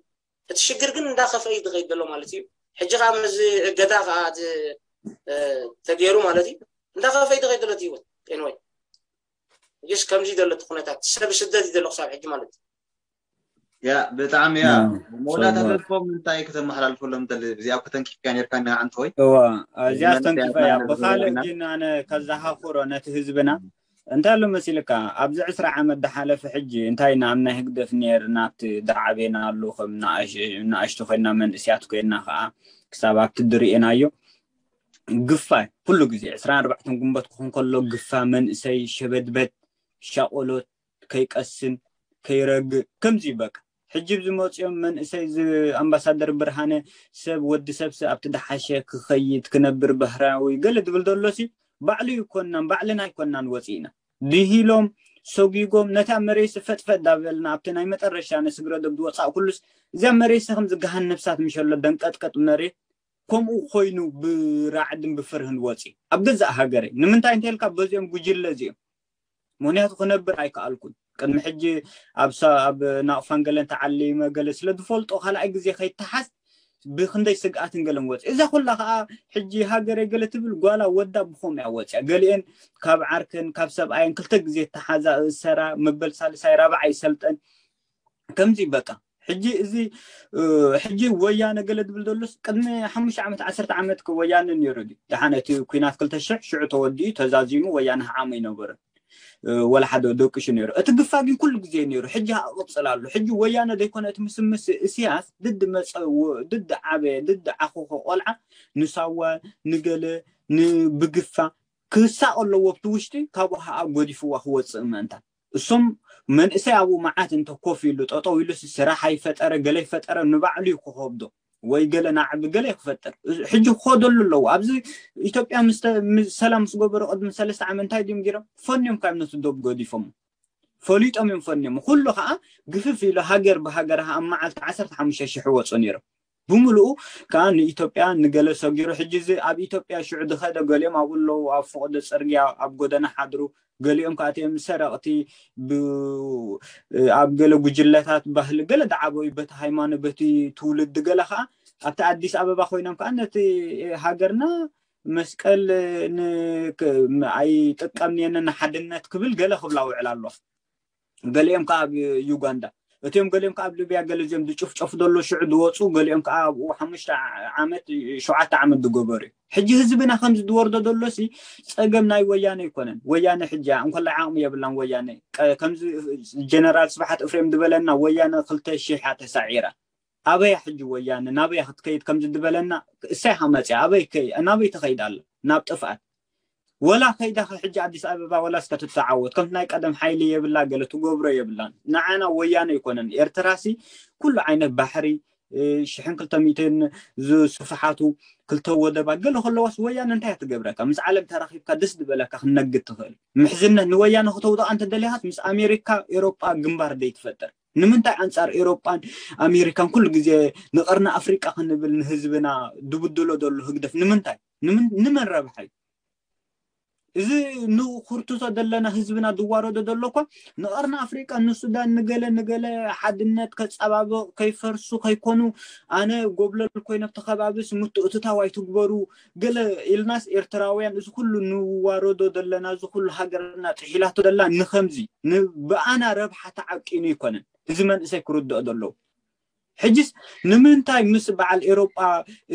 እቲ ሽግር ግን እንዳኸፈ እዩ ዝኸይድ ዘሎ ማለት እዩ። ሕጂ ከዓ ምዚ እገዳ ከዓ ተገይሩ ማለት እዩ እንዳኸፈ እዩ ዝኸይድ ዘሎ እቲ ህይወት ኤንወይ ስ ከምዚ ዘሎ እቲ ኩነታት ሰብ ስደት እዩ ዘሎ ክሳብ ሕጂ ማለት እዩ። ያ ብጣዕሚ ያ መወዳእታ ተስፎም እንታይ ከተመሓላልፈሎም ደሊ እዚኣ ከተንኪፍካ ነርካ ኒዓ እንተወይ እዋ እዚኣ ተንኪፈ እያ ብካልእ ግን ኣነ ከዘኻኽሮ ነቲ ህዝብና እንታይ ኣሎ መሲልካ ኣብዚ ዕስራ ዓመት ዝሓለፈ ሕጂ እንታይ ኢና ኣብ ናይ ህግደፍ ነርና ኣብቲ ዝዓበናሉ ከም ንኣሽቱ ኮይና መንእስያት ኮይና ከዓ ክሳብ ኣብቲ ዝርእናዮ ግፋ ኩሉ ግዜ ዕስራን ኣርባዕተን ግንቦት ክኾን ከሎ ግፋ መንእሰይ ሸበድበድ ሻቆሎት ከይቀስን ከይረግእ ከምዚ በቃ ሕጂ ዝመፅኦም መንእሰይ ኣምባሳደር ብርሃነ ሰብ ወዲ ሰብሲ ኣብቲ ዝሓሸ ክኸይድ ክነብር ባህራዊ ገለ ዝብል ዘሎሲ ባዕሉ ይኮናን ባዕልና ኣይኮናን ወፂእና ድሂሎም ሰጒጎም ነታ መሬሲ ፈጥፈጥ ዳበልና ኣብቲ ናይ መጠረሻ ንስግረዶብ ዝወፃእ ኩሉስ እዚኣ መሬሲ ከም ዝገሃን ነብሳት ምሸሎ ደንቀጥቀጥ መሬት ከምኡ ኮይኑ ብራዕድን ብፍርህን ወፂ ኣብ ገዛእ ሃገረይ። ንምንታይ እንተልካ በዚኦም ጉጅለ እዚኦም ምክንያቱ ክነብር ኣይከኣልኩን። ቅድሚ ሕጂ ኣብ ሰ- ኣብ ናቕፋን ገለን ተዓሊመ ገለ ስለ ዝፈልጦ ካልኣይ ግዜ ከይተሓዝ ብክንደይ ስግኣትን ገለን ወፂ። እዛ ኩላ ከዓ ሕጂ ሃገረይ ገለ ትብል ጓላ ወዳ ብኸም እያ ወፅያ። ገሊአን ካብ ዓርከን ካብ ሰብኣየን ክልተ ግዜ ተሓዛ እሰራ መበል ሳልሳይ ራብዓይ ሰልጠን ከምዚ በቃ ሕጂ እዚ ሕጂ ወያነ ገለ ዝብል ዘሎስ ቅድሚ ሓሙሽተ ዓመት ዓሰርተ ዓመት ወያነ ነይሩ ድዩ? ደሓን እቲ ኩናት ክልተ ሽሕ ሽዑ ተወዲኡ ተዛዚሙ ወያነ ዓመ ይነበረ ወላ ሓደ ደቂሹ ነይሩ። እቲ ግፋ ግን ኩሉ ግዜ ነይሩ። ሕጂ ኣቕፅል ኣሎ። ሕጂ ወያነ ዘይኮነ እቲ ምስምስ እስያስ ድድ መፀ ድድ ዓበየ ድድ ዓኹኸ ቆልዓ ንሳዋ ንገለ ንብግፋ ክሳቕ ኣለዎ ኣብቲ ውሽጢ ካብኡ ከዓ ጎዲፍዋ ክወፅእ ምእንታ እሶም መንእሰይ ኣብኡ መዓት እንተ ኮፍ ኢሉ ጠጠው ኢሉ ስራሕ ኣይፈጠረ ገለ ይፈጠረ ንባዕሉ እዩ ክኸብዶ ወይ ገለ ናዕቢ ገለ ክፈጥር ሕጂ ክኸደሉ ኣለዎ። ኣብዚ ኢትዮጵያ ሰላም ምስ ገበሩ ቅድሚ ሰለስተ ዓመት እንታይ ድም ገይሮም ፈንዮም ካብ ነቲ ዶብ ገዲፎም ፈሊጦም እዮም ፈንዮም። ኩሉ ከዓ ግፍፍ ኢሉ ሃገር ብሃገር ኣብ መዓልቲ ዓሰርተ ሓሙሽተ ሽሕ ወፁ ነይሮም። ብምልኡ ከዓ ንኢትዮጵያ ንገለ ሰጊሩ ሕጂ እዚ ኣብ ኢትዮጵያ ሽዑ ዝኸደ ገሊኦም ኣብኡ ኣለዉ ኣብ ፈቐዶ ፅርግያ ኣብ ጎደና ሓድሩ ገሊኦም ከዓ እቲኦም ሰረቕቲ ኣብ ገለ ጉጅለታት ባህሊ ገለ ዝዓበዩ በቲ ሃይማኖት በቲ ትውልዲ ገለ ከዓ ኣብቲ ኣዲስ ኣበባ ኮይኖም ከዓ ነቲ ሃገርና መስቀል ኣይጥቀምንየን ንሓድነት ክብል ገለ ክብላ ውዕል ኣሎ። ገሊኦም ከዓ ኣብ ዩጋንዳ እቲኦም ገሊኦም ከዓ ኣብ ሊብያ ገለ እዚኦም ዝጭፍጨፉ ዘሎ ሽዑ ዝወፁ ገሊኦም ከዓ ኣብኡ ሓሙሽተ ዓመት ሸውዓተ ዓመት ዝገበሩ እዩ። ሕጂ ህዝብና ከምዚ ዝወርዶ ዘሎ ሲ ፀገም ናይ ወያነ ኣይኮነን። ወያነ ሕጂ እንኮላይ ዓቕሚ የብላን። ወያነ ከምዚ ጀነራል ስብሓት እፍሬም ዝበለና ወያነ ክልተ ሺሕ እያ ተሳዒራ። ኣበያ ሕጂ ወያነ ናበያ ክትከይድ ከምዚ ዝበለና እሳይ ሃመፅያ ኣበይ ናበይ ትኸይድ ኣለ ናብ ጥፍኣት ወላ ከይዳ ሕጂ ኣዲስ ኣበባ ወላ እስከ ትተዓወት ከምቲ ናይ ቀደም ሓይሊ የብላ ገለ ትገብሮ የብላን። ንዓና ወያነ ኣይኮነን ኤርትራሲ ኩሉ ዓይነት ባሕሪ ሽሕን ክልተ ሚእትን ዝስፍሓቱ ክልተ ወደባት ገለ ከለዋስ ወያነ እንታይ ትገብረካ? ምስ ዓለም ተራኺብካ ደስ ዝበለካ ክነግድ ትኽእል። ምሕዝነት ንወያነ ክተውድቓ እንተደሊኻስ ምስ ኣሜሪካ ኤሮጳ ግንባር ደይ ትፈጥር። ንምንታይ ኣንጻር ኤሮጳን ኣሜሪካን ኩሉ ግዜ ንቐርኒ ኣፍሪቃ ክንብል ንህዝብና ድብድሎ ዘሎ ህግደፍ ንምንታይ? ንመን ረብሓ እዩ? እዚ ንኹርትቶ ዘለና ህዝብና ዝዋረዶ ዘሎ እኳ ንቐርኒ ኣፍሪቃ ንሱዳን ንገለ ንገለ ሓድነት ከጸባብቕ ከይፈርሱ ከይኮኑ ኣነ ጎብለል ኮይነ ኣብቲ ከባቢስ ምትእትታው ኣይትግበሩ ገለ ኢልናስ ኤርትራውያን እዚ ኩሉ ንዋረዶ ዘለና እዚ ኩሉ ሃገርና ጥሒላቶ ዘላ ንኸምዚ ብኣና ረብሓ ተዓቂኑ ኣይኮነን። እዚ መንእሰይ ክርድኦ ዘለዎ ሕጅስ ንምንታይ ምስ በዓል ኤሮጳ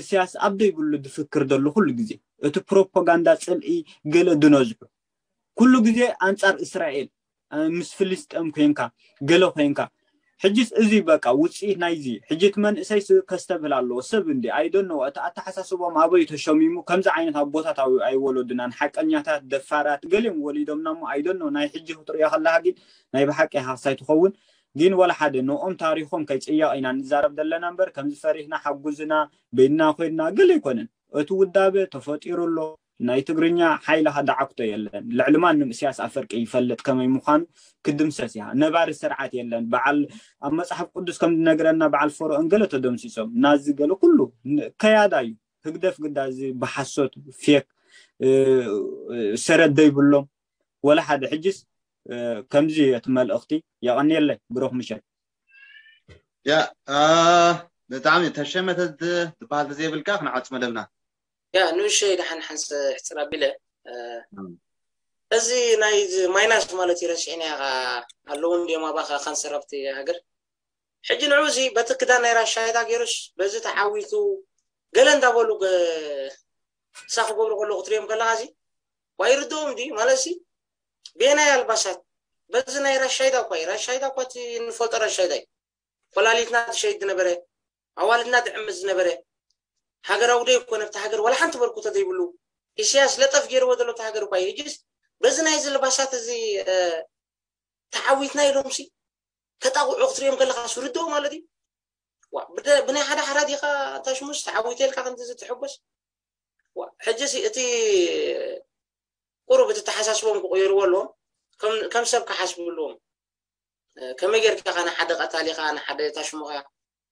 እስያስ ኣብ ዘይብሉ ዝፍክር ዘሎ ኩሉ ግዜ እቲ ፕሮፓጋንዳ ጽልኢ ገለ ድነዝሑ ኩሉ ግዜ ኣንጻር እስራኤል ምስ ፍልስጤም ኮንካ ገለ ኮንካ ሕጅስ እዚ በቃ ውፅኢት ናይዚ ሕጂ እቲ መንእሰይ ከስተብህል ኣለዎ ሰብ እንዲ ኣይደኖ እቲ ኣተሓሳስቦም ኣበይ ተሸሚሙ ከምዚ ዓይነት ኣቦታት ኣይወለዱናን ሓቀኛታት ደፋራት ገሊኦም ወሊዶምና ሞ ኣይደኖ ናይ ሕጂ ክትሪኦ ከለካ ግን ናይ ብሓቂ ሃሳይ ትኸውን ግን ወላ ሓደ ንኦም ታሪኾም ከይፅየቕ ኢና ንዛረብ ዘለና እምበር ከምዚ ፈሪህና ሓጉዝና በይንና ኮይንና ገለ ኣይኮነን እቲ ውዳበ ተፈጢሩ ኣሎ ናይ ትግርኛ ሓይልኻ ዳዓክቶ የለን ልዕሊ ማንም እስያስ ኣፈርቂ ይፈልጥ ከመይ ምዃኑ ክድምሰስ እያ ነባሪ ስርዓት የለን በዓል ኣብ መፅሓፍ ቅዱስ ከም ዝነግረና በዓል ፈርኦን ገለ ተደምሲሶም ናዚ ገለ ኩሉ ከያዳ እዩ ህግደፍ ግዳ እዚ ብሓሶት ፌክ ሰረት ዘይብሎም ወላ ሓደ ሕጅስ ከምዚ እቲ መልእኽቲ የቐንየለይ ብሩኽ ምሸት ያ ብጣዕሚ ተሸመተ ዝበሃል ተዘይብልካ ክንዓጽ መደብና ያ ንእሸይ ደሓን ሓንስ ሕፅር ኣቢለ እዚ ናይ ማይናስ ማለት እዩ ረሲዕና ኣለዉ እንዲዮም ኣባኻ ካንሰር ኣብቲ ሃገር ሕጂ ንዑ እዚ በቲ ክዳን ናይ ራሻይዳ ገይሩስ በዚ ተዓዊቱ ገለ እንዳበሉ እሳ ክገብሩ ከለዉ ክትሪኦም ከለካ እዚ ዋይርድኦም ድዩ ማለት ሲ ቤናይ ኣልባሳት በዚ ናይ ራሻይዳ እኳ እዩ ራሻይዳ እኳ እቲ እንፈልጦ ራሻይዳ እዩ ኮላሊትና ትሸይድ ዝነበረ ኣዋልድና ትዕምት ዝነበረ ሃገራዊ ደይ እኮ ነብቲ ሃገር ዋላ ሓንቲ በርኩቶ ዘይብሉ ኢሳያስ ለጠፍ ገይርዎ ዘሎ እቲ ሃገር እኳ እዩ ሕጅስ በዚ ናይ እዚ ልባሳት እዚ ተዓዊትና ኢሎም ሲ ከጣቕዑ ክትሪኦም ከለካ ስርድኦ ማለት እዩ ብናይ ሓደ ሓራ ዲኻ ታሽሙስ ተዓዊተ ኢልካ ከምዚ ዝትሕጎስ ሕጂ እቲ ቁሩብ እቲ ተሓሳስቦም ክቕይርዎ ኣለዎም ከም ሰብ ክሓስቡ ኣለዎም ከመይ ጌርካ ንሓደ ቀታሊኻ ንሓደ ታሽሙኻ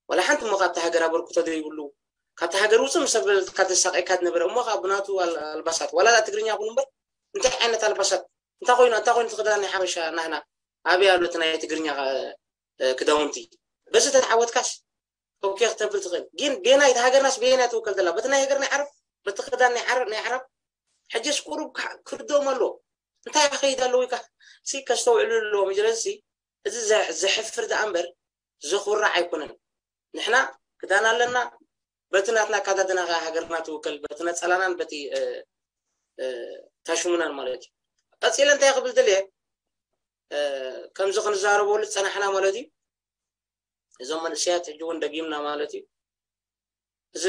ወላ ሓንቲ እሞ ካብቲ ሃገር ኣበርክቶ ዘይብሉ ካብቲ ሃገር ውፅእ ምስ ኣበልካ ዘሳቀየካ ዝነበረ፣ እሞ ከዓ ብናቱ ኣል- ኣልባሳት፣ ዋላ ደኣ ትግርኛ ኩን እምበር፣ እንታይ ዓይነት ኣልባሳት፣ እንታይ ኮይኑ እንታይ ኮይኑ እቲ ክዳን ናይ ሓበሻ ናህና ኣበይ ኣሎ እቲ ናይ ትግርኛ እ፣ ክዳውንቲ? በዚ ተተዓወትካስ ኦኬ ክተብል ትኽእል። ግን ቤናይ እቲ ሃገርናስ ቤናይ ትውከል ዘላ በቲ ናይ ሃገር ናይ ዓረብ፣ በቲ ክዳን ናይ ዓረብ ናይ ዓረብ። ሕጅስ ቁሩብ ክርድኦም ኣለዎ። እንታይ ይኸይድ ኣለዎ ኢልካ ሲ ከስተውዕሉ ኣለዎም። ስለዚ እዚ ዘ- ዘሕፍር ደኣ እምበር ዘኹርዕ ኣይኮነን። ንሕና ክዳን ኣለና፣ በቲ ናትና ኣካዳድና ከኣ ሃገርና ትውከል፣ በቲ ነጸላናን በቲ እ፣ እ፣ ታሽሙናን ማለት እዩ። ቀጺለ እንታይ ክብል ደልየ፣ እ፣ ከምዚ ክንዛረበሉ ዝጸናሕና ማለት እዩ። እዞም መንእሰያት ሕጂ እውን ደጊምና ማለት እዩ። እዚ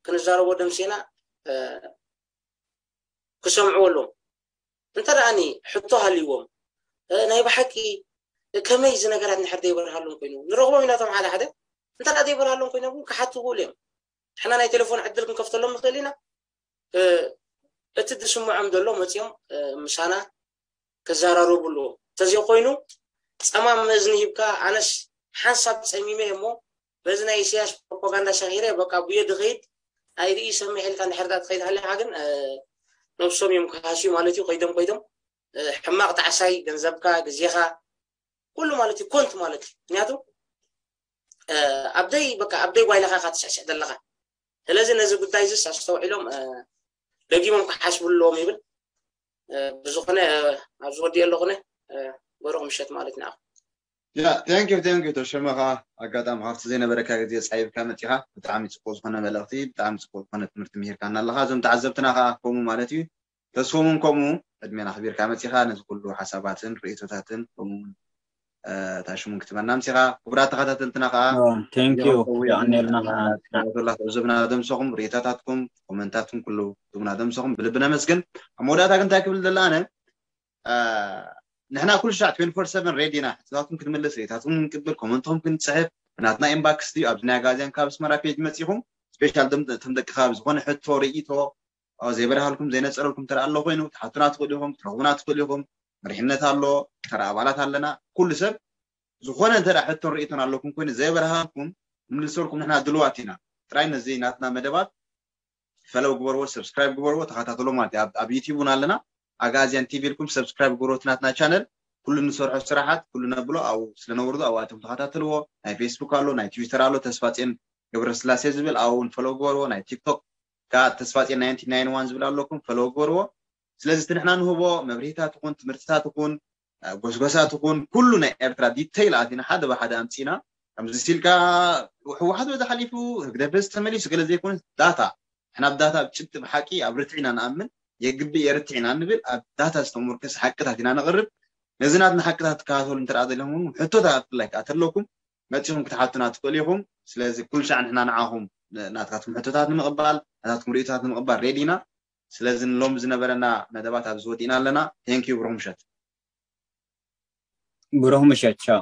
ክንዛረቦ ደምሲና እ፣ ክሰምዕዎ ኣለዎም። እንተ ደኣኒ ሕቶ ሃልይዎም እ፣ ናይ ብሓቂ ከመይ እዚ ነገራት ንድሕር ዘይበርሃሎም ኮይኑ ንረኽቦም ኢና። እቶም ሓደ ሓደ እንተ ደኣ ዘይበርሃሎም ኮይኖም ግን ክሓቱ ይኽእሉ እዮም። ንሕና ናይ ቴሌፎን ዕድል ክንከፍተሎም ንኽእል ኢና። እ፣ እቲ ዝስምዖም ዘሎ መፂኦም እ፣ ምሳና ክዘራረቡ ኣለዎም። እንተዘይኮይኑ ፀማም እዝኒ ሂብካ ኣነስ ሓንሳብ ፀሚመ እሞ በዚ ናይ ኢሳያስ ፕሮፓጋንዳ ሰኺረ በቃ ብዮ ድኸይድ ኣይርኢ ሰምሕ ኢልካ እንድሕር ዳ ትኸይድ ሃሊኻ ግን እ፣ ነብሶም እዮም ክሃስዩ ማለት እዩ። ከይዶም ከይዶም እ፣ ሕማቕ ጣዕሳይ ገንዘብካ ግዜኻ ኩሉ ማለት እዩ ኮንት ማለት እዩ። ምክንያቱ እ፣ ኣብደይ በቃ ኣብደይ ጓይላኻ ኢኻ ትስዕስዕ ዘለኻ። ስለዚ ነዚ ጉዳይ እዚስ ኣስተውዒሎም እ፣ ደጊሞም ክሓስብሉ ኣለዎም ይብል። እ፣ ብዝኾነ እ፣ ኣብዚ ወዲኦ ኣለኹነ እ፣ በሩኽ ምሸት ማለት ንዓኹም። ያ thank you thank you ተሸመ ከዓ ኣጋጣሚ ካብቲ ዘይነበረካ ግዜ ፃይብካ መፂኻ ብጣዕሚ ፅቡቅ ዝኾነ መልእኽቲ ብጣዕሚ ፅቡቅ ዝኾነ ትምህርቲ ምሂርካና ኣለኻ። እዞም ተዓዘብትና ከዓ ከምኡ ማለት እዩ ተስፎምን ከምኡ ዕድሜና ኣኽቢርካ መፂኻ ነዚ ኩሉ ሓሳባትን ርእቶታትን ከምኡ እውን እ፣ እታ ሽሙን ክትበና ምፂኻ ክቡራት ተኸታተልትና ከዓ ቴንኪዩ የቐውያን የቐንየልና ተኸታተላ ትዕዝብና ደምሰኹም ርእቶታትኩም ኮመንታትኩም ኩሉ ትቡና ደምሰኹም ብልቢ ነመስግን። ኣብ መወዳእታ ግን እንታይ ክብል ደላ ኣነ ንሕና ኩሉ ሻዕ twenty four seven ready ኢና ሕቶታትኩም ክንምልስ ርእታትኩም ክንቅብል ኮመንትኩም ክንፅሕፍ ብናትና inbox ድዩ ኣብዚ ናይ ኣጋዝያን ካብ ኣስመራ page መፂኹም special እቶም ደቂ ከባቢ ዝኾነ ሕቶ ርእይቶ ዘይበርሃልኩም ዘይነፀረልኩም እንተ ኣሎ ኮይኑ ትሓቱና ትኽእሉ ኢኹም ትረኽቡና ትኽእሉ ኢኹም። መሪሕነት ኣሎ ተራ ኣባላት ኣለና ኩሉ ሰብ ዝኾነ እንተ ሕቶን ርእይቶን ኣለኩም ኮይኑ ዘይበርሃልኩም ንምልሰልኩም ንሕና ድልዋት ኢና። ጥራይ ነዚ ናትና መደባት ፈለው ግበርዎ subscribe ግበርዎ ተኸታተሎ ማለት እዩ። ኣብ- ኣብ YouTube እውን ኣለና ኣጋዝያን TV ኢልኩም subscribe ግበርዎ እቲ ናትና channel ኩሉ ንሰርሖ ስራሓት ኩሉ ነብሎ ኣብኡ ስለ ነውርዶ ኣብኣቶም ተኸታተልዎ። ናይ Facebook ኣሎ ናይ Twitter ኣሎ ተስፋፅዮን ገብረስላሴ ዝብል ኣብኡ እውን ፈለው ግበርዎ። ናይ TikTok ከዓ ተስፋፅዮን ninety nine one ዝብል ኣለኩም ፈለው ግበርዎ። ስለዚ እቲ ንሕና ንህቦ መብርሂታት ይኹን ትምህርትታት ይኹን ጎስጎሳት ይኹን ኩሉ ናይ ኤርትራ detail ኣቲና ሓደ ብሓደ ኣምፂና ከምዚ ሲልካ ህወሓት በዚ ሓሊፉ ህግደፍ በዚ ተመሊሱ ገለ ዘይኮነ data ንሕና ብ data ብ ጭብጢ ብሓቂ ኣብ ርትዒ ኢና ንኣምን የግብእ የርትዕ ኢና ንብል ኣብ data ዝተሞርከሰ ሓቅታት ኢና ነቕርብ። ነዚ ናትና ሓቅታት ትከታተሉ እንተ ደኣ ዘለኹም እውን ሕቶታት ብፍላይ ከዓ ተለኩም መፂኹም ክትሓቱና ትኽእሉ ኢኹም። ስለዚ ኩሉ ሻዕ ንሕና ንዓኹም ናትካትኩም ሕቶታት ንምቕባል ናታትኩም ርእይቶታት ንምቕባል ready ኢና። ስለዚ ንሎሚ ዝነበረና መደባት ኣብዚ ወዲእና ኣለና። Thank you ብሩኽ ምሸት። ብሩኽ ምሸት ቻው።